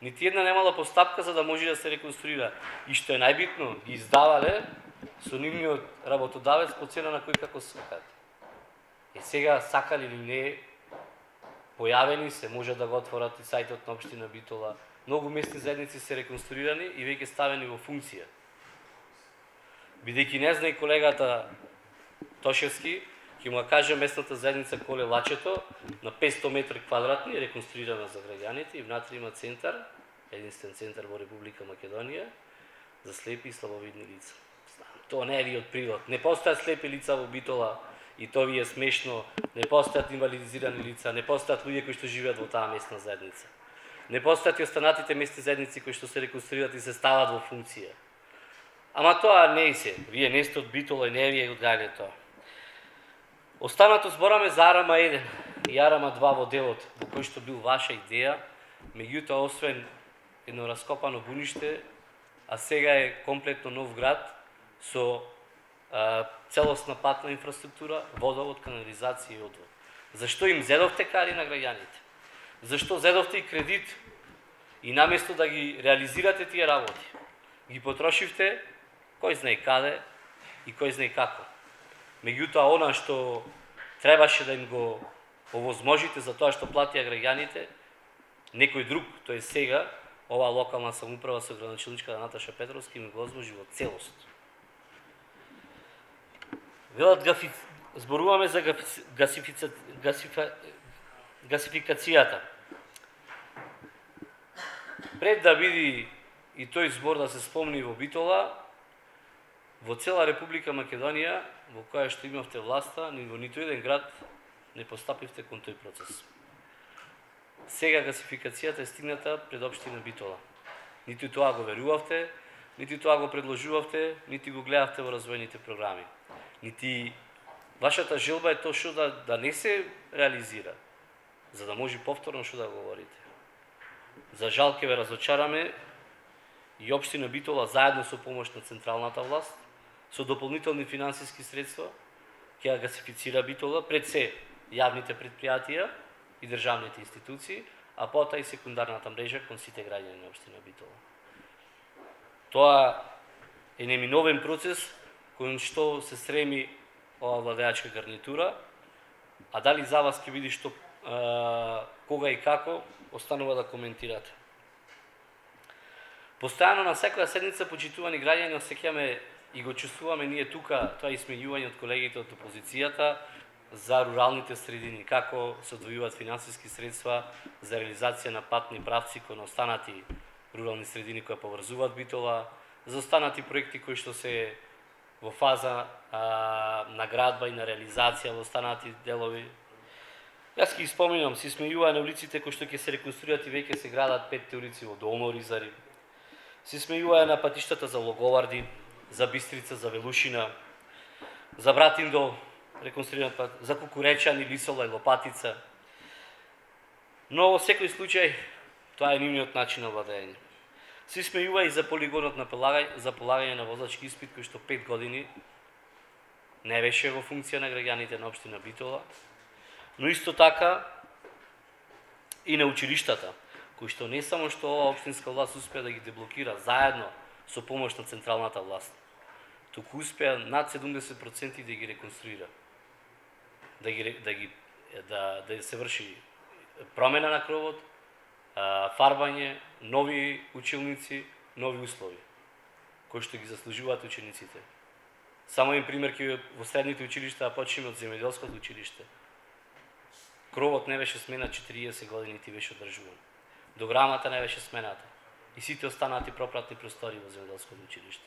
Нити една немала постапка за да може да се реконструира. И што е најбитно, ги издавале со нивниот работодавец по цена на кој како сакат. И сега сакали или не, појавени се, може да го отворат и сајтот на општина Битола. Многу местни заедници се реконструирани и веќе ставени во функција. Бидејќи не знае колегата Тошевски, ќе му каже местната заедница Коле Лачето на 500 метри квадратни, реконструирана за граѓаните и внатре има центар, единствен центар во Република Македонија за слепи и слабовидни лица. Тоа не е ви од прилог. Не постојат слепи лица во Битола и тоа ви е смешно. Не постојат инвалидизирани лица, не постојат луѓе кои што живеат во таа местна заедница. Не постојат и останатите местни заедници кои што се реконструират и се стават во функција. Ама тоа не е се. Вие не сте од Битола и не ви е одгајле тоа. Останато збораме за Арама 1 и Арама 2 во делот, во кој што бил ваша идеја, меѓутоа освен едно раскопано буниште, а сега е комплетно нов град со целосна патна инфраструктура, водовод, канализација и одвод. Зашто им зедовте кари на граѓаните? Зашто зедовте и кредит и наместо да ги реализирате тие работи, ги потрошивте кој знае каде и кој знае како. Меѓутоа, она што требаше да им го овозможите за тоа што платија граѓаните, некој друг, тој сега, оваа локална самоуправа со градоначалничката Наташа Петровски ми го возможи во целост. Велат зборуваме за гасификацијата. Пред да биде и тој збор да се спомни во Битола, во цела Република Македонија, во која што имавте власта, ни во ниту еден град не постапивте кон тој процес. Сега гасификацијата е стигната пред општина Битола. Ниту тоа го верувавте, ниту тоа го предложувавте, нити го гледавте во развојните програми. Нити вашата желба е тоа што да не се реализира, за да може повторно што да говорите. За жал ќе ве разочараме и општина Битола заедно со помош на централната власт, со дополнителни финансиски средства, ќе ја гасифицира Битола пред се јавните предпријатија и државните институции, а потоа и секундарната мрежа кон сите граѓани на општина Битола. Тоа е неминовен процес кој што се стреми ова владеачка гарнитура, а дали за вас ќе биде што кога и како останува да коментирате. Постојано на секоја седница, почитувани граѓани, осеќаме и го чувствуваме ние тука тоа исмејување од колегите од опозицијата за руралните средини, како се одвојуваат финансиски средства за реализација на патни правци кон останати рурални средини кои поврзуваат Битола, за останати проекти кои што се во фаза на градба и на реализација во останати делови. Јас ќе споминам, се смејува на улиците кои што ќе се реконструират и веќе се градат 5 улици во Долно Ризари. Се смејува на патиштата за Логоварди, за Бистрица, за Велушина, за Братиндол, реконструиран пат, за Кукуречани, Лисола и Лопатица. Но во секој случај тоа е нивниот начин на владење. Се смејува и за полигонот за полагање на возачки испит кој што 5 години не беше во функција на граѓаните на општина Битола, но исто така и на училиштата, кои што не само што ова општинска власт успеа да ги деблокира заедно со помош на централната власт, туку успеа над 70% да ги реконструира, да се врши промена на кровот, фарбање, нови училници, нови услови, кои што ги заслужуваат учениците. Само един пример ќе во средните училишта, а почнеме од земјоделското училиште. Кровот не беше сменат 40 години, ти беше одржуван. Дограмата не беше смената. И сите останати пропратни простори во земјоделското училиште.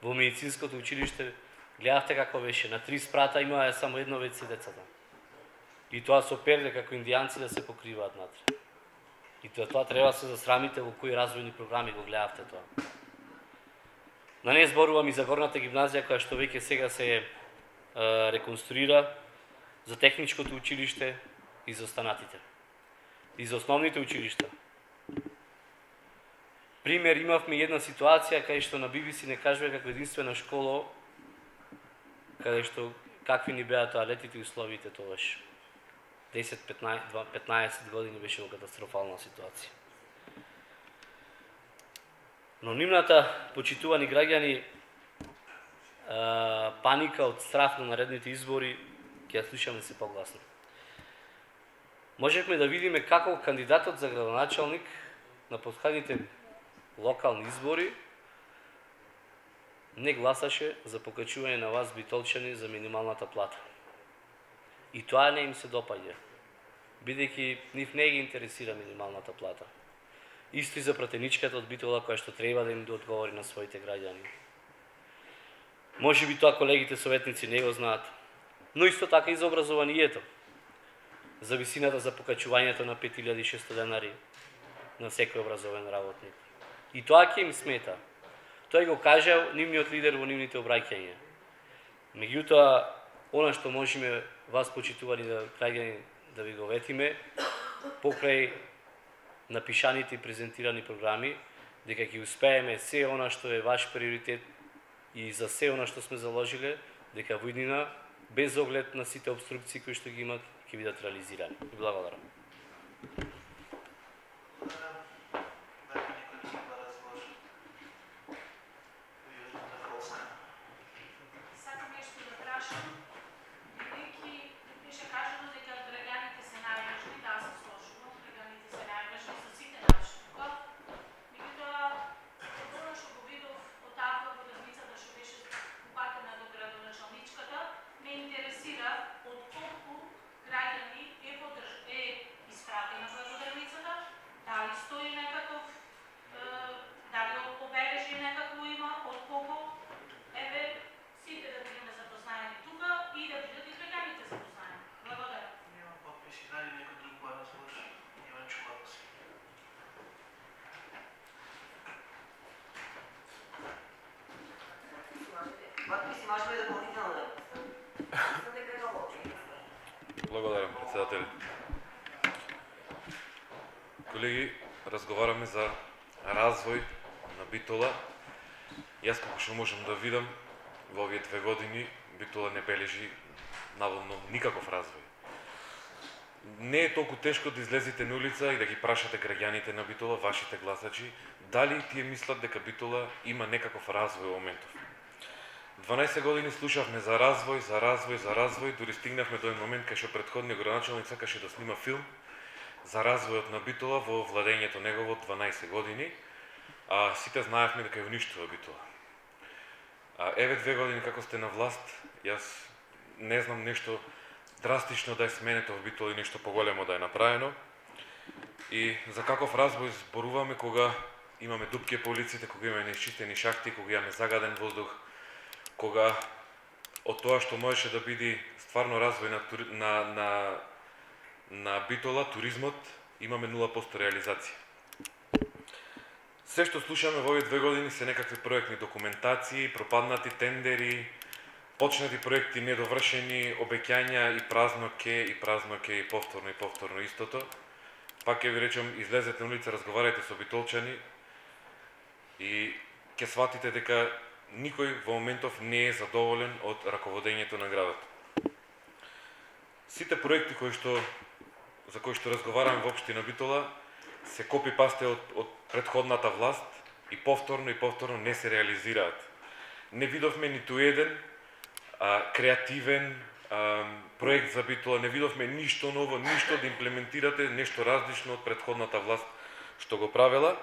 Во медицинското училиште гледавте како беше, на 3 спрата имаа само едно WC децата. И тоа со перде како индијанци да се покриваат натре. И тоа треба да се засрамите во кои развојни програми го гледавте тоа. На не зборувам и за горната гимназија која што веќе сега се реконструира, за техничкото училиште и за останатите. И за основните училишта. Пример, имавме една ситуација кај што на BBC не кажува како единствена школа, каде што какви ни беа тоалетите и условите тогаш. 10-15 години беше во катастрофална ситуација. Но нивната, почитувани граѓани, паника од страф на наредните избори ќе ја слушаме се погласно. Можевме да видиме како кандидатот за градоначалник на последните локални избори не гласаше за покачување на вас битолчани за минималната плата. И тоа не им се допаѓа, бидејќи нив не ги интересира минималната плата. Исто и за пратеничката од Битола која што треба да им одговори на своите граѓани. Може би тоа колегите советници не го знаат, но исто така и за образованието. За висината за покачувањето на 5600 денари на секој образовен работник. И тоа ќе им смета. Тој го кажал нивниот лидер во нивните обраќања. Меѓутоа, она што можеме вас почитувани граѓани да ви го ветиме, покрај напишаните и презентирани програми, дека ќе успееме се она што е ваш приоритет и за се она што сме заложиле, дека во иднина, без оглед на сите обструкции кои што ги имат, ќе бидат реализирани. Благодарам. Интересира од колку граѓани е испратена Подписи можеме дополнително да Благодарам, председател. Колеги, разговараме за развој на Битола. Јас како што можам да видам, во овие 2 години Битола не бележи наводно никаков развој. Не е толку тешко да излезете на улица и да ги прашате граѓаните на Битола, вашите гласачи, дали тие мислат дека Битола има некаков развој во моментов. 12 години слушавме за развој, дури стигнавме до еден момент кај што претходниот градоначалник сакаше да снима филм за развојот на Битола во владењето негово 12 години, а сите знаевме дека ја уништува Битола. Еве 2 години како сте на власт, јас не знам нешто драстично да е сменето во Битола и нешто поголемо да е направено. И за каков развој зборуваме кога имаме дупки по улиците, кога имаме неисчистени шахти, кога имаме загаден воздух, кога од тоа што можеше да биде стварно развој на Битола, туризмот, имаме 0% реализација. Се што слушаме во овие 2 години се некакви проектни документации, пропаднати тендери, почнати проекти недовршени, обеќања и празно ке и повторно истото. Пак ќе ви речем, излезете на улица, разговарајте со битолчани и ќе сватите дека никој во моментов не е задоволен од раководењето на градот. Сите проекти за кои што разговараме во општина Битола се копи-пасте од претходната власт и повторно не се реализираат. Не видовме ниту еден креативен проект за Битола, не видовме ништо ново, ништо да имплементирате, нешто различно од претходната власт што го правела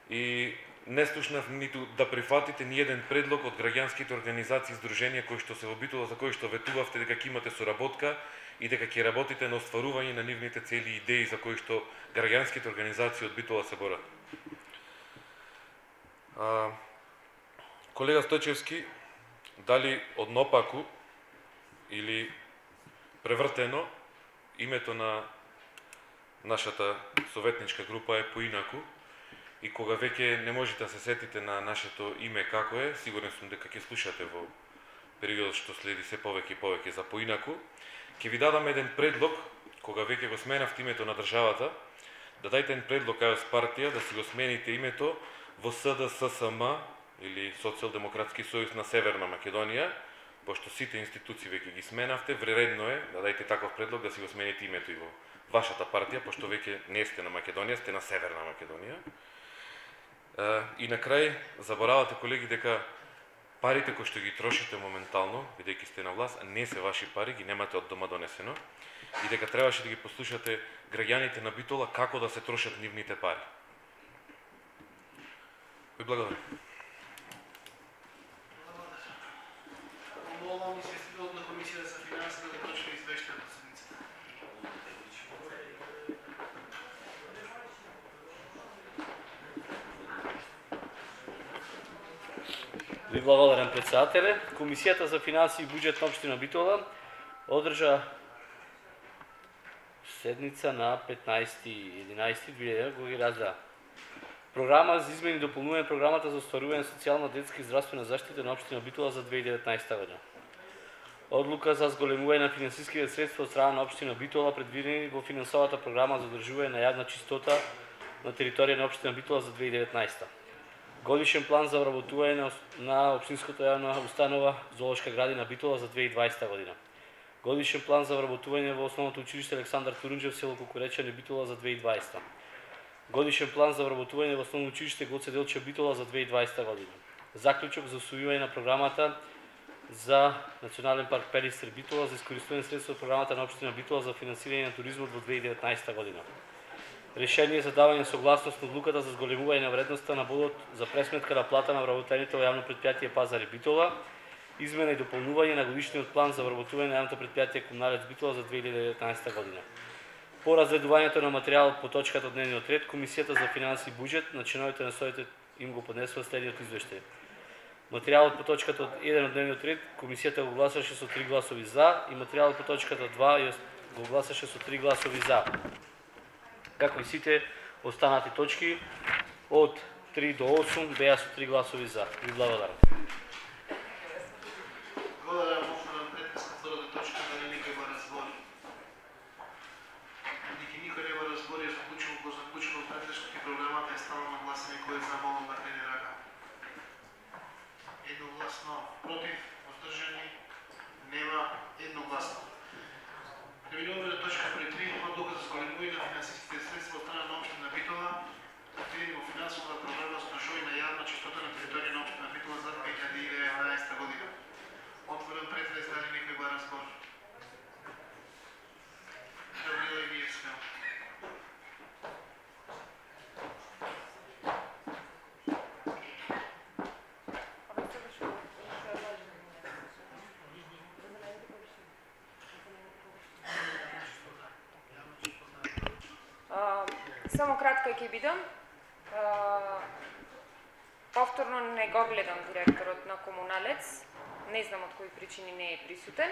и не слушнав ниту да прифатите ни еден предлог од граѓанските организации и здруженија кои што се во Битола, за кои што ветувавте дека ќе имате соработка и дека ќе работите на остварување на нивните цели и идеи за кои што граѓанските организации од Битола се борат. Колега Стојчевски, дали однопаку или превртено, името на нашата советничка група е поинаку и кога веќе не можете да се сетите на нашето име како е, сигурен сум дека ќе слушате во периодот што следи се повеќе и повеќе за поинаку, ќе ви дадам еден предлог, кога веќе го сменавте името на државата, да дајте еден предлог кај партија да си го смените името во СДССМ или Социјалдемократски сојуз на Северна Македонија, пошто сите институции веќе ги сменавте, вредно е да дајте таков предлог да си го смените името и во вашата партија, пошто веќе не сте на Македонија, сте на Северна Македонија. И на крај, заборавате, колеги, дека парите кои што ги трошите моментално, бидејќи сте на власт, не се ваши пари, ги немате од дома донесено, и дека требаше да ги послушате граѓаните на Битола како да се трошат нивните пари. Ви благодарам. Молам известителот на Комисијата за финансии да точно извештај од седницата. Ви благодарам, председателе. Комисијата за финансии и буџет на општина Битола одржа седница на 15.11.2000 кога ги разгледа програма за измени и дополнување на програмата за остварување на социјална, детска и здравствена заштита на општина Битола за 2019 година. Одлука за зголемување на финансиските средства од страна на општина Битола предвидени во финансовата програма за одржување на јавна чистота на територија на општина Битола за 2019. Годишен план за вработување на општинската јавна установа Зоолошка градина Битола за 2020 година. Годишен план за вработување во основното училиште Александар Турунџев село Кукуречани Битола за 2020. Годишен план за вработување во основно училиште Гоце Делчев Битола за 2020 година. Заклучок за усвојување на програмата за Национален парк Пелистер Битола за искористување средства од програмата на општина Битола за финансирање на туризмот во 2019 година. Решение за давање согласност на одлуката за зголемување на вредноста на бодот за пресметка на плата на вработените во јавно претпријатие Пазари Битола, измена и дополнување на годишниот план за вработување на јавното претпријатие Комуналец Битола за 2019 година. По разгледувањето на материјалот по точката од дневниот ред, Комисијата за финансии и буџет на членовите на советот им го поднесува следниот извештај. Материјалот по точката од 1 од дневниот ред, Комисијата го гласаше со 3 гласови за и материјалот по точката 2 го гласаше со 3 гласови за. Како и сите останати точки од 3 до 8 беа со 3 гласови за. Ви благодарам. Против? Воздржани? Нема. Едногласно. Преминуваме на точка број 3, одлука за зголемување на финансиските средства од страна на општина Битола, предвидени во финансовата програма за одржување на јавна чистота на територија на општина Битола за 2019 година. Отворен претрес, дали некој бара збор? Габриела Емиевска. Само кратка ќе бидам. Повторно не го гледам директорот на Комуналец, не знам од кои причини не е присутен.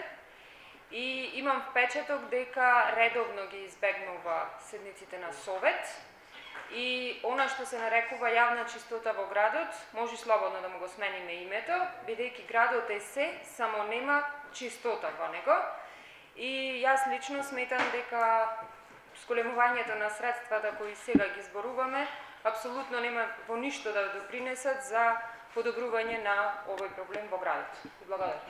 И имам впечаток дека редовно ги избегнува седниците на Совет и она што се нарекува јавна чистота во градот, може слободно да му го смениме името, бидејќи градот е се, само нема чистота во него. И јас лично сметам дека зголемувањето на средствата кои сега ги зборуваме апсолутно нема во ништо да допринесат за подобрување на овој проблем во градот. Благодарам.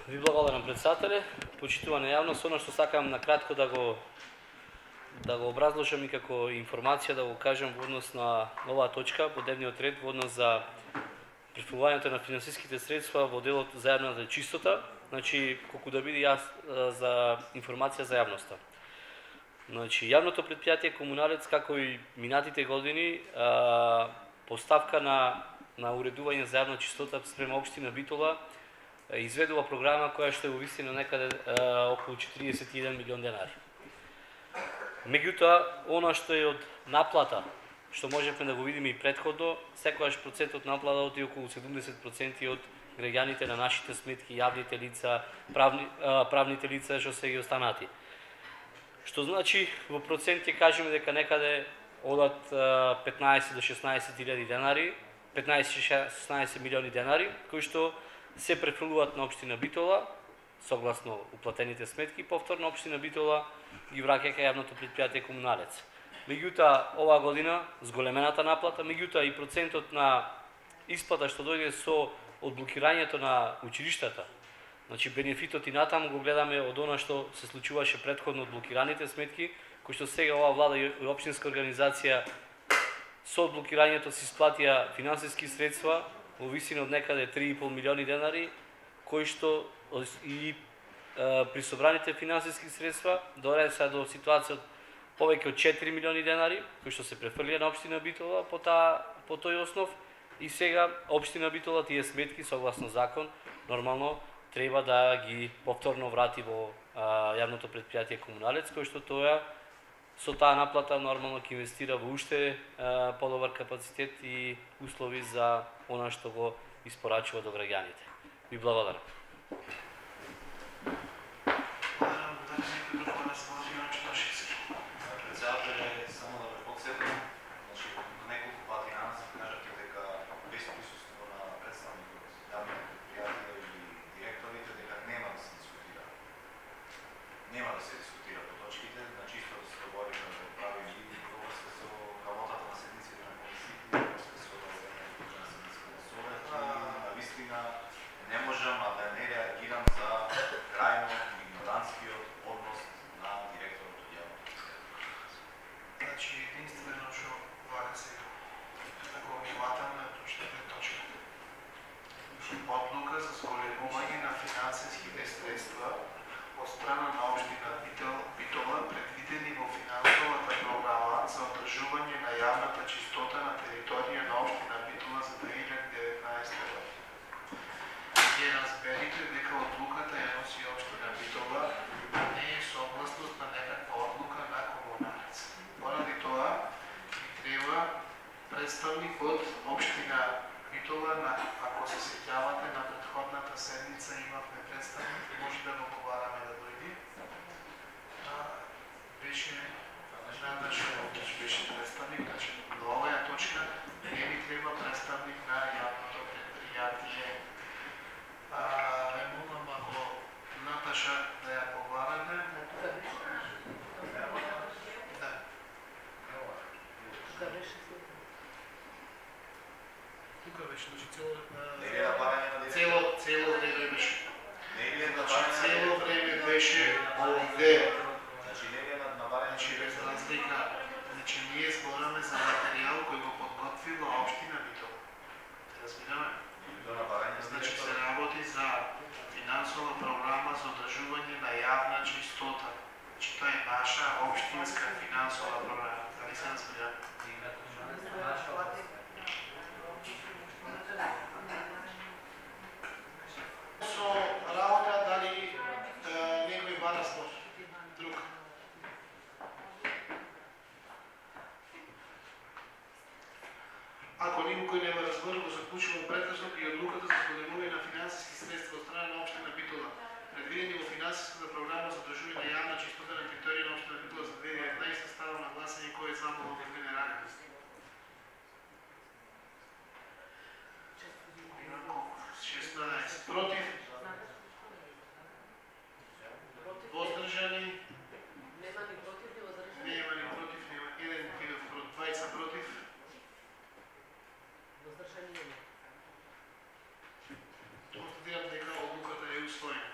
Ви благодарам, председателе. Почитувана јавност, она што сакам на кратко да го образложам и како информација да го кажам во однос на оваа точка по дневниот ред во однос за префрлувањето на финансиските средства во делот за јавната чистота, значи колку да биде за информација за јавноста. Значи јавното претпријатие Комуналец како и минатите години поставка на уредување за јавна чистота спрема општина Битола изведува програма која што е во вистина некаде околу 41 милион денари. Меѓутоа, она што е од наплата, што можевме да го видиме и претходно, секогаш процентот наплата е околу 70% од граѓаните на нашите сметки, јавните лица, правните лица што се ги останати. Што значи, во процент ќе кажеме дека некаде одат 15 до 16 илјади денари, 15-16 милиони денари, кои што се префрлуваат на општина Битола, согласно уплатените сметки, повторно општина Битола ги враќа кај јавното претпријатие Комуналец. Меѓутоа, оваа година зголемената наплата, меѓутоа и процентот на исплата што дојде со одблокирањето на училиштата, значи бенефитот и натаму го гледаме од она што се случуваше претходно од блокираните сметки, кои што сега оваа влада и општинска организација со одблокирањето се исплатија финансиски средства во висина од некаде 3,5 милиони денари, кои што и при собраните финансиски средства доаѓа се до ситуација од повеќе од 4 милиони денари, кои што се префрлија на општина Битола по тој основ, и сега општина Битола тие сметки согласно закон нормално треба да ги повторно врати во јавното претпријатие Комуналец, кој што тоа со таа наплата нормално ќе инвестира во уште подобар капацитет и услови за она што го испорачува до граѓаните. Ви благодарам. Одлука за зголемување на финансиските средства од страна на општина Битола, предвидени во финансовата програма за одржување на јавната чистота на територија на општина Битола за 2019 година. Ќе разберите дека одлуката ја носи општина Битола, а не е согласност на некаква одлука на Комуналец. Поради тоа ни треба представник од општина Битола, ако се сеќавате на претходната седница имавме представник, може да го побараме да дојде. Беше представник, значи на оваа точка не ми треба представник на јавното предпријатие Цело време беше. Цело време беше овде. Значи без разлика. Значи ние збораме за материјал кој го подготвила општина Битола. Разбираме? Значи се работи за финансова програма за одржување на јавна чистота. Значи тоа е наша општинска финансова програма. Дали се разбираме? Со работа дали некој бара спор? Друг. Ако никој нема разбор, го заклучувам прекрасно и одлуката за зголемување на финансиски средства од страна на општина Битола, предвидени во финансиската програма за одржување на јавна чистота на територија на општина Битола за 2019, ставам на гласање кој е за овој генерален. Против? Воздржани? Нема ни против, нема еден двајца против. Воздржани нема. Констатирам дека одлуката е усвоена.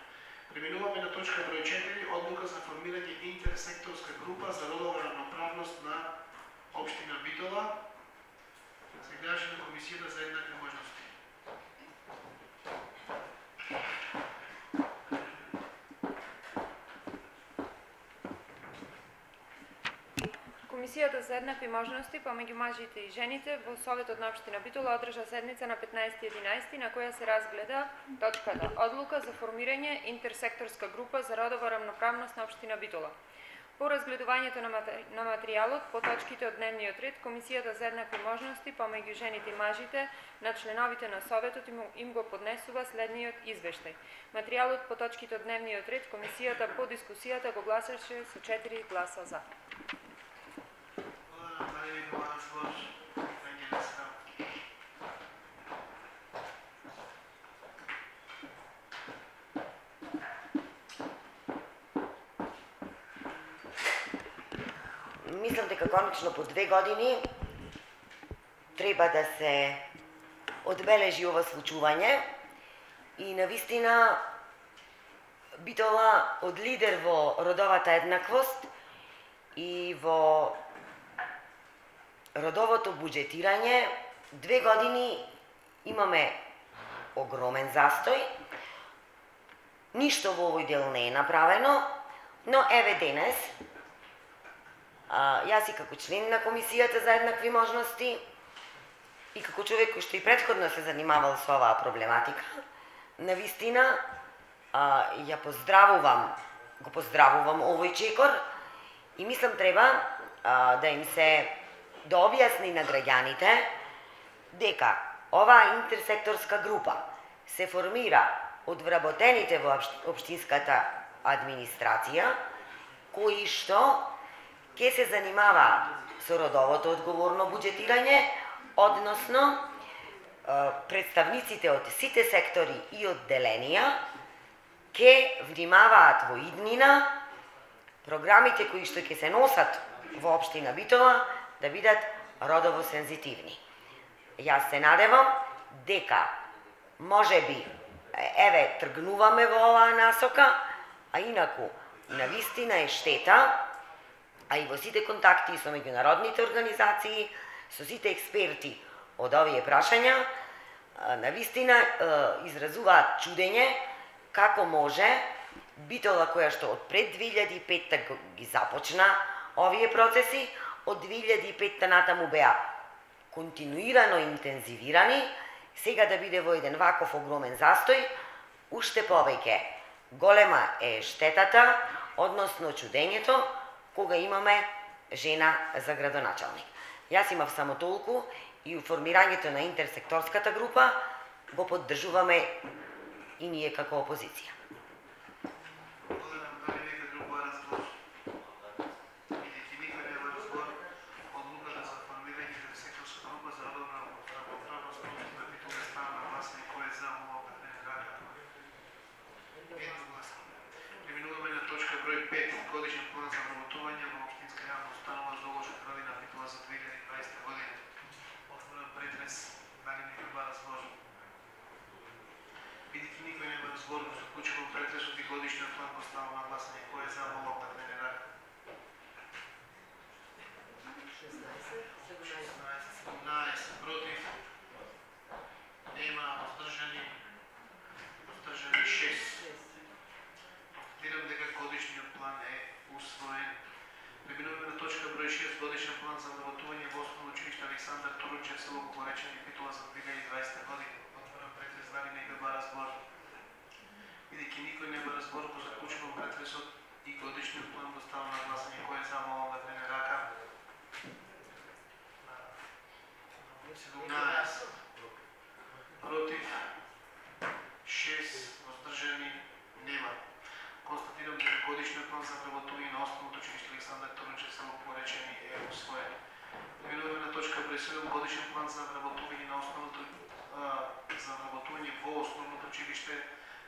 Преминуваме на точка број 4, одлука за формирање интерсекторска група за родова равноправност на општина Битола. Сегашна на комисијата за еднакви можности. Комисијата за еднакви можности помеѓу мажите и жените во Советот на општина Битола одржа седница на 15.11 на која се разгледа точката Одлука за формирање интерсекторска група за родова равноправност на општина Битола. По разгледувањето на материјалот по точките од дневниот ред, Комисијата за еднакви можности помеѓу жените и мажите на членовите на Советот им го поднесува следниот извештај. Материјалот по точките од дневниот ред, Комисијата по дискусијата го гласаше со 4 гласа за. Мислам дека конечно по 2 години треба да се одбележи ова случување и навистина Битола од лидер во родовата еднаквост и во родовото буџетирање 2 години имаме огромен застој. Ништо во овој дел не е направено, но еве денес јас и како член на Комисијата за еднакви можности и како човек кој што и претходно се занимавал со оваа проблематика, навистина ја го поздравувам овој чекор и мислам треба да им се да објасни на граѓаните дека оваа интерсекторска група се формира од вработените во општинската администрација кои што ќе се занимава со родовото одговорно буџетирање, односно представниците од сите сектори и одделенија ќе внимаваат во иднина програмите кои што ќе се носат во општина Битола да бидат родово сензитивни. Јас се надевам дека можеби еве тргнуваме во оваа насока, а инаку навистина е штета, а и во сите контакти со меѓународните организации, со сите експерти од овие прашања, навистина изразуваат чудење како може Битола која што од пред 2005 ги започна овие процеси, од 2005 натаму беа континуирано интензивирани, сега да биде во еден ваков огромен застој, уште повеќе голема е штетата, односно чудењето, кога имаме жена за градоначалник. Јас имав само толку и формирањето на интерсекторската група го поддржуваме и ние како опозиција. Дали некој бара сложен? збор го заклучувам претресот и годишниот план го ставам на гласање. Кој е за, молам да крене рака. 17 против. Нема воздржани. Воздржани 6. Констатирам дека годишниот план е усвоен. Преминуваме на точка број 6, годишен план за вработување во Основно училиште Александар Турунчев, село Купоречани, Битола за 2020 година. Отворам претрес, дали некој бара збор? Бидејќи никој не бара збор, го заклучувам претресот и годишниот план го ставам на гласање. Кој е за, молам да крене рака. 17 против, 6 воздржани, нема. Констатирам дека годишниот план за вработување на Основното училиште Александар Турунчев, село Купоречани е усвоен. Преминуваме на точка број 7, годишен план за вработување на во Основното училиште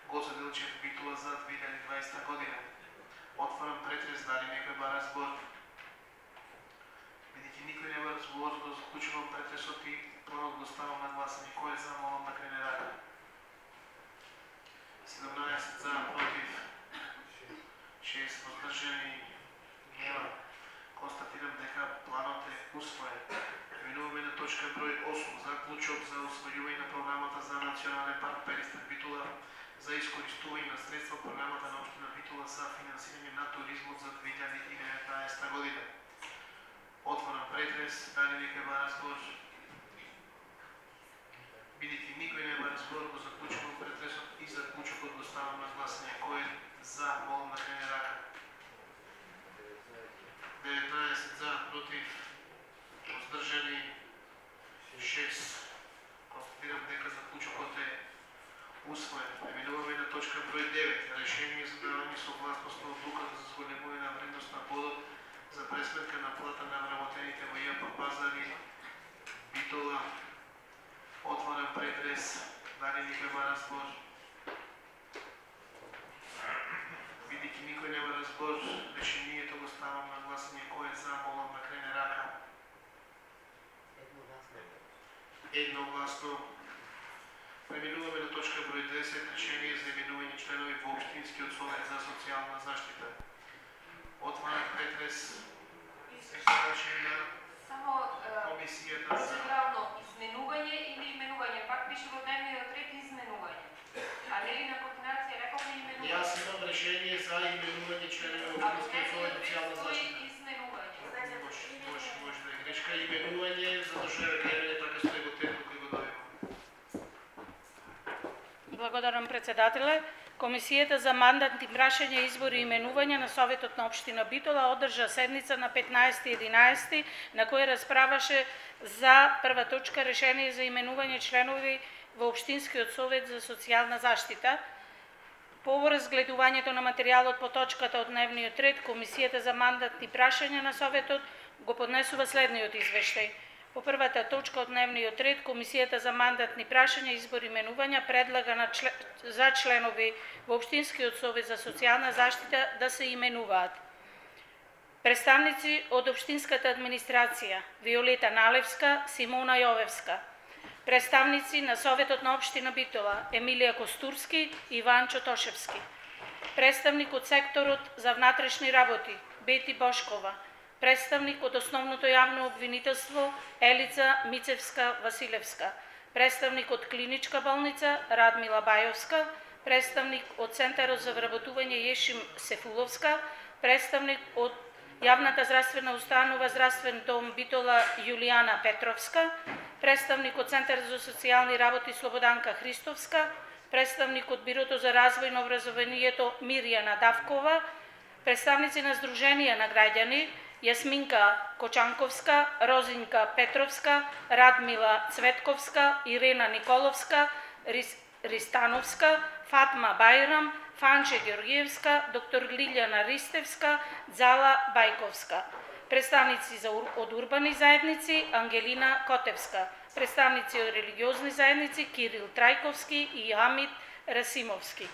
Гоце Делчев, Битола за 2020 година. Отварам претрес, дали некој бара збор? Бидејќи никој не бара збор, го заклучувам претресот и планот го ставам на гласање. Кој е за, молам да крене рака. 17 за, против, 6 воздржани, нема. Констатирам дека планот е усвоен. Преминуваме на точка број 8, заклучок за усвојување на програмата за Национален парк Пелистер Битола за искористување на средства програмата на општина Битола за финансирање на туризмот за 2019 година. Отворам претрес, дали некој бара збор? Бидејќи никој не бара збор, го заклучувам претресот и заклучокот го ставам на гласање. Кој е за, молам да крене рака. 19 за, против, воздржани 6. Констатирам дека заклучокот е усвоен. Преминуваме на точка број 9. Решение за давање согласност на одлуката за зголемување на вредност на подот за пресметка на плата на вработените во ЈП Пазари Битола. Отварам претрес, дали некој бара збор? Бидејќи никој не бара збор, решението го ставам на гласање. Кој е за, молам да крене рака. Едногласно. Преминуваме на точка број 10, решение за именување членови во Општинскиот совет за социјална заштита. Отварам претрес. Само комисијата за процедурално изменување или именување, пак пише во дневниот ред изменување. А нели на координација рековме именување? Јас имам решение за именување членови во Општинскиот совет за социјална заштита. Изменување. Може да е грешка. Именување, затоа што е гледане така што е го тетно кој го дојде. Благодарам, председателе. Комисијата за мандатни прашања, избори и именувања на Советот на Општина Битола одржа седница на 15.11. на која расправаше за прва точка решение за именување членови во Општинскиот совет за социјална заштита. По разгледувањето на материјалот по точката од дневниот ред, Комисијата за мандатни прашања на Советот го поднесува следниот извештај. По првата точка од дневниот ред, Комисијата за мандатни прашања, избори и именувања предлага за членови во Општинскиот совет за социјална заштита да се именуваат представници од Општинската администрација Виолета Налевска, Симона Јовевска, представници на Советот на Општина Битола Емилија Костурски и Иванчо Тошевски, представник од секторот за внатрешни работи Бети Бошкова, представник од Основното јавно обвинителство Елица Мицевска-Василевска, представник од Клиничка болница Радмила Бајовска, представник од Центарот за вработување Јешим Сефуловска, представник од Јавната здравствена установа Здравствен дом Битола Јулијана Петровска, представник од Центарот за социјални работи Слободанка Христовска, представник од Бирото за развој на образованието Мирјана Давкова, представници на Сдруженија на граѓани Јасминка Кочанковска, Розинка Петровска, Радмила Цветковска, Ирена Николовска, Ристановска, Фатма Бајрам, Фанче Георгиевска, доктор Лилјана Ристевска, Дзала Бајковска. Представници од урбани заедници Ангелина Котевска. Представници од религиозни заедници Кирил Трајковски и Хамид Расимовски.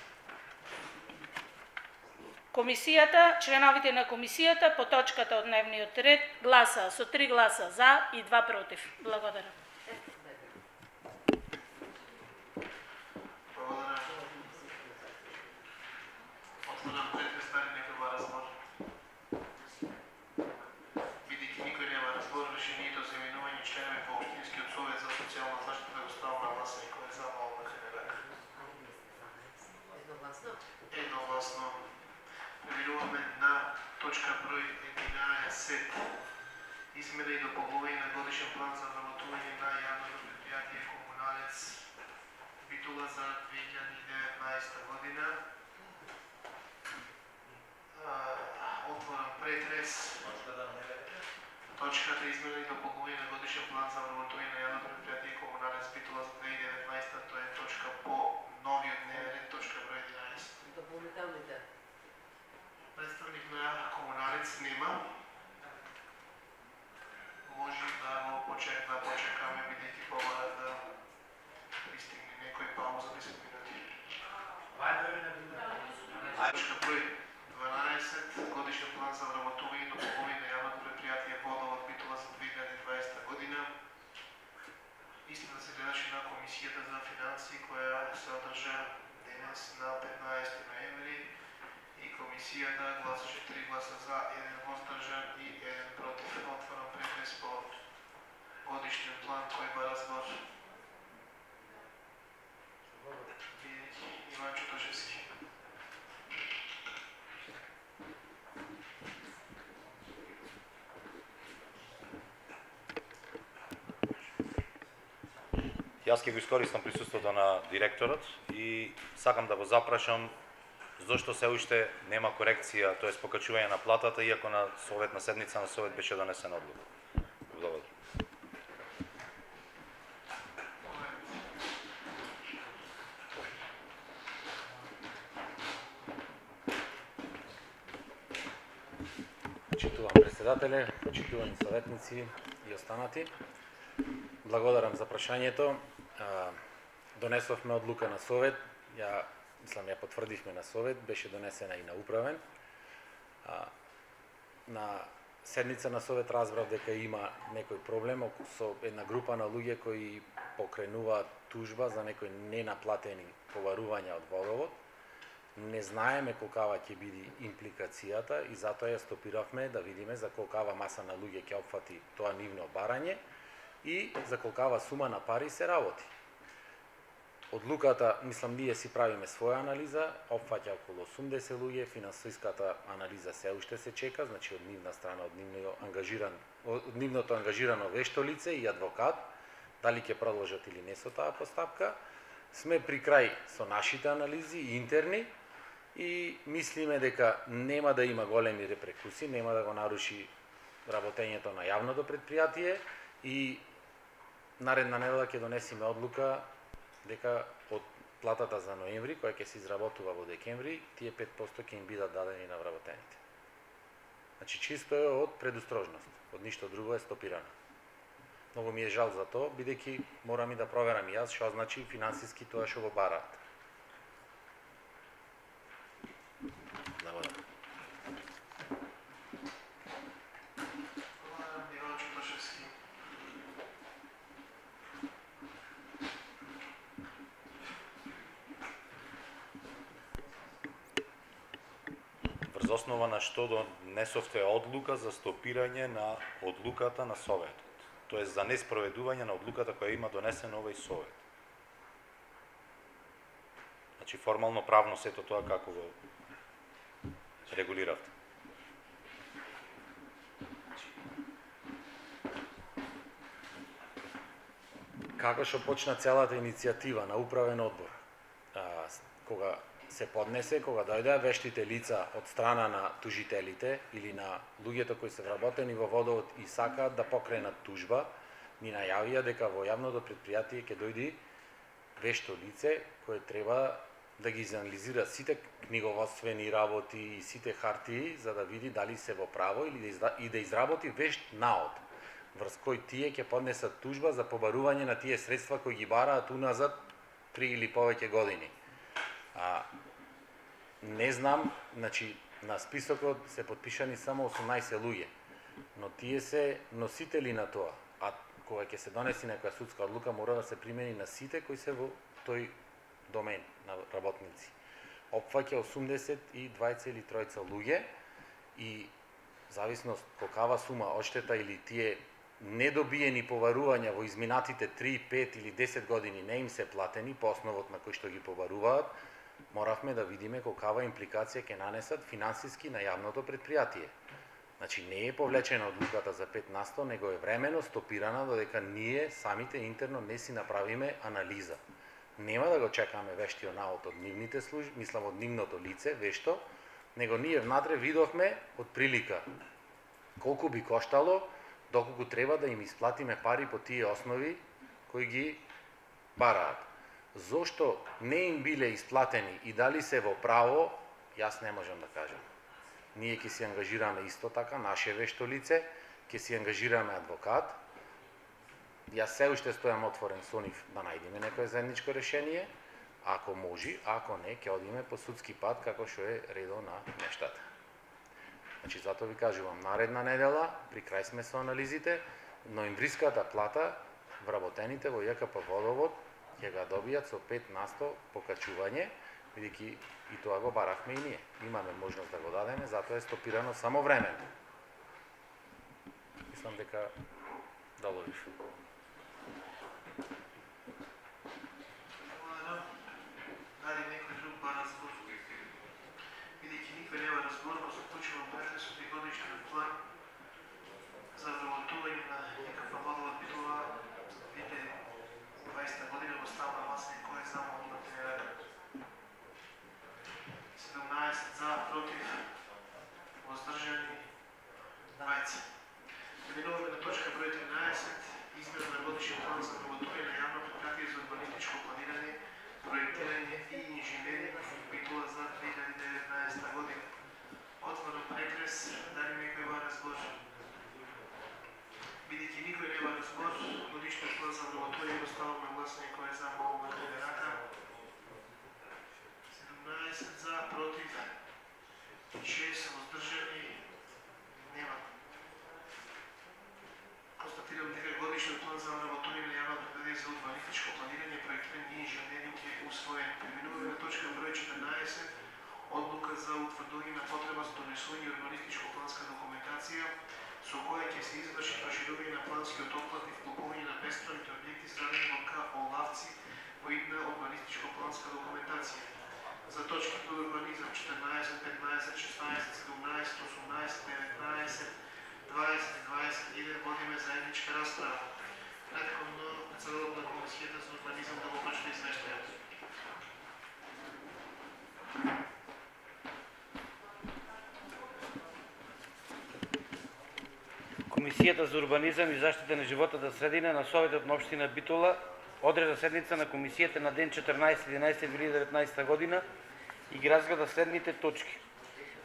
Комисијата, членовите на комисијата по точката од дневниот ред гласа со 3 гласа за и 2 против. Благодарам. Отворам претрес, дали некој ва разбор? Бидејќи никој нема разбор, решението за именување членови по Општинскиот совет за социјална заштита го ставам на гласање. Кој е за, мало да се рака? Едногласно. Преминуваме на точка број 11. Измена и дополнување на годишен план за вработување на јавното предпријатие Комуналец Битола за 2019 година. Отворам претрес. Точката измена и дополнување на годишен план за вработување на јавното предпријатие Комуналец Битола за 2019, тоа е точка по новиот дневен ред, точка број 11. Дополнителните. Представник на Комуналец нема. Може да го почекаме, бидејќи помара да пристигне некој пауза 10 минути. Точка број 12. Годишен план за вработување и дополнување на јавното предпријатие Водовод Битола за 2020 година. Истина се гледаше на Комисијата за финансии, која се одржа денес на 15 ноември и Комисијата гласаше 3 гласа за, 1 воздржан и 1 против. Отворам претрес по годишниот план кој ба разбор. Иван Чутошевски. Јас ќе го искористам присуството на директорот и сакам да го запрашам зошто се уште нема корекција, тоа е покачување на платата, иако на советна седница на совет беше донесена одлука. Благодарам. Почитувам председателе, почитувани советници и останати. Благодарам за прашањето. Донесовме одлука на совет, ја потврдивме на совет, беше донесена и на управен. На седница на совет разбрав дека има некој проблем со една група на луѓе кои покренуваат тужба за некои ненаплатени поварувања од водовод. Не знаеме колкава ќе биде импликацијата и затоа ја стопиравме да видиме за колкава маса на луѓе ќе опфати тоа нивно барање и за колкава сума на пари се работи. Одлуката, мислам, ние си правиме своја анализа, опфаќа околу 80 луѓе, финансиската анализа се уште се чека, значи од нивна страна, од нивното ангажирано вешто лице и адвокат, дали ќе продолжат или не со таа постапка. Сме при крај со нашите анализи интерни и мислиме дека нема да има големи репрекуси, нема да го наруши работењето на јавното предпријатие и наредна недела ќе донесеме одлука дека од платата за ноември, која ќе се изработува во декември, тие 5% ќе им бидат дадени на вработените. Значи чисто е од предустрожност, од ништо друго е стопирано. Многу ми е жал за тоа, бидејќи морам и да проверам и јас што значи финансиски тоа што го бараат. Благодарам. Врз основа на што донесовте одлука за стопирање на одлуката на советот, тоест за неспроведување на одлуката која има донесен овој совет. Значи формално правно сето тоа како го регулиравте. Како што почна целата иницијатива на управен одбор, кога се поднесе, кога дојдеа вештите лица од страна на тужителите или на луѓето кои се вработени во водовод и сакаат да покренат тужба, ни најавија дека во јавното предпријатие ќе дојди вешто лице кое треба да ги изанализира сите книговодствени работи и сите хартии за да види дали се во право или да изработи вешт наод врз кој тие ќе поднесат тужба за побарување на тие средства кои ги бараат уназад 3 или повеќе години. Не знам, значи на списокот се подпишани само 18 луѓе, но тие се носители на тоа, а кога ќе се донеси некоја судска одлука мора да се примени на сите кои се во тој домен на работници. опфаќа 82,3 луѓе и зависност колкава сума одштета или тие недобиени поварувања во изминатите 3, 5 или 10 години не им се платени по основот на кој што ги поваруваат, моравме да видиме колкава импликација ќе нанесат финансиски на јавното предпријатие. Значи не е повлечена одлуката за 5%, него е времено стопирана додека ние самите интерно не си направиме анализа. Нема да го чекаме вештиот наод од нивните служби, мислам од нивното лице, вешто, него ние внатре видовме од прилика колку би коштало, доколку треба да им исплатиме пари по тие основи кои ги бараат. Зошто не им биле исплатени и дали се во право, јас не можам да кажам. Ние ќе си ангажираме исто така, наше вешто лице, ќе си ангажираме адвокат. Јас се уште стојам отворен со нив да најдеме некое заедничко решение, ако може, ако не, ќе одиме по судски пат, како што е редо на нештата. Значи, затоа ви кажувам, наредна недела, при крај сме со анализите, ноемвриската плата, вработените во ЈКП Водовод, ќе ga добијат со 5% покачување, бидејќи и тоа го баравме и ние. Имаме можност да го дадеме, затоа е стопирано само времено. Мислам дека доловиш. Дали некој друг бара збор? Бидејќи никој нема разбор, го заклучувам претресот и годишен план за вработување на ЈКП Водовод Битола за 2020 година во ставна власт кој е замолот на ТР. 17 за, против, воздржани, 20. Преминуваме на точка број 13, измена на годишен план за вработување на јавно предпријатие за урбанистичко планирање, проектирање и инженеринг Битола за 2019 година. Отворен претрес, дали некој бара збор? Бидејќи никој не бара збор, годишниот план за вработување го ставам на гласање кој е за, молам да диgne рака. 17 за, против, 6 воздржани, нема. Констатирам дека годишниот план за вработување на јавно предпријатие за урбанистичко планирање, проектирање и инженеринг е усвоен. Преминуваме на точка број 14, одлука за утврдување на потреба за донесување урбанистичко планска документација со која ќе се изврши проширување на планскиот опфат и вклопување на бесправните објекти изградени во КО Лавци во идна урбанистичко планска документација. За точките урбанизам 14, 15, 16, 17, 18, 19, 20 и 21 водиме заедничка расправа. Претходно председателот на Комисијата за урбанизам да го прочита извештајот. Комисијата за урбанизам и заштита на животната средина на Советот на општина Битола одреда седница на комисијата на ден 14.11.2019 година и ги разгледа следните точки.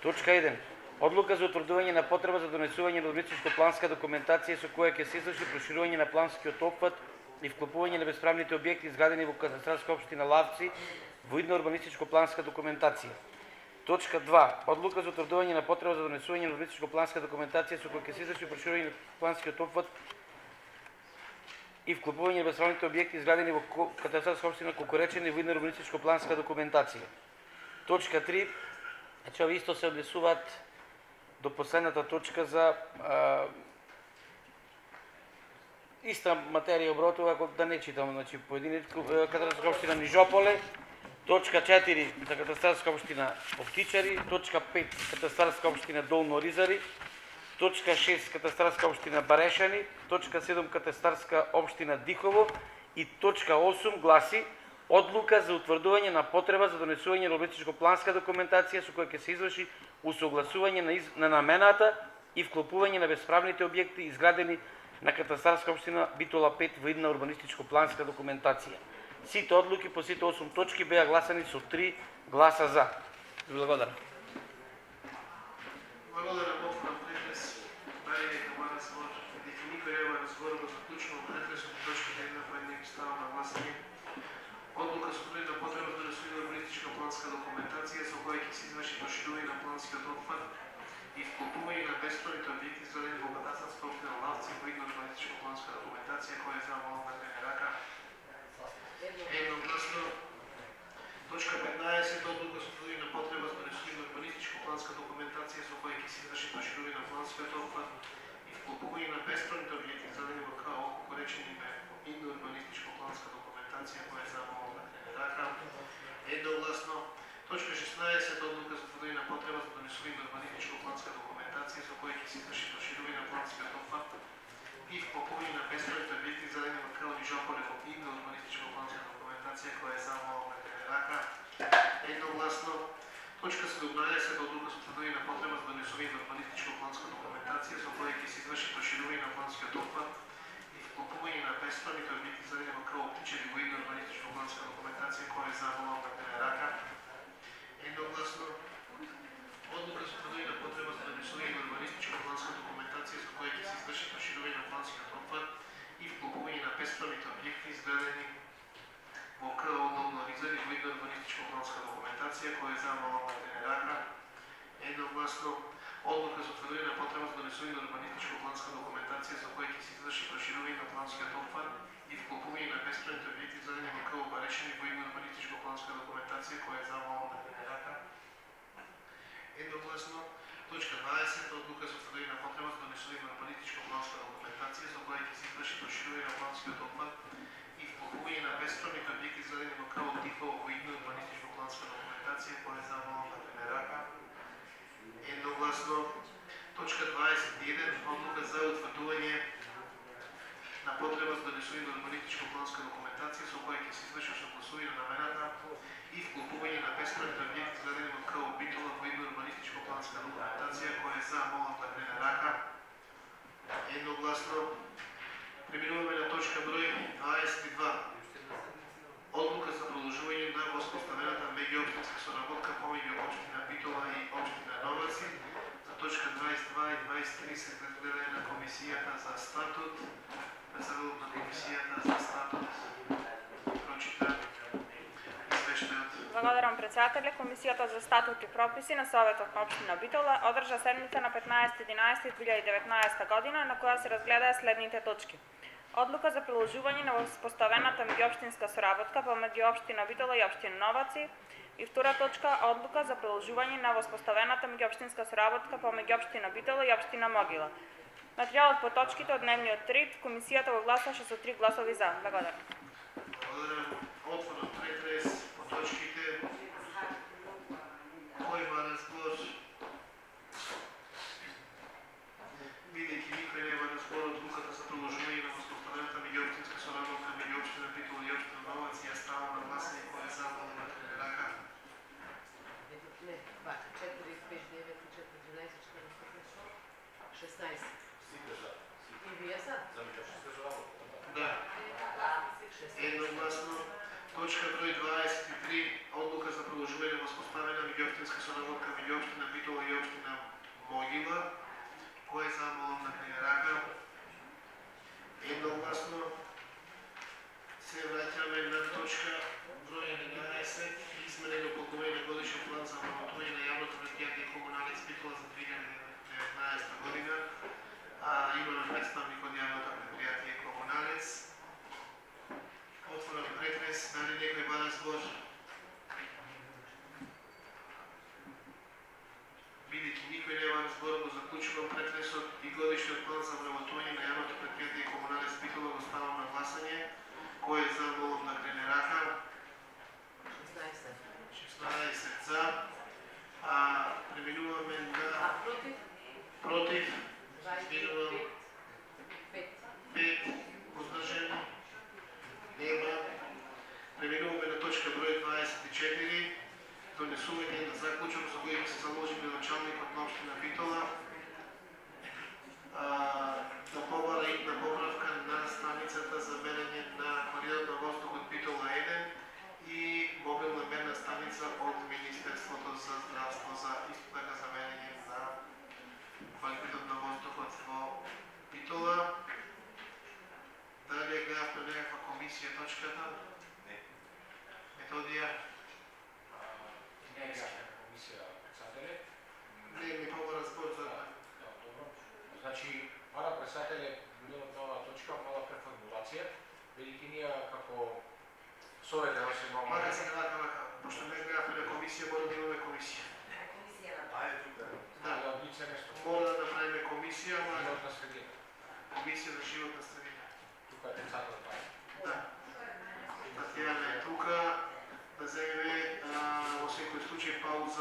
Точка 1. Одлука за утврдување на потреба за донесување на урбанистичко планска документација со која ќе се изврши проширување на планскиот опфат и вклопување на бесправните објекти изградени во катастарска општина Лавци во идна урбанистичко планска документација. Точка 2. Одлука за утврдување на потреба за донесување на урбанистичко планска документација со која ќе се изврши проширување на планскиот опфат и вклопување на бесправните објекти изградени во катастарска општина Кукуречени во идна урбанистичко планска документација. Точка 3. Значи, ови исто се однесуваат до последната точка за иста материја обротува, ако да не читам, значи поединец катастарска општина Нижополе, точка 4 за катастарска општина Оптичари, точка 5 катастарска општина Долно Ризари, точка 6 катастарска општина Барешани, точка 7 катастарска општина Дихово и точка 8 гласи одлука за утврдување на потреба за донесување на урбанистичко планска документација со која ќе се изврши усогласување на намената и вклопување на бесправните објекти изградени на катастарска општина Битола 5 во идна урбанистичко планска документација. Сите одлуки по сите 8 точки беа гласани со 3 гласа за. Благодарам. Благодарам, отворам претрес. Дали нека бара збор, дека никој не бара збор, го заклучувам претресот и точките 1 по 1 ги ставам на гласање. Одлука со утврдување на потреба за донесување на урбанистичка планска документација со која ќе се изврши проширување на планскиот опфат и вклопување на бесправните објекти изградени во катастарска општина Лавци во идна урбанистичка планска документација која е за молам да диgne рака. Едногласно. Точка 15. Одлука со утврдување на 16 одлука за утврдување на потреба за донесување на урбанистичко-планска документација со која ќе се изврши проширување на планскиот опфат и вклопување на бесправните објекти зададени во Крални Жополе во ИГ на урбанистичко-планска документација која е замолна рака. Едногласно. Точка 17 одлука за утврдување на потреба за донесување на урбанистичко-планска документација со која ќе се изврши проширување на планскиот опфат и вклопување на бесправните објекти зададени во Крални Птичеви во ИГ на урбанистичко-планска документација која е замолна рака. Едногласно. Одлука за утврдување на потреба за донесување на урбанистичко-планска документација со која ќе се изврши проширување на планскиот опфат и вклопување на бесправните објекти изградени во КО Долно Ризани во ИГ на урбанистичко-планска документација која е замолна рака. Едногласно. Одлука за утврдување на потреба за донесување на урбанистичко-планска документација со која ќе се изврши проширување на планскиот опфат и вклопување на бесправните објекти зададени во КО Барешани во ИГ на урбанистичко-планска документација која е замолна рака. Едногласно. Точка 20 одлука за утврдување на потреба за донесување на урбанистичко-планска документација со која ќе се изврши проширување на планскиот опфат и вклопување на бесправните објекти зададени во КО Тихо во ИГ на урбанистичко-планска документација која е замолна рака. Едногласно. Точка 21 одлука за утврдување на потреба за донесување на урбанистичко-планска документација со која ќе се изврши согласување на намената и вклопување на бесправните објекти зададени во КО Битола во ИГ на урбанистичко-планска документација која е замолна рака. Едногласно. Преминуваме на точка број 22. Одлука за продолжување на воспоставената меѓуопштинска соработка помеѓу општина Битола и општина Новаци. За точка 22 и 23 се гледање на комисијата за статут. Председателот на комисијата за статут прочита извештајот. Благодарам председателе. Комисијата за статут и прописи на Советот на општина Битола одржа седница на 15.11.2019 година на која се разгледаа следните точки. Одлука за продолжување на воспоставената меѓуопштинска соработка помеѓу општина Битола и општина Новаци и втора точка одлука за продолжување на воспоставената меѓуопштинска соработка помеѓу општина Битола и општина Могила. Материјалот по точките од дневниот ред комисијата го гласаше со 3 гласови за. Благодарам. Благодарам. Отворен претрес по точките. Кој има разбор? Бидејќи никој нема разбор, одлуката за продолжување на воспоставената меѓуопштинска соработка меѓу општина Битола и општина Новаци ја ставам на гласање кој е за рака. Не, 4, 5, 9, 4, 11, 14, 16. И вие са? Да. Едногласно. Точка број 23. Одлука за продолжување на воспоставена меѓуопштинска соработка меѓу општина Битола и општина Могила. Кој е за молам на рака? Едногласно. Се враќаме на точка број 11. Измена и дополнување на годишен план за вработување на јавното предпријатие Комуналец Битола за 2019 година. Имаме представник од јавното предпријатие Комуналец. Отворен претрес, дали некој има разбор? Бидејќи никој нема разбор, го заклучувам претресот и годишниот план за вработување на јавното предпријатие Комуналец Битола го ставам на гласање. Кој е за молам да крене рака? 16 за. Преминуваме на... Против? Минувам 5 воздржани. Нема. Преминуваме на точка број 24. Донесување на заклучок за кој се заложи началникот на општина Битола да побара идна поправка на станицата за мерење на квалитетот на воздухот Битола 1 и мобилна мерна станица од Министерството за здравство за исто така за мерење на квалитетот на воздухот во Битола. Дали гледавме некаква комисија точката? Не. Методија? Не гледавме комисија председателе. Не, ми побара збор за... Добро. Значи, мала председателе, било на точка, мала преформулација, бидејќи ние како Совет да се имаме... Мара се вака, пошто не гледавме на комисија, мора да имаме комисија. Да, мора да направиме комисија, животна средина. Комисија за животна средина. Тука е председател Пај. Да. Татјана е тука, да земеме во секој случај пауза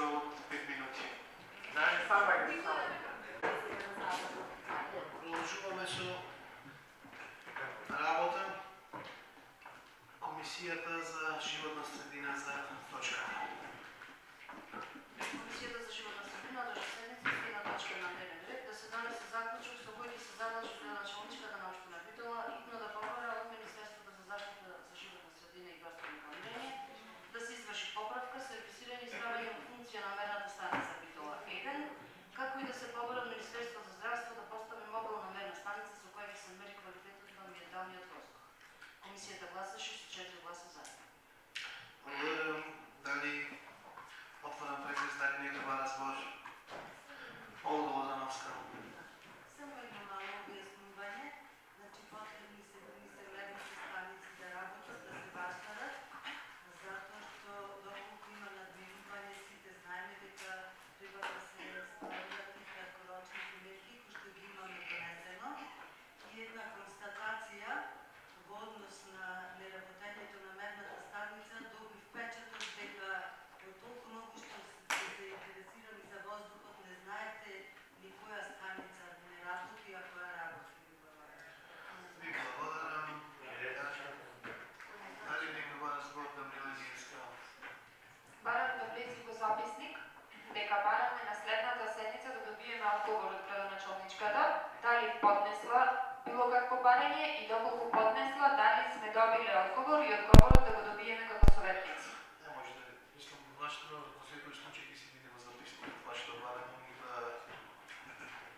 дали поднесла било какво барање и доколку поднесла, дали сме добиле одговор и одговорот да го добиеме како советници. Не може да, мислам, вашето во секој случај ќе си видиме записник од вашето барање и да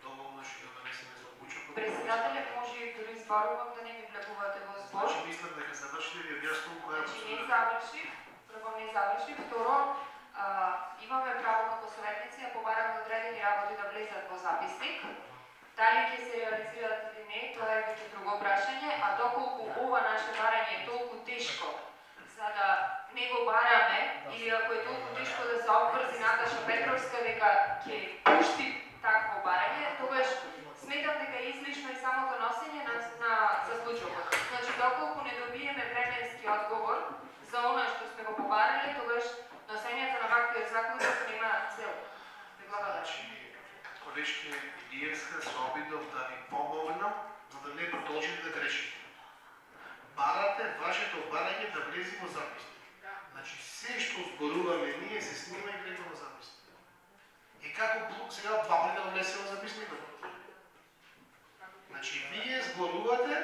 доволно што да донесеме заклучокот. Председателе, може и дори зборувам да не ми влегувате во збор. Значи мислам дека завршите ви објаснувам која Значи не заврши, прво не заврши, второ имаме право како советници да побараме одредени работи да влезат во записник. Дали ќе се реализираат или не, тоа е веќе друго прашање, а доколку ова наше барање е толку тешко за да не го бараме, или ако е толку тешко да се обврзи Наташа Петровска дека ќе пушти такво барање, тогаш сметам дека е излишно и самото носење на заклучокот. Значи, доколку не добиеме временски одговор за она што сме го побарале, тогаш носењето на ваквиот заклучок нема цел. Колешке Илиевска се обидов да ви помогнам, за да не продолжите да грешите. Барате вашето барање да влези во записник. Значи, се што зборуваме ние се снима и влезе во записник. И како сега два пати да влезе во записникот? Значи, вие зборувате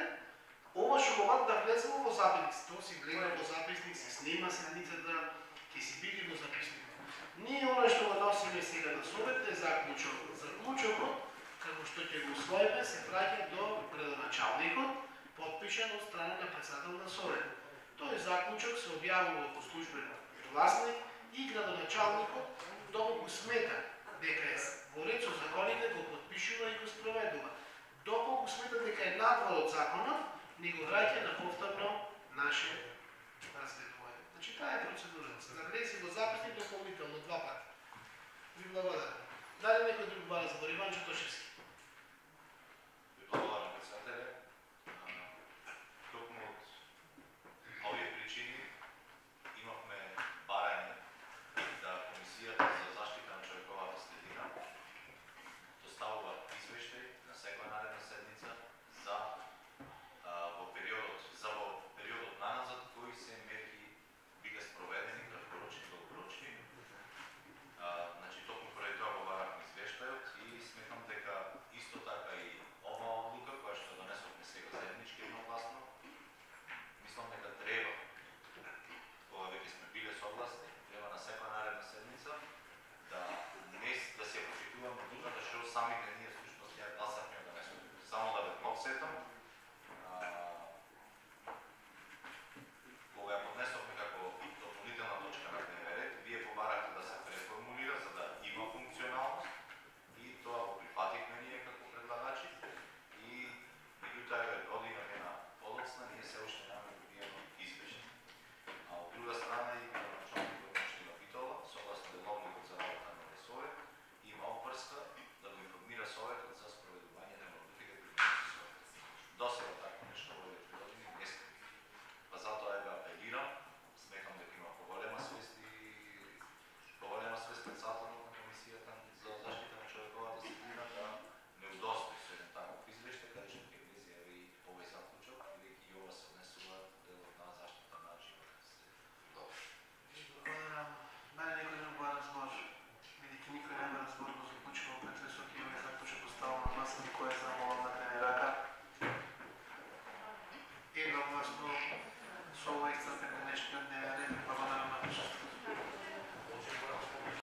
ова што го да влезе во записник. Тоа си влезе во записник, се снима седмицата, ќе си биде во записник. Ние оно што го носиме сега на совет е заклучокот. Заклучокот, како што ќе го усвоиме, се праќа до градоначалникот, подпишан од страна на председател на совет. Тој заклучок се објавува во службен гласник и градоначалникот, доколку смета дека е во ред со законите, го подпишува и го спроведува. Доколку смета дека е надвор од законот, ни го враќа на повторно наше разгледување. Значи, таа е процедурата. За да влезе во записник дополнително два пати. Ви благодарам. Дали некој друг бара збор? Иван Чотошевски. Ви благодарам, председателе. Токму од овие причини имавме барање да Комисијата за заштита на човековата средина доставува извештај на секоја наредна седница за во периодот наназад кои се мерки биле спроведени, краткорочни и долгорочни. Значи, токму поради тоа го баравме извештајот и сметам дека исто така и ова одлука која што донесовме сега заеднички едногласно, мислам дека треба, кога веќе сме биле согласни, треба на секоја наредна седница да се прочитуваме одлуката што самите ние всушност ја гласавме да донесовме. Само да ве подсетам, кога ја поднесовме како дополнителна точка на дневен ред, вие побарахте да се преформулира за да има функционалност и тоа го прифативме ние како предлагачи и меѓутоа година дена подоцна ние се уште немаме добиено извештај. А од друга страна и градоначалникот на општина Битола, согласно деловникот за работа на совет, има обврска да го информира советот за спроведување на модификите при совет. Досега така нешто во овие 3 години не сме. Па затоа ја апелирам, сметам дека има поголема свест председателот на Комисијата за заштита на човековата средина да не удостои со еден таков извештај, каде што ќе влезе и овој заклучок, бидејќи и ова се однесува делот на заштита на животната средина. Благодарам. Мене некој друг бара збор. Бидејќи никој не бара збор, го заклучувам претресот и овој заклучок оставам на масата, кој е замолам на ден рака. Едногласно со ова исцрпен денешниот дневен ред. Благодарам на